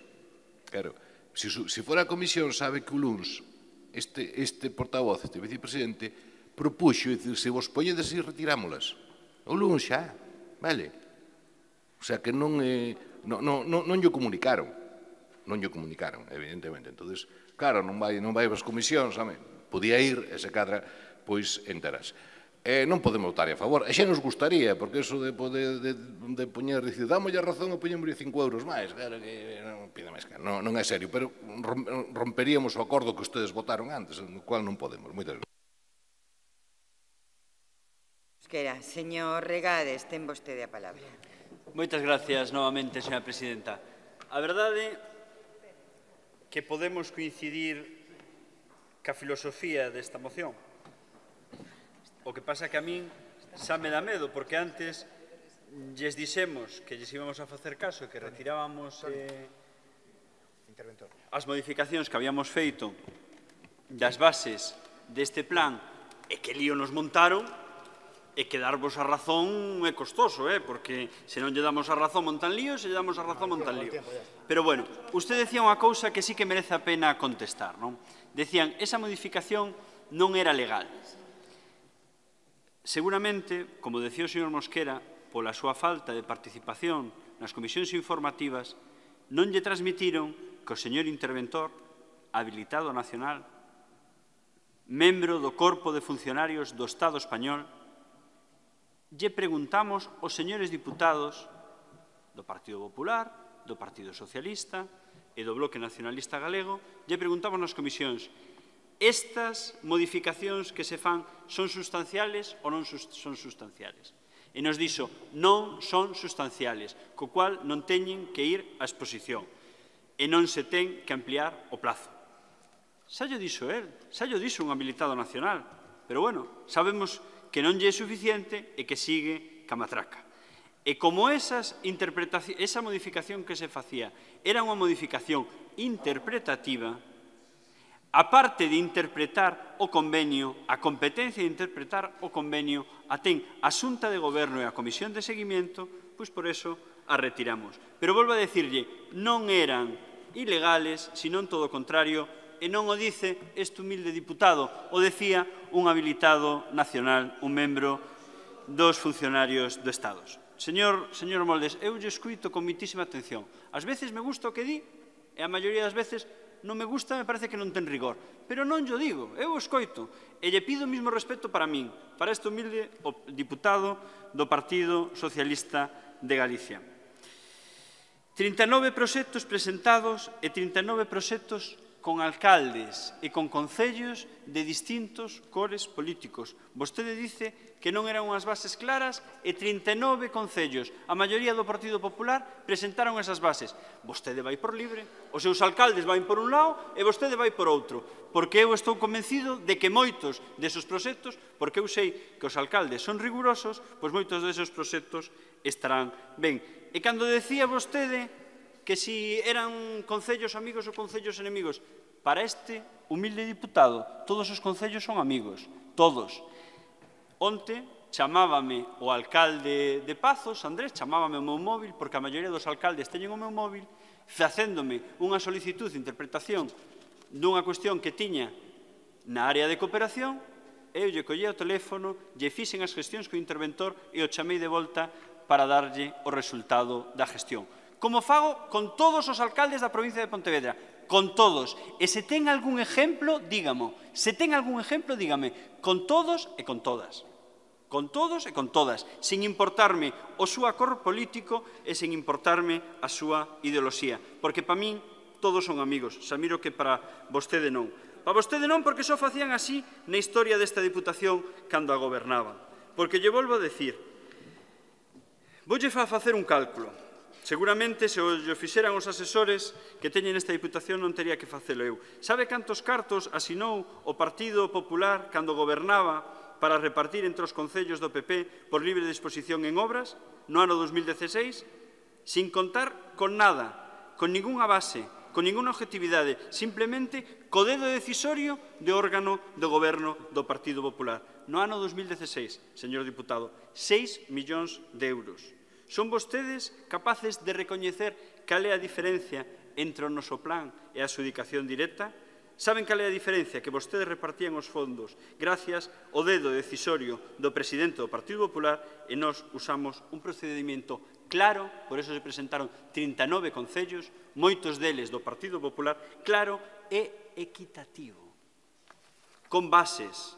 claro, se fora a comisión sabe que o luns este portavoz, este vicepresidente, propuxo, dicir, se vos poñedes e retirámolas. O luns xa, vale? O sea, que non lle comunicaron. Non lle comunicaron, evidentemente. Entonces, claro, non vai ás comisións, podía ir, e se cadra, pois, enterase. Non podemos votar a favor. E xa nos gustaría, porque eso de poñer, dicir, dámolle a razón e poñemos 5 euros máis, claro que non pide máis, non é serio, pero romperíamos o acordo que ustedes votaron antes, no cual non podemos. Moitas gracias. Señor Regades, ten vostede a palabra. Moitas gracias novamente, señora presidenta. A verdade que podemos coincidir ca filosofía desta moción. O que pasa que a min xa me dá medo, porque antes lles dixemos que lles íbamos a facer caso e que retirábamos as modificacións que habíamos feito das bases deste plan e que lío nos montaron. E que darvos a razón é costoso, porque se non lle damos a razón montan lío, se lle damos a razón montan lío. Pero, bueno, usted decía unha cousa que sí que merece a pena contestar, non? Decían, esa modificación non era legal. Seguramente, como decía o señor Mosquera, pola súa falta de participación nas comisións informativas, non lle transmitiron que o señor interventor, habilitado nacional, membro do Corpo de Funcionarios do Estado español, lle preguntamos aos señores diputados do Partido Popular, do Partido Socialista e do Bloque Nacionalista Galego, lle preguntamos nas comisións, estas modificacións que se fan son sustanciales ou non son sustanciales? E nos dixo, non son sustanciales, co cual non teñen que ir á exposición e non se ten que ampliar o plazo. Xa llo dixo el, xa llo dixo un habilitado nacional, pero, bueno, sabemos que non lle é suficiente e que sigue ca matraca. E como esa modificación que se facía era unha modificación interpretativa, a parte de interpretar o convenio, a competencia de interpretar o convenio a ten a Xunta de Goberno e a Comisión de Seguimiento, pois por eso a retiramos. Pero volvo a decirlle, non eran ilegales, senón todo o contrario, e non o dice este humilde diputado, o decía un habilitado nacional, un membro dos funcionarios do Estado. Señor Moldes, eu lle escuito con moitísima atención. Ás veces me gusta o que di, e a maioría das veces non me gusta, me parece que non ten rigor. Pero non yo digo, eu o escoito, e lle pido o mesmo respeto para min, para este humilde diputado do Partido Socialista de Galicia. 39 proxectos presentados e 39 proxectos con alcaldes e con concellos de distintos cores políticos. Vostede dice que non eran unhas bases claras e 39 concellos, a maioría do Partido Popular, presentaron esas bases. Vostede vai por libre, os seus alcaldes vai por un lado e vostede vai por outro, porque eu estou convencido de que moitos desos proxectos, porque eu sei que os alcaldes son rigurosos, pois moitos desos proxectos estarán ben. E cando decía vostede que si eran concellos amigos ou concellos enemigos, para este humilde diputado, todos os concellos son amigos, todos. Onte chamábame o alcalde de Pazos, Andrés, chamábame o meu móvil, porque a maioría dos alcaldes teñen o meu móvil, facéndome unha solicitud de interpretación dunha cuestión que tiña na área de cooperación, eu lle collía o teléfono, lle fixen as gestións co interventor e o chamei de volta para darlle o resultado da gestión. Como fago con todos os alcaldes da provincia de Pontevedra, con todos. E se ten algún exemplo, dígamo. Se ten algún exemplo, dígame. Con todos e con todas. con todos e con todas, sin importarme o súa cor político e sin importarme a súa ideoloxía. Porque para min todos son amigos, xa miro que para vostede non. Para vostede non, porque só facían así na historia desta Diputación cando a gobernaba. Porque lle volvo a decir, voulle facer un cálculo. Seguramente, se o fixeran os asesores que teñen esta Diputación, non tería que facelo eu. Sabe cantos cartos asinou o Partido Popular cando gobernaba para repartir entre os concellos do PP por libre disposición en obras no ano 2016, sin contar con nada, con ningunha base, con ningunha objetividade, simplemente co dedo decisorio de órgano do goberno do Partido Popular. No ano 2016, señor diputado, 6 millóns de euros. Son vostedes capaces de recoñecer cal é a diferencia entre o noso plan e a adxudicación directa? Saben cal é a diferencia? Que vostedes repartían os fondos gracias ao dedo decisorio do presidente do Partido Popular e nós usamos un procedimento claro, por eso se presentaron 39 concellos, moitos deles do Partido Popular, claro e equitativo, con bases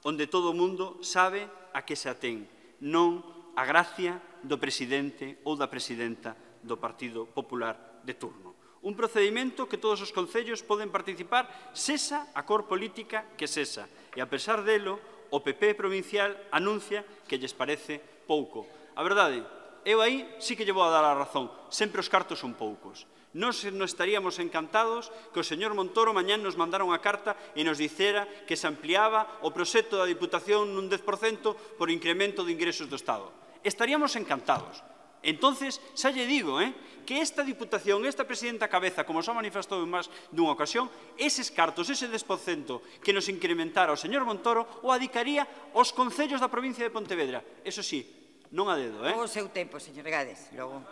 onde todo o mundo sabe a que se atén, non a gracia do presidente ou da presidenta do Partido Popular de turno. Un procedimento que todos os concellos poden participar, sesa a cor política que sesa. E, a pesar delo, o PP provincial anuncia que lles parece pouco. A verdade, eu aí sí que lle vou a dar a razón. Sempre os cartos son poucos. Nós estaríamos encantados que o señor Montoro mañán nos mandara unha carta e nos dicera que se ampliaba o proxecto da Diputación nun 10% por incremento de ingresos do Estado. Estaríamos encantados. Entonces, xa lle digo, que esta Diputación, esta presidenta Cabeza, como xa manifestou en máis dunha ocasión, eses cartos, ese 10% que nos incrementara o señor Montoro, o adicaría aos concellos da provincia de Pontevedra. Eso sí, non a dedo, O seu tempo, señor Gades, logo.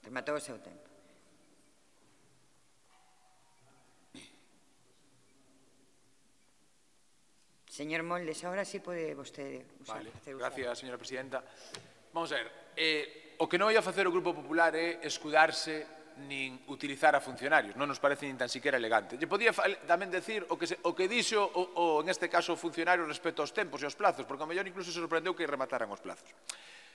Rematou o seu tempo. Señor Moldes, ahora sí pode vostede usar. Gracias, señora presidenta. Vamos a ver, o que non vai a facer o Grupo Popular é escudarse nin utilizar a funcionarios, non nos parece nin tan siquiera elegante. Lle podía tamén decir o que dixo, en este caso, o funcionario respecto aos tempos e aos plazos, porque ao mellor incluso se sorprendeu que remataran os plazos.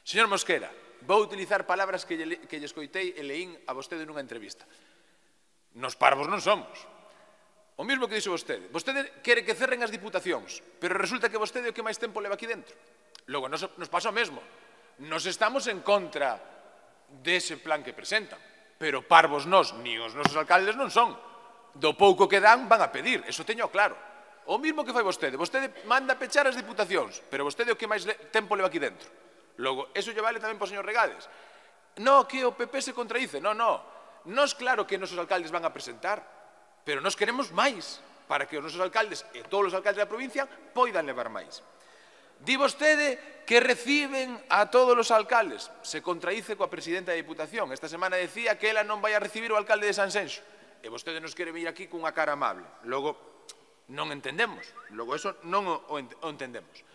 Señor Mosquera, vou utilizar palabras que lle escoitei e leín a vostede nunha entrevista. Nos parvos non somos. O mismo que dixo vostede. Vostede quere que cerren as diputacións, pero resulta que vostede é o que máis tempo leva aquí dentro. Logo, nos pasa o mesmo. Nos estamos en contra dese plan que presentan, pero parvos nós, ni os nosos alcaldes non son. Do pouco que dan, van a pedir, eso teño claro. O mismo que fai vostede. Vostede manda pechar as diputacións, pero vostede é o que máis tempo leva aquí dentro. Logo, eso lle vale tamén para o señor Regades. No, que o PP se contradice. No. Nos claro que os nosos alcaldes van a presentar, pero nos queremos máis para que os nosos alcaldes e todos os alcaldes da provincia poidan levar máis. Di vostede que reciben a todos os alcaldes. Se contradice coa presidenta da Diputación. Esta semana decía que ela non vai a recibir o alcalde de Sanxenxo. E vostede nos quere vir aquí cunha cara amable. Logo, non entendemos. Logo, eso non o entendemos.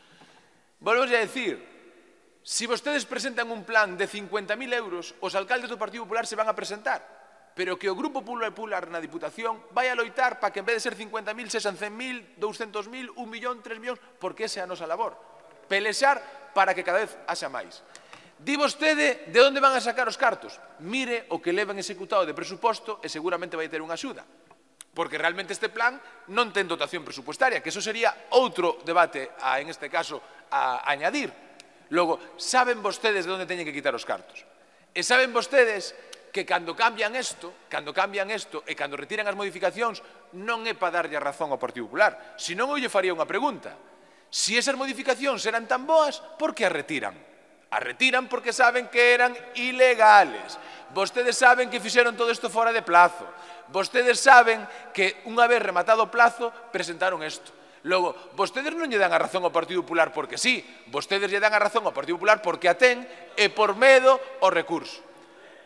Volvemos a decir, se vostedes presentan un plan de 50.000 euros, os alcaldes do Partido Popular se van a presentar. Pero que o Grupo Popular na Diputación vai a loitar para que en vez de ser 50.000, sexan 100.000, 200.000, 1 millón, 3 millóns, porque esa é a nosa labor. Pelexar para que cada vez haxa máis. Di vostede de onde van a sacar os cartos. Mire o que levan executado de presuposto e seguramente vai ter unha axuda. Porque realmente este plan non ten dotación presupuestaria, que eso sería outro debate, en este caso, a añadir. Logo, saben vostedes de onde teñen que quitar os cartos. E saben vostedes que cando cambian isto e cando retiran as modificacións, non é para darlle a razón ao Partido Popular, senón eu lle faría unha pregunta. Si esas modificacións eran tan boas, por que as retiran? As retiran porque saben que eran ilegales. Vostedes saben que fixeron todo isto fora de plazo. Vostedes saben que, unha vez rematado o plazo, presentaron isto. Logo, vostedes non lle dan a razón ao Partido Popular porque sí, vostedes lle dan a razón ao Partido Popular porque a ten e por medo ao recurso.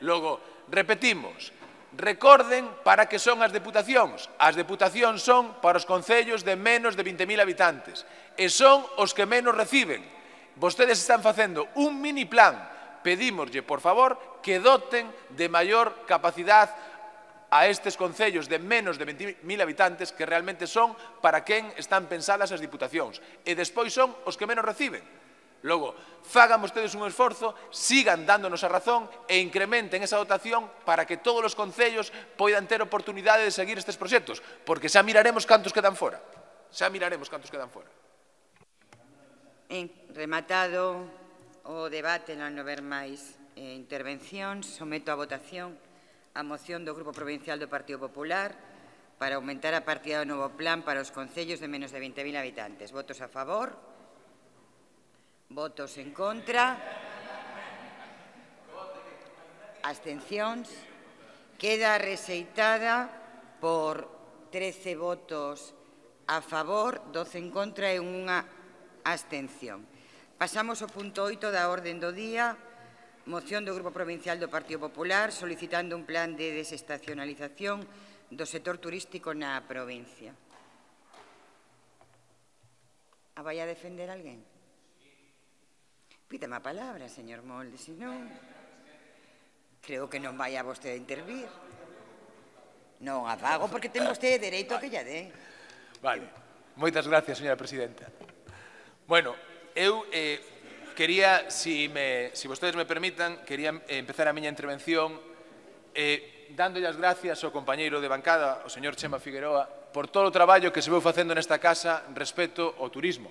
Logo, repetimos, recorden para que son as deputacións. As deputacións son para os concellos de menos de 20.000 habitantes e son os que menos reciben. Vostedes están facendo un mini plan. Pedímoslle, por favor, que doten de maior capacidade a estes concellos de menos de 20.000 habitantes que realmente son para quen están pensadas as diputacións. E despois son os que menos reciben. Logo, fagan vostedes un esforzo, sigan dándonos a razón e incrementen esa dotación para que todos os concellos poidan ter oportunidade de seguir estes proxectos, porque xa miraremos cantos quedan fora. Xa miraremos cantos quedan fora. Rematado o debate, non haber máis intervencións, someto a votación a moción do Grupo Provincial do Partido Popular para aumentar a partida do novo plan para os concellos de menos de 20.000 habitantes. Votos a favor? Votos en contra? Abstencións? Queda rexeitada por 13 votos a favor, 12 en contra e unha abstención. Pasamos ao punto 8 da orde do día, moción do Grupo Provincial do Partido Popular solicitando un plan de desestacionalización do sector turístico na provincia. A vai a defender alguén? Pídeme a palabra, señor Molde, se non... Creo que non vai a vostede intervir. Non a fago porque ten vostede dereito a que lla dé. Vale. Moitas gracias, señora presidenta. Bueno, eu quería, si vostedes me permitan, quería empezar a miña intervención dándolle as gracias ao compañeiro de bancada, o señor Chema Figueroa, por todo o traballo que se veu facendo nesta casa respecto ao turismo.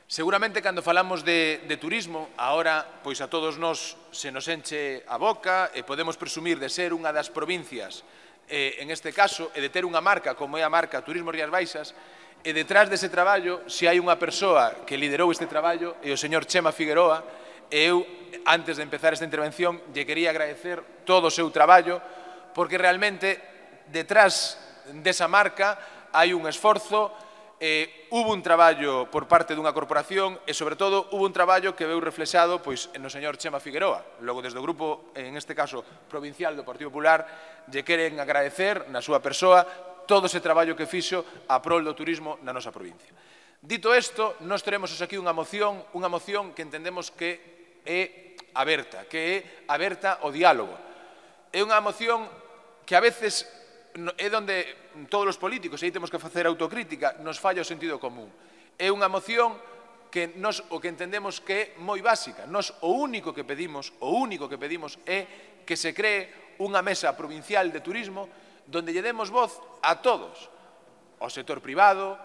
Seguramente, cando falamos de turismo, agora, pois a todos nós se nos enche a boca e podemos presumir de ser unha das provincias, en este caso, e de ter unha marca como é a marca Turismo Rías Baixas, e detrás dese traballo, se hai unha persoa que liderou este traballo, é o señor Chema Figueroa, e eu, antes de empezar esta intervención, lle quería agradecer todo o seu traballo, porque realmente, detrás desa marca, hai un esforzo. Hubo un traballo por parte dunha corporación e, sobre todo, hubo un traballo que veu reflexado no señor Chema Figueroa. Logo, desde o grupo, en este caso, provincial do Partido Popular, lle queren agradecer, na súa persoa, todo ese traballo que fixo a prol do turismo na nosa provincia. Dito isto, nós teremos aquí unha moción que entendemos que é aberta ao diálogo. É unha moción que a veces é onde todos os políticos, e aí temos que facer autocrítica, nos falla o sentido común. É unha moción que nos o que entendemos que é moi básica. Nos o único que pedimos é que se cree unha mesa provincial de turismo donde lle demos voz a todos, ao sector privado,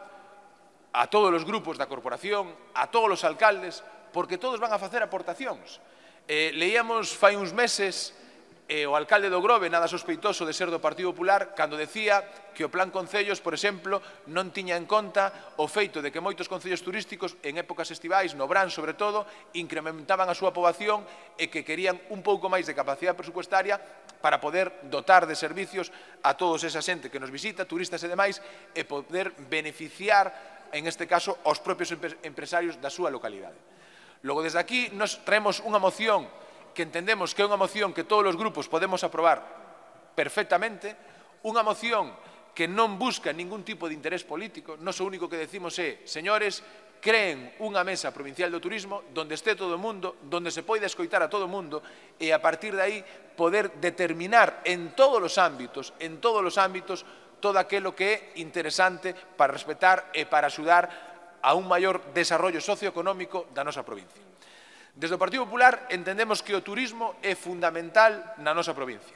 a todos os grupos da corporación, a todos os alcaldes, porque todos van a facer aportacións. Leíamos fai uns meses o alcalde do Grove, nada sospeitoso de ser do Partido Popular, cando decía que o Plan Concellos, por exemplo, non tiña en conta o feito de que moitos concellos turísticos, en épocas estivais, no Brán, sobre todo, incrementaban a súa poboación e que querían un pouco máis de capacidade presupuestaria para poder dotar de servicios a todos esa xente que nos visita, turistas e demais, e poder beneficiar, en este caso, aos propios empresarios da súa localidade. Logo, desde aquí, nos traemos unha moción que entendemos que é unha moción que todos os grupos podemos aprobar perfectamente, unha moción que non busca ningún tipo de interés político. Nós o único que decimos é, señores, creen unha mesa provincial do turismo donde este todo o mundo, donde se poida escoitar a todo o mundo e a partir de aí poder determinar en todos os ámbitos, todo aquilo que é interesante para respetar e para axudar a un maior desarrollo socioeconómico da nosa provincia. Desde o Partido Popular entendemos que o turismo é fundamental na nosa provincia.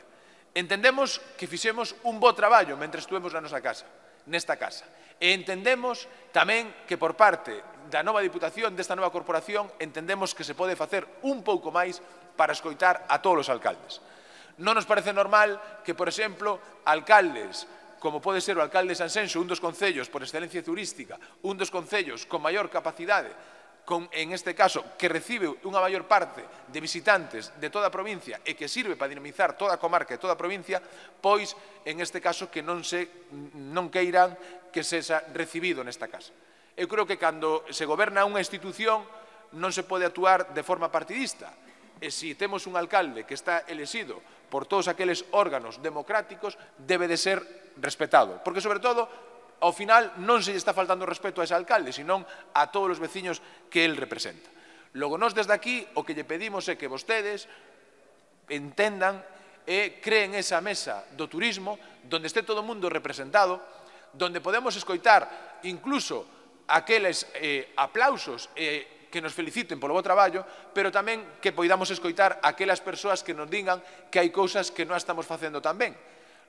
Entendemos que fixemos un bo traballo mentre estuvemos nesta casa. E entendemos tamén que por parte da nova Diputación, desta nova corporación, entendemos que se pode facer un pouco máis para escoitar a todos os alcaldes. Non nos parece normal que, por exemplo, alcaldes como pode ser o alcalde de Sanxenxo, un dos concellos por excelencia turística, un dos concellos con maior capacidade, en este caso, que recibe unha maior parte de visitantes de toda a provincia e que sirve para dinamizar toda a comarca e toda a provincia, pois, en este caso, que non queiran que sexa recibido nesta casa. Eu creo que cando se goberna unha institución non se pode actuar de forma partidista. E se temos un alcalde que está elexido por todos aqueles órganos democráticos, debe de ser respetado. Porque, sobre todo, ao final non se lle está faltando respeto a ese alcalde, senón a todos os veciños que el representa. Logo, nós desde aquí o que lle pedimos é que vostedes entendan e creen esa mesa do turismo donde este todo o mundo representado, donde podemos escoitar incluso aqueles aplausos que nos feliciten polo bo traballo, pero tamén que poidamos escoitar aquelas persoas que nos digan que hai cousas que non estamos facendo tan ben.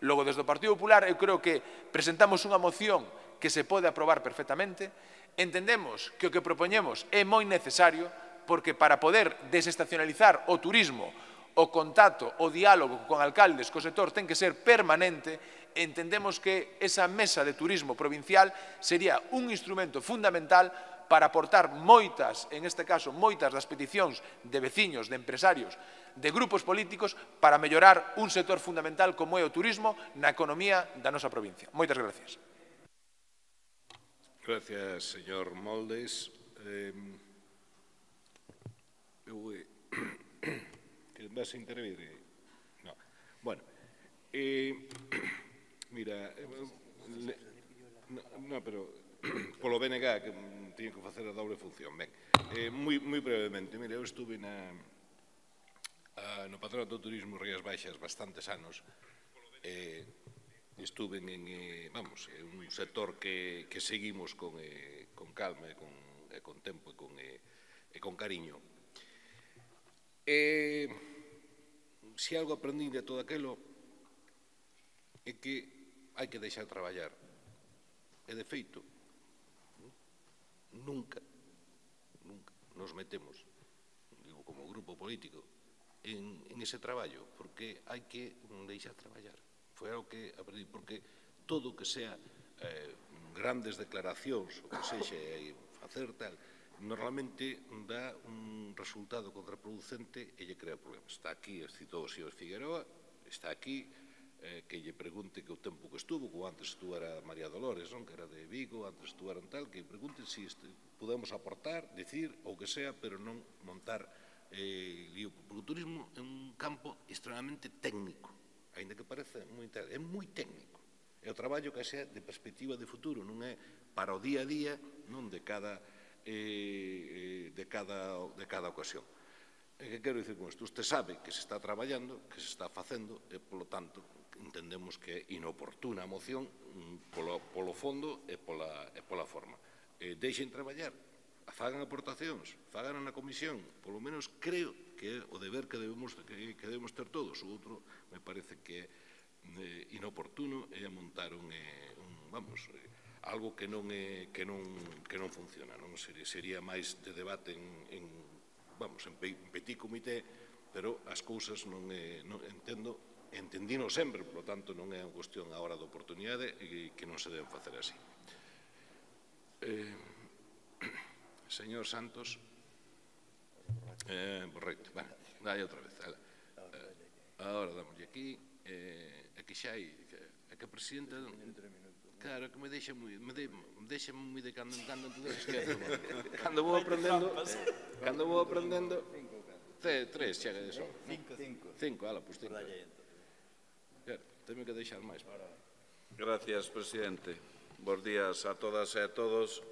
Logo, desde o Partido Popular, eu creo que presentamos unha moción que se pode aprobar perfectamente. Entendemos que o que propoñemos é moi necesario, porque para poder desestacionalizar o turismo, o contacto, o diálogo con alcaldes, co sector, ten que ser permanente. Entendemos que esa mesa de turismo provincial sería un instrumento fundamental para aportar moitas, en este caso, moitas das peticións de veciños, de empresarios, de grupos políticos, para mellorar un sector fundamental como é o turismo na economía da nosa provincia. Moitas gracias. Gracias, señor Moldes. Vas a intervir? No. Bueno, mira, no, pero polo BNG que tiño que facer a doble función. Ben, moi brevemente, mira, eu estuve no Patronato do Turismo Rías Baixas bastantes anos. Estuve en, vamos, un sector que seguimos con calma e con tempo e con cariño. Se algo aprendí de todo aquilo é que hai que deixar traballar. E de feito, nunca nos metemos, digo, como grupo político, en ese traballo, porque hai que deixar traballar. Foi algo que aprendí, porque todo o que sea grandes declaracións, o que sexa facer tal, normalmente dá un resultado contraproducente e lle crea problemas. Está aquí, citou o señor Figueroa, está aquí, que lle pregunte que o tempo que estuvo, como antes estuera María Dolores, que era de Vigo, antes estueran tal, que pregunte se podemos aportar, decir, ou que sea, pero non montar lío. Porque o turismo é un campo extremadamente técnico, ainda que parece moi técnico, é moi técnico. É o traballo que sea de perspectiva de futuro, non é para o día a día, non de cada ocasión. Que quero dicir con isto? Usted sabe que se está traballando, que se está facendo, e, polo tanto, entendemos que é inoportuna a moción polo fondo e pola forma. Deixen traballar, fagan aportacións, fagan na comisión, polo menos creo que é o deber que debemos ter todos. O outro me parece que é inoportuno e montar algo que non funciona. Sería máis de debate en petit comité, pero as cousas non entendino sempre, por lo tanto non é unha cuestión agora de oportunidade e que non se deben facer así. Señor Santos, correcto, dai outra vez. Agora damoslle aquí, aquí xa hai, que a presidenta, claro, que me deixa moi de cando en cando, entón esquezo. Cando vou aprendendo, 3 chega de son. 5, ala, pois 5. Temo que deixar máis. Gracias, presidente. Bos días a todas e a todos.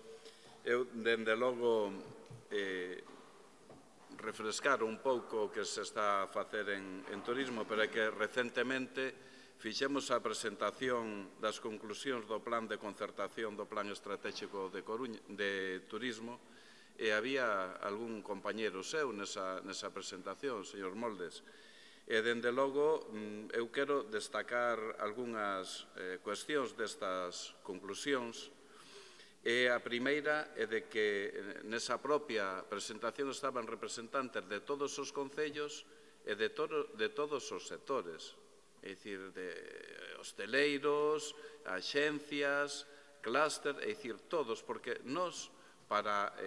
Eu, dende logo, refrescar un pouco o que se está a facer en turismo, pero é que recentemente fixemos a presentación das conclusións do plan de concertación do Plan Estratégico de Turismo e había algún compañero seu nesa presentación, señor Moldes. E, dende logo, eu quero destacar algunhas cuestións destas conclusións. E a primeira é de que nesa propia presentación estaban representantes de todos os concellos e de todos os sectores, é dicir, de hosteleiros, axencias, clúster, é dicir, todos, porque nós, para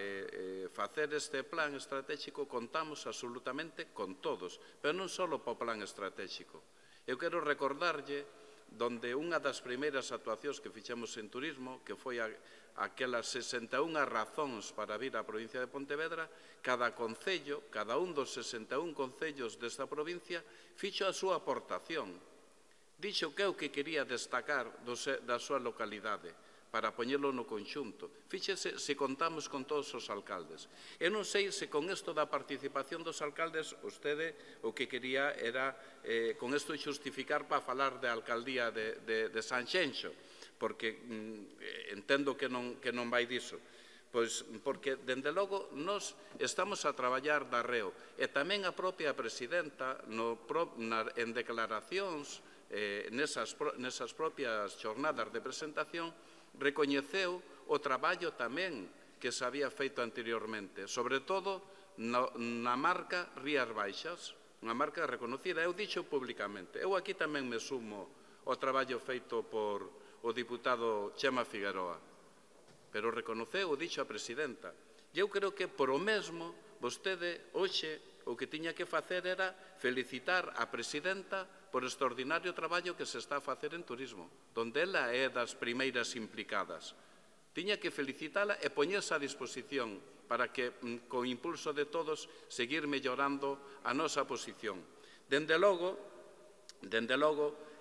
facer este plan estratégico, contamos absolutamente con todos, pero non só para o plan estratégico. Eu quero recordarlle donde unha das primeiras actuacións que fixemos en turismo, que foi aquelas 61 razóns para vir á provincia de Pontevedra, cada concello, cada un dos 61 concellos desta provincia, fixo a súa aportación. Dixo que é o que quería destacar da súa localidade, poñelo no conxunto. Fíxese se contamos con todos os alcaldes. Eu non sei se con isto da participación dos alcaldes vostede o que quería era con isto xustificar para falar de alcaldía de Sanxenxo, porque entendo que non vai diso. Pois porque, dende logo, nós estamos a traballar de arreo e tamén a propia presidenta en declaracións nesas propias xornadas de presentación recoñeceu o traballo tamén que se había feito anteriormente, sobre todo na marca Rías Baixas, unha marca reconocida. Eu dixo públicamente. Eu aquí tamén me sumo ao traballo feito por o diputado Chema Figueroa, pero reconoceu o dixo a presidenta. E eu creo que por o mesmo vostede hoxe o que tiña que facer era felicitar a presidenta por o extraordinario traballo que se está a facer en turismo, donde ela é das primeiras implicadas. Tiña que felicitala e poñerse a disposición para que, co impulso de todos, seguir mellorando a nosa posición. Dende logo,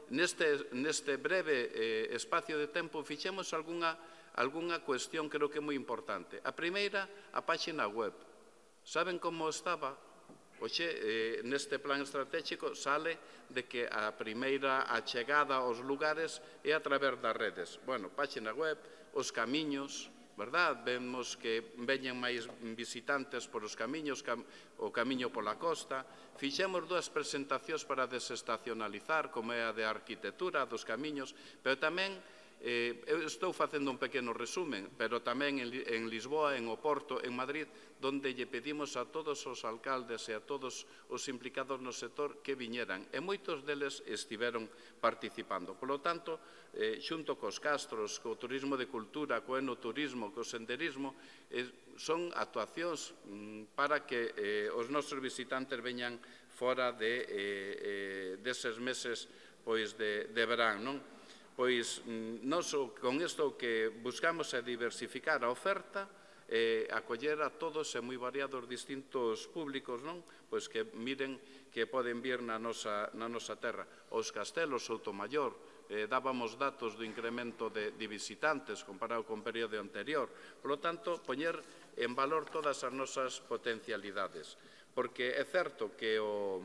neste breve espacio de tempo, fixemos algunha cuestión que creo que é moi importante. A primeira, a páxina web. Saben como estaba? Oxe, neste plan estratégico sale de que a primeira achegada aos lugares é a través das redes. Bueno, páxina web, os camiños, verdad? Vemos que veñen máis visitantes por os camiños, o camiño pola costa. Fixemos 2 presentacións para desestacionalizar, como é a de arquitectura dos camiños, pero tamén eu estou facendo un pequeno resumen, pero tamén en Lisboa, en Oporto, en Madrid, donde lle pedimos a todos os alcaldes e a todos os implicados no sector que viñeran, e moitos deles estiveron participando. Por lo tanto, xunto cos castros, co turismo de cultura, co enoturismo, co senderismo, son actuacións para que os nosos visitantes veñan fora deses meses de verán, non? Pois nós con isto que buscamos é diversificar a oferta e acoller a todos e moi variados distintos públicos, non? Pois que miren que poden vir na nosa terra. Os castelos, Soutomaior, dábamos datos do incremento de visitantes comparado con o período anterior. Por lo tanto, poñer en valor todas as nosas potencialidades. Porque é certo que o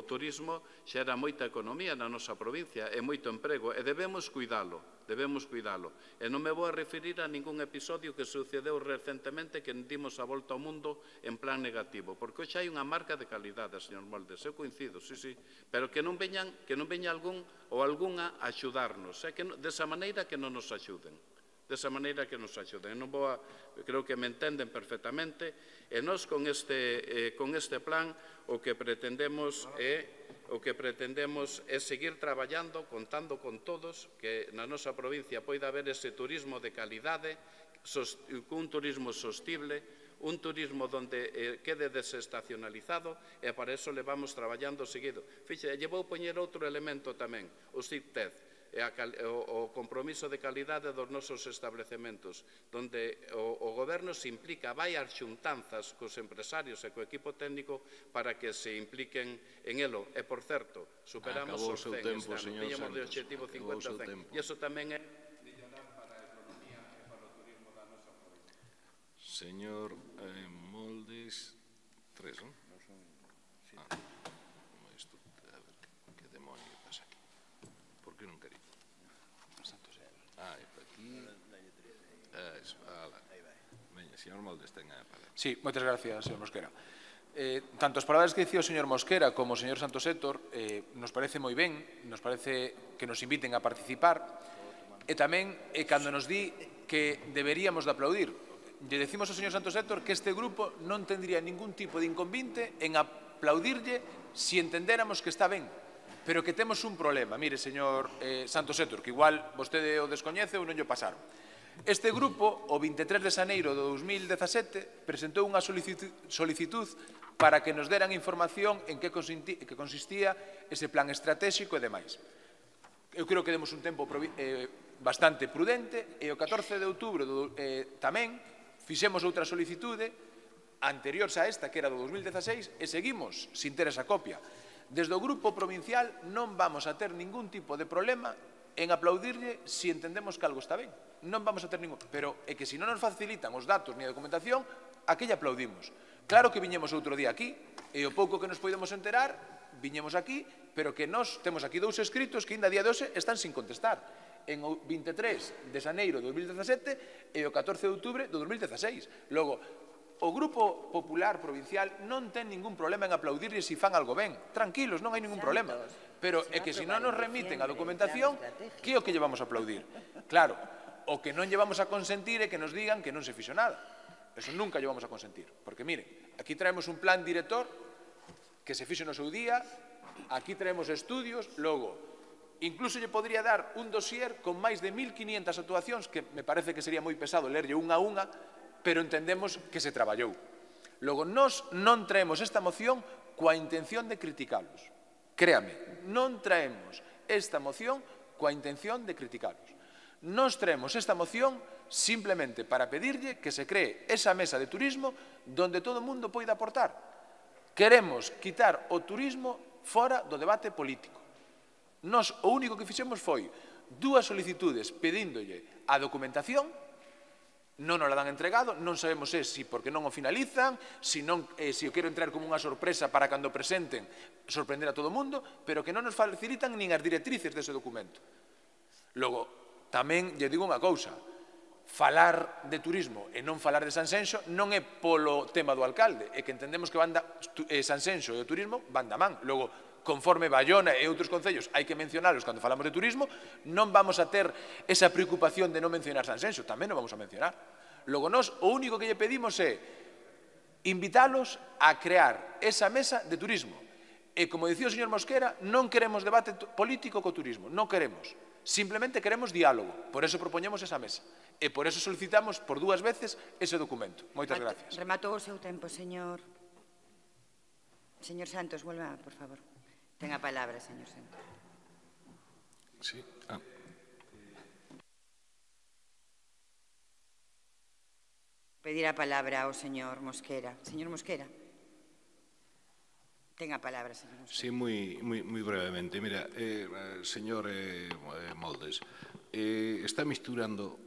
turismo xera moita economía na nosa provincia e moito emprego e debemos cuidalo. E non me vou a referir a ningún episodio que sucedeu recentemente que dimos a volta ao mundo en plan negativo, porque hoxe hai unha marca de calidade, señor Moldes, eu coincido, sí, pero que non veña algún ou algunha a axudarnos, desa maneira que non nos axuden. Creo que me entenden perfectamente, e nós con este plan o que pretendemos é seguir traballando, contando con todos, que na nosa provincia poida haber ese turismo de calidade, un turismo sostible, un turismo onde quede desestacionalizado, e para eso levamos traballando seguido. Fixe, lle vou poñer outro elemento tamén, o CITED, o compromiso de calidade dos nosos establecementos, onde o goberno se implica, vai ás xuntanzas cos empresarios e co equipo técnico para que se impliquen en elo. E, por certo, superamos os 100 este ano, tiñamos de objetivo 50-100. E iso tamén é mellorar para a economía e para o turismo da nosa provincia. Señor Moldes, 3, non? Que demonio pasa aquí? Por que non quería? Veña, señor Moldes, ten a palabra. Sí, moitas gracias, señor Mosquera. Tanto as palabras que dicía o señor Mosquera como o señor Santos Héctor nos parece moi ben, nos parece que nos inviten a participar, e tamén cando nos di que deberíamos de aplaudir. Lle decimos ao señor Santos Héctor que este grupo non tendría ningún tipo de inconvinte en aplaudirlle se entendéramos que está ben, pero que temos un problema. Mire, señor Santos Héctor, que igual vostede o descoñece ou non lle pasaron. Este grupo, o 23 de xaneiro de 2017, presentou unha solicitud para que nos deran información en que consistía ese plan estratégico e demais. Eu creo que demos un tempo bastante prudente e o 14 de outubro tamén fixemos outra solicitude anterior a esta, que era do 2016, e seguimos sin ter esa copia. Desde o Grupo Provincial non vamos a ter ningún tipo de problema en aplaudirlle se entendemos que algo está ben. Non vamos a ter ningún... Pero é que se non nos facilitan os datos ni a documentación, a que lle aplaudimos? Claro que viñemos outro día aquí, e o pouco que nos podemos enterar, viñemos aquí, pero que nós temos aquí 2 escritos que ainda a día de hoxe están sin contestar. En o 23 de xaneiro de 2017 e o 14 de outubro de 2016. Logo, o Grupo Popular Provincial non ten ningún problema en aplaudirlle se fan algo ben. Tranquilos, non hai ningún problema. Pero é que se non nos remiten a documentación, que é o que llevamos a aplaudir? Claro, o que non llevamos a consentir é que nos digan que non se fixo nada. Eso nunca llevamos a consentir. Porque, mire, aquí traemos un plan director que se fixo no seu día, aquí traemos estudios, logo, incluso lle podría dar un dossier con máis de 1.500 actuacións, que me parece que sería moi pesado lerlle unha a unha, pero entendemos que se traballou. Logo, nós non traemos esta moción coa intención de criticalos. Créame, non traemos esta moción coa intención de criticalos. Nós traemos esta moción simplemente para pedirlle que se cree esa mesa de turismo donde todo o mundo poida aportar. Queremos quitar o turismo fora do debate político. Nós o único que fixemos foi 2 solicitudes pedíndolle a documentación, non nos la dan entregado, non sabemos se porque non o finalizan, se o quero entrar como unha sorpresa para cando presenten sorprender a todo o mundo, pero que non nos facilitan nin as directrices dese documento. Logo, tamén lle digo unha cousa, falar de turismo e non falar de Sanxenxo non é polo tema do alcalde, é que entendemos que Sanxenxo e o turismo van da man. Logo, conforme Bayona e outros concellos hai que mencionalos cando falamos de turismo, non vamos a ter esa preocupación de non mencionar Sanxenxo, tamén non vamos a mencionar. Logo, nós o único que lle pedimos é invitalos a crear esa mesa de turismo. E, como dicía o señor Mosquera, non queremos debate político co turismo, non queremos. Simplemente queremos diálogo, por eso propoñemos esa mesa. E por eso solicitamos por 2 veces ese documento. Moitas gracias. Rematou o seu tempo, señor. Señor Santos, volva, por favor. Ten a palabra, señor Santos. Sí. Pedir a palabra ao señor Mosquera. Señor Mosquera. Ten a palabra, señor Mosquera. Sí, moi brevemente. Mira, señor Moldes, está misturando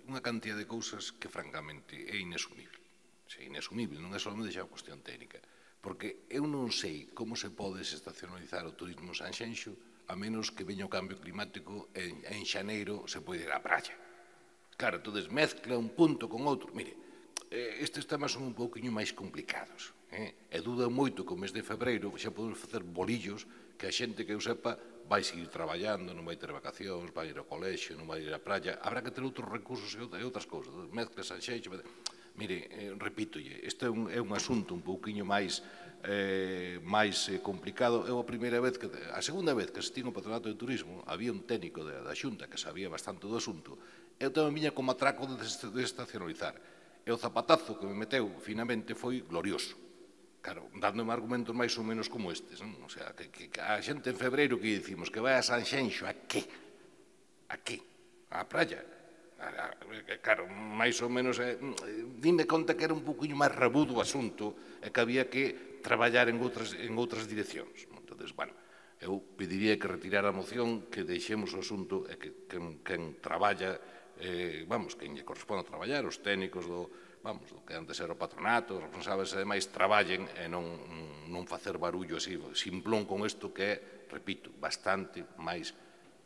unha cantidad de cousas que, francamente, é inasumible. É inasumible, non é solamente xa unha cuestión técnica. Porque eu non sei como se pode desestacionalizar o turismo en Sanxenxo a menos que veña o cambio climático e en xaneiro se pode ir á praia. Claro, entonces mezcla un punto con outro. Mire, estes temas son un pouquinho máis complicados. E duda moito que o mes de febreiro xa podemos facer bolillos que a xente que eu sepa vai seguir traballando, non vai ter vacacións, vai ir ao colexio, non vai ir á praia. Habrá que ter outros recursos e outras cousas. Mezcla Sanxenxo. Mire, repítolle, este é un asunto un pouquiño máis complicado. É a segunda vez que asistín ao Patronato de Turismo, había un técnico da Xunta que sabía bastante do asunto, e eu tamén viña como atraco de desestacionalizar. E o zapatazo que me meteu, finalmente, foi glorioso. Claro, dándome argumentos máis ou menos como estes. O sea, que a xente en febreiro que dicimos que vai a Sanxenxo, a que? A que? A praia? Claro, máis ou menos, dime conta que era un poquinho máis rabudo o asunto e que había que traballar en outras direccións. Entón, bueno, eu pediría que retirara a moción, que deixemos o asunto e que quen traballa, quen lle corresponde a traballar, os técnicos do que antes era o patronato, os responsables e demais, traballen e non facer barullo así, simplón con isto que é, repito, bastante máis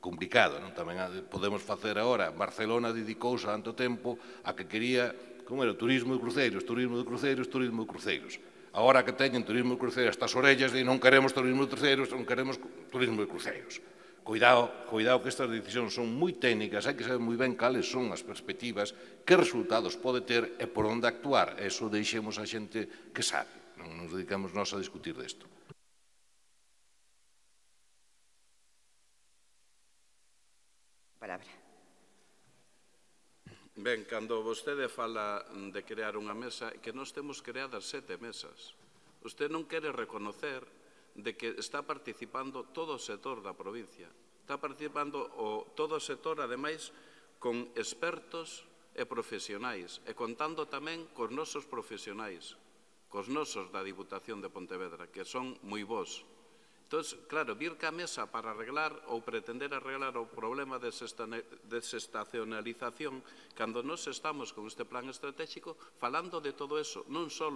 complicado. Tamén podemos facer agora, Barcelona dedicouse tanto tempo a que quería, como era, turismo de cruceiros, turismo de cruceiros, turismo de cruceiros. Agora que teñen turismo de cruceiros estas orellas de non queremos turismo de cruceiros, non queremos turismo de cruceiros. Cuidado que estas decisións son moi técnicas, hai que saber moi ben cales son as perspectivas, que resultados pode ter e por onde actuar. Eso deixemos a xente que sabe, non nos dedicamos nós a discutir desto. Palabra. Ben, cando vostede fala de crear unha mesa, que nós temos creadas 7 mesas. Vostede non quere reconocer de que está participando todo o sector da provincia. Está participando todo o sector, ademais, con expertos e profesionais, e contando tamén cos nosos profesionais, cos nosos da Diputación de Pontevedra, que son moi bons. Entón, claro, vir ca mesa para arreglar ou pretender arreglar o problema de desestacionalización cando nos estamos con este plan estratégico falando de todo eso, non só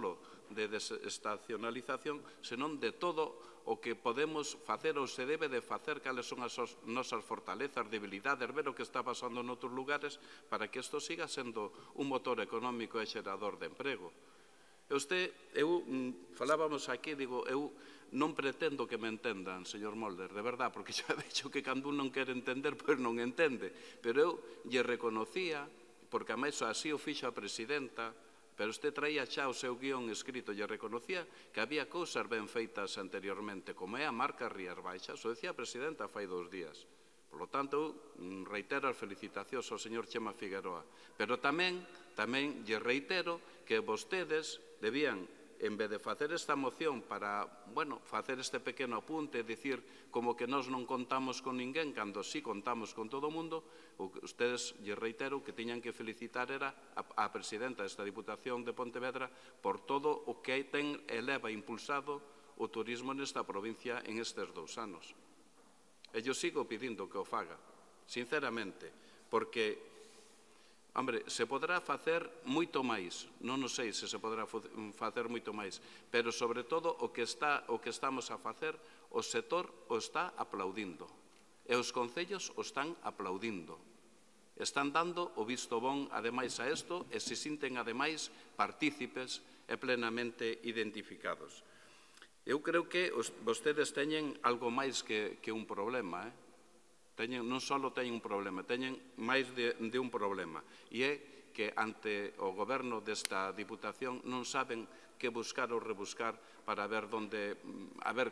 de desestacionalización, senón de todo o que podemos facer ou se debe de facer, cales son as nosas fortalezas, debilidades, ver o que está pasando noutros lugares para que isto siga sendo un motor económico e xerador de emprego. Falábamos aquí, digo, eu non pretendo que me entendan, señor Molder, de verdad, porque xa vexo que cando un non quere entender, pois non entende. Pero eu lle reconocía, porque a máis así o fixo a presidenta, pero usted traía xa o seu guión escrito, lle reconocía que había cousas ben feitas anteriormente, como é a marca Rías Baixas, o decía a presidenta fai 2 días. Por lo tanto, reitero as felicitacións ao señor Chema Figueroa. Pero tamén lle reitero que vostedes debían, en vez de facer esta moción para, facer este pequeno apunte, dicir como que nós non contamos con ninguén, cando sí contamos con todo o mundo, ustedes, lle reitero, que tiñan que felicitar era a presidenta desta Diputación de Pontevedra por todo o que eleva impulsado o turismo nesta provincia en estes 2 anos. E eu sigo pedindo que o faga, sinceramente, porque hombre, se poderá facer moito máis, non sei se poderá facer moito máis, pero sobre todo o que estamos a facer, o sector o está aplaudindo, e os concellos o están aplaudindo. Están dando o visto bon, ademais, a isto, e se sinten, ademais, partícipes e plenamente identificados. Eu creo que vostedes teñen algo máis que un problema, non só teñen un problema, teñen máis de un problema, e é que ante o goberno desta Diputación non saben que buscar ou rebuscar para ver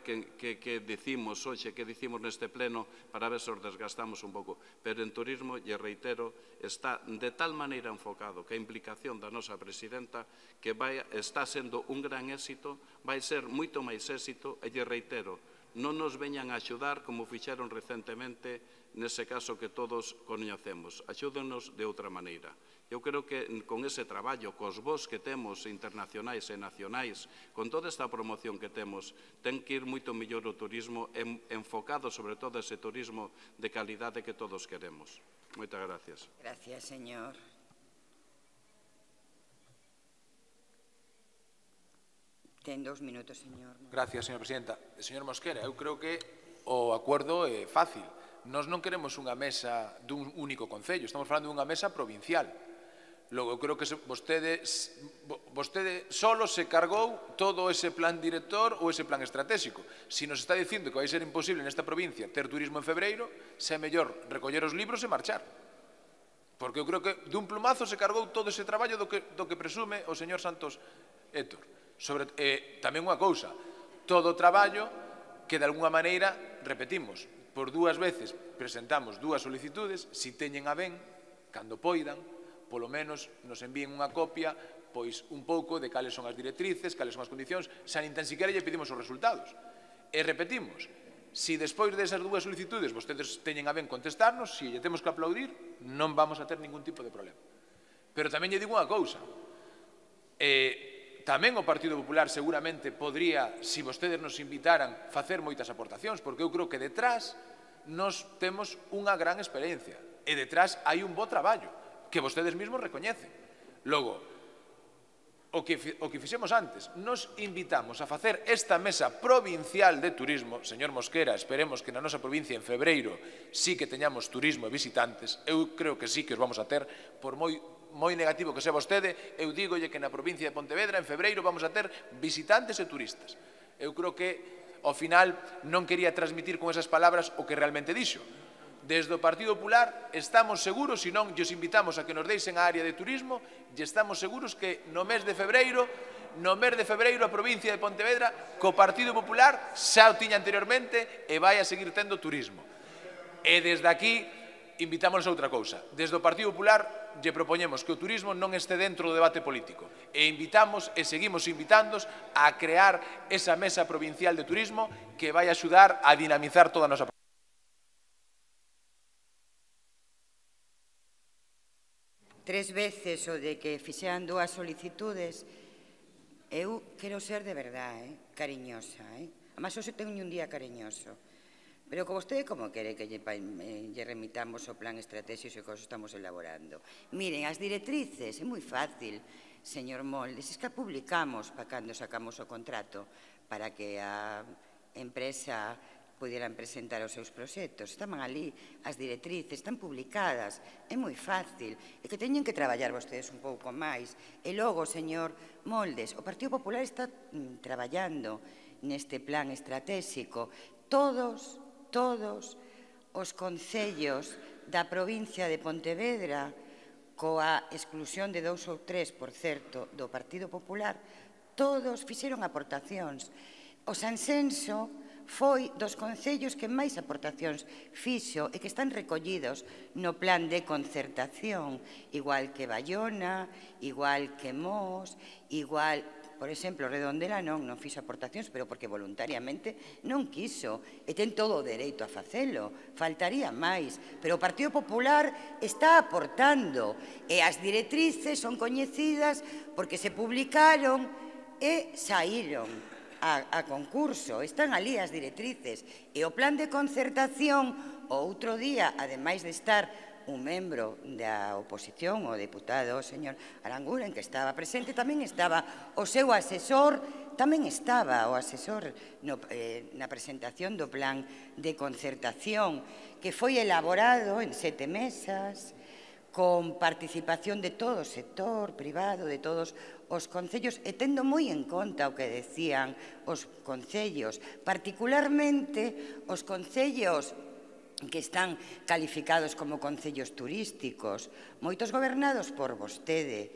que dicimos hoxe, que dicimos neste pleno, para ver se os desgastamos un pouco. Pero en turismo, lle reitero, está de tal maneira enfocado que a implicación da nosa presidenta que está sendo un gran éxito, vai ser moito máis éxito, e lle reitero, non nos veñan a axudar como fixeron recentemente nese caso que todos coñecemos. Axúdenos de outra maneira. Eu creo que con ese traballo, cos vos que temos internacionais e nacionais, con toda esta promoción que temos, ten que ir moito mellor o turismo, enfocado sobre todo ese turismo de calidade que todos queremos. Moitas gracias. Gracias, señor. Ten 2 minutos, señor. Gracias, señora presidenta. Señor Mosquera, eu creo que o acordo é fácil. Nós non queremos unha mesa dun único concello, estamos falando dunha mesa provincial. Logo, eu creo que vostede solo se cargou todo ese plan director ou ese plan estratégico. Se nos está dicindo que vai ser imposible nesta provincia ter turismo en febreiro, se é mellor recoller os libros e marchar. Porque eu creo que dun plumazo se cargou todo ese traballo do que presume o señor Santos Héctor. Tamén unha cousa, todo o traballo que de alguna maneira, repetimos, por 2 veces presentamos 2 solicitudes, si teñen a ben, cando poidan, polo menos nos envíen unha copia, pois un pouco de cales son as directrices, cales son as condicións, xa nin tan siquiera lle pedimos os resultados. E repetimos, si despois desas 2 solicitudes vostedes teñen a ben contestarnos, si lle temos que aplaudir, non vamos a ter ningún tipo de problema. Pero tamén lle digo unha cousa, tamén o Partido Popular seguramente podría, se vostedes nos invitaran, facer moitas aportacións, porque eu creo que detrás nos temos unha gran experiencia e detrás hai un bo traballo que vostedes mesmos recoñecen. Logo, o que fixemos antes, nos invitamos a facer esta mesa provincial de turismo. Señor Mosquera, esperemos que na nosa provincia en febreiro sí que teñamos turismo e visitantes. Eu creo que sí que os vamos a ter, por moi negativo que sea vostede, eu dígolle que na provincia de Pontevedra en febreiro vamos a ter visitantes e turistas. Eu creo que, ao final, non quería transmitir con esas palabras o que realmente dixo. Desde o Partido Popular estamos seguros, se non, os invitamos a que nos deixen a área de turismo, e estamos seguros que no mes de febreiro a provincia de Pontevedra, co Partido Popular, xa o tiña anteriormente, e vai a seguir tendo turismo. E desde aquí invitámonos a outra cousa. Desde o Partido Popular lle propoñemos que o turismo non este dentro do debate político. E invitamos e seguimos invitándos a crear esa mesa provincial de turismo que vai axudar a dinamizar toda a nosa provincia. 3 veces o de que fixeran 2 solicitudes, eu quero ser de verdade, cariñosa. A Además, hoxe teño un día cariñoso. Pero con vostede, como quere que lle remitamos o plan estratégico que estamos elaborando? Miren, as directrices, é moi fácil, señor Moldes, es que a publicamos para cando sacamos o contrato para que a empresa pudieran presentar os seus proxectos. Estaban ali as directrices, están publicadas, é moi fácil. É que teñen que traballar vostedes un pouco máis. E logo, señor Moldes, o Partido Popular está traballando neste plan estratégico. Todos os concellos da provincia de Pontevedra, coa exclusión de 2 ou 3, por certo, do Partido Popular, todos fixeron aportacións. O Sanxenxo foi dos concellos que máis aportacións fixo e que están recollidos no plan de concertación, igual que Baiona, igual que Mos, igual... Por exemplo, Redondela non fixo aportacións, pero porque voluntariamente non quiso. E ten todo o dereito a facelo. Faltaría máis. Pero o Partido Popular está aportando. E as directrices son coñecidas porque se publicaron e saíron a concurso. Están ali as directrices. E o plan de concertación, o outro día, ademais de estar un membro da oposición, o deputado, o señor Aranguren, que estaba presente, tamén estaba o seu asesor, tamén estaba o asesor na presentación do plan de concertación, que foi elaborado en 7 mesas, con participación de todo o sector privado, de todos os concellos, e tendo moi en conta o que decían os concellos, particularmente os concellos que están calificados como concellos turísticos, moitos gobernados por vostede.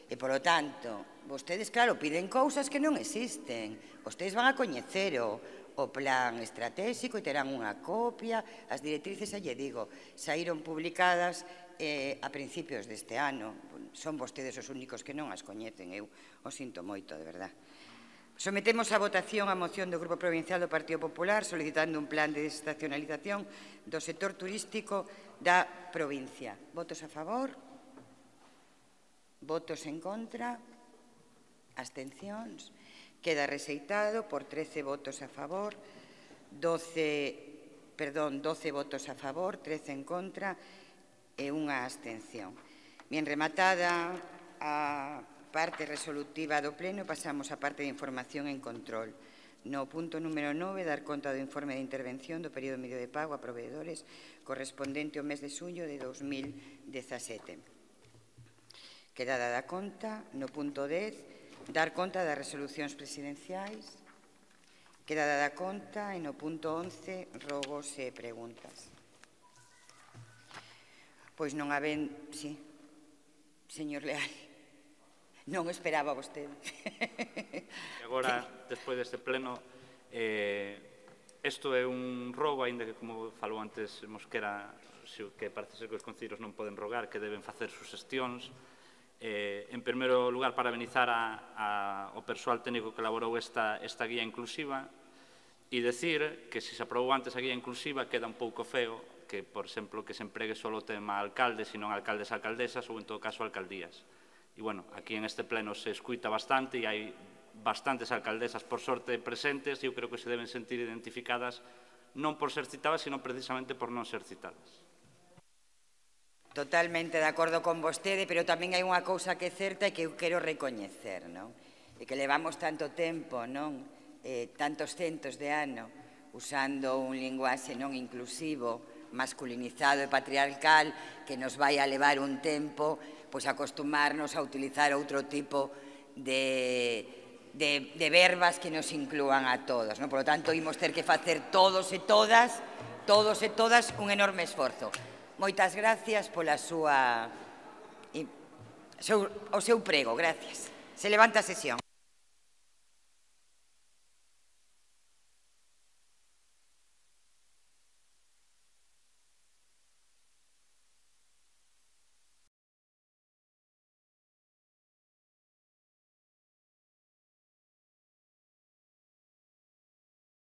E, polo tanto, vostedes, claro, piden cousas que non existen. Vostedes van a coñecer o plan estratégico e terán unha copia. As directrices, xa lle digo, saíron publicadas a principios deste ano. Son vostedes os únicos que non as coñecen. Eu o sinto moito, de verdad. Sometemos a votación a moción do Grupo Provincial do Partido Popular solicitando un plan de desestacionalización do sector turístico da provincia. Votos a favor? Votos en contra? Abstencións? Queda rexeitado por 13 votos a favor, 12 votos a favor, 13 en contra e unha abstención. Bien rematada a parte resolutiva do Pleno, pasamos á parte de información en control. No punto número 9, dar conta do informe de intervención do período medio de pago a proveedores correspondente ao mes de xullo de 2017. Queda dada conta. No punto 10, dar conta das resolucións presidenciais. Queda dada conta. E no punto 11, rogos e preguntas. Pois non haben... Sí, señor Leal. Non esperaba vostede. Agora, despois deste pleno, isto é un rogo, aínda que, como falou antes Mosquera, que parece ser que os concellos non poden rogar, que deben facer suxestións. En primeiro lugar, parabenizar ao persoal técnico que elaborou esta guía inclusiva e decir que se aprobou antes a guía inclusiva queda un pouco feo que, por exemplo, que se empregue só o tema alcaldes e non alcaldes e alcaldesas ou, en todo caso, alcaldías. E, bueno, aquí en este pleno se escuita bastante e hai bastantes alcaldesas, por sorte, presentes e eu creo que se deben sentir identificadas non por ser citadas, sino precisamente por non ser citadas. Totalmente de acordo con vostede, pero tamén hai unha cousa que é certa e que eu quero recoñecer, non? E que levamos tanto tempo, non? Tantos centos de ano usando un linguaxe non inclusivo, masculinizado e patriarcal, que nos vai a levar un tempo pois acostumarnos a utilizar outro tipo de verbas que nos inclúan a todos. Por lo tanto, imos ter que facer todos e todas, un enorme esforzo. Moitas gracias pola o seu prego. Gracias. Se levanta a sesión.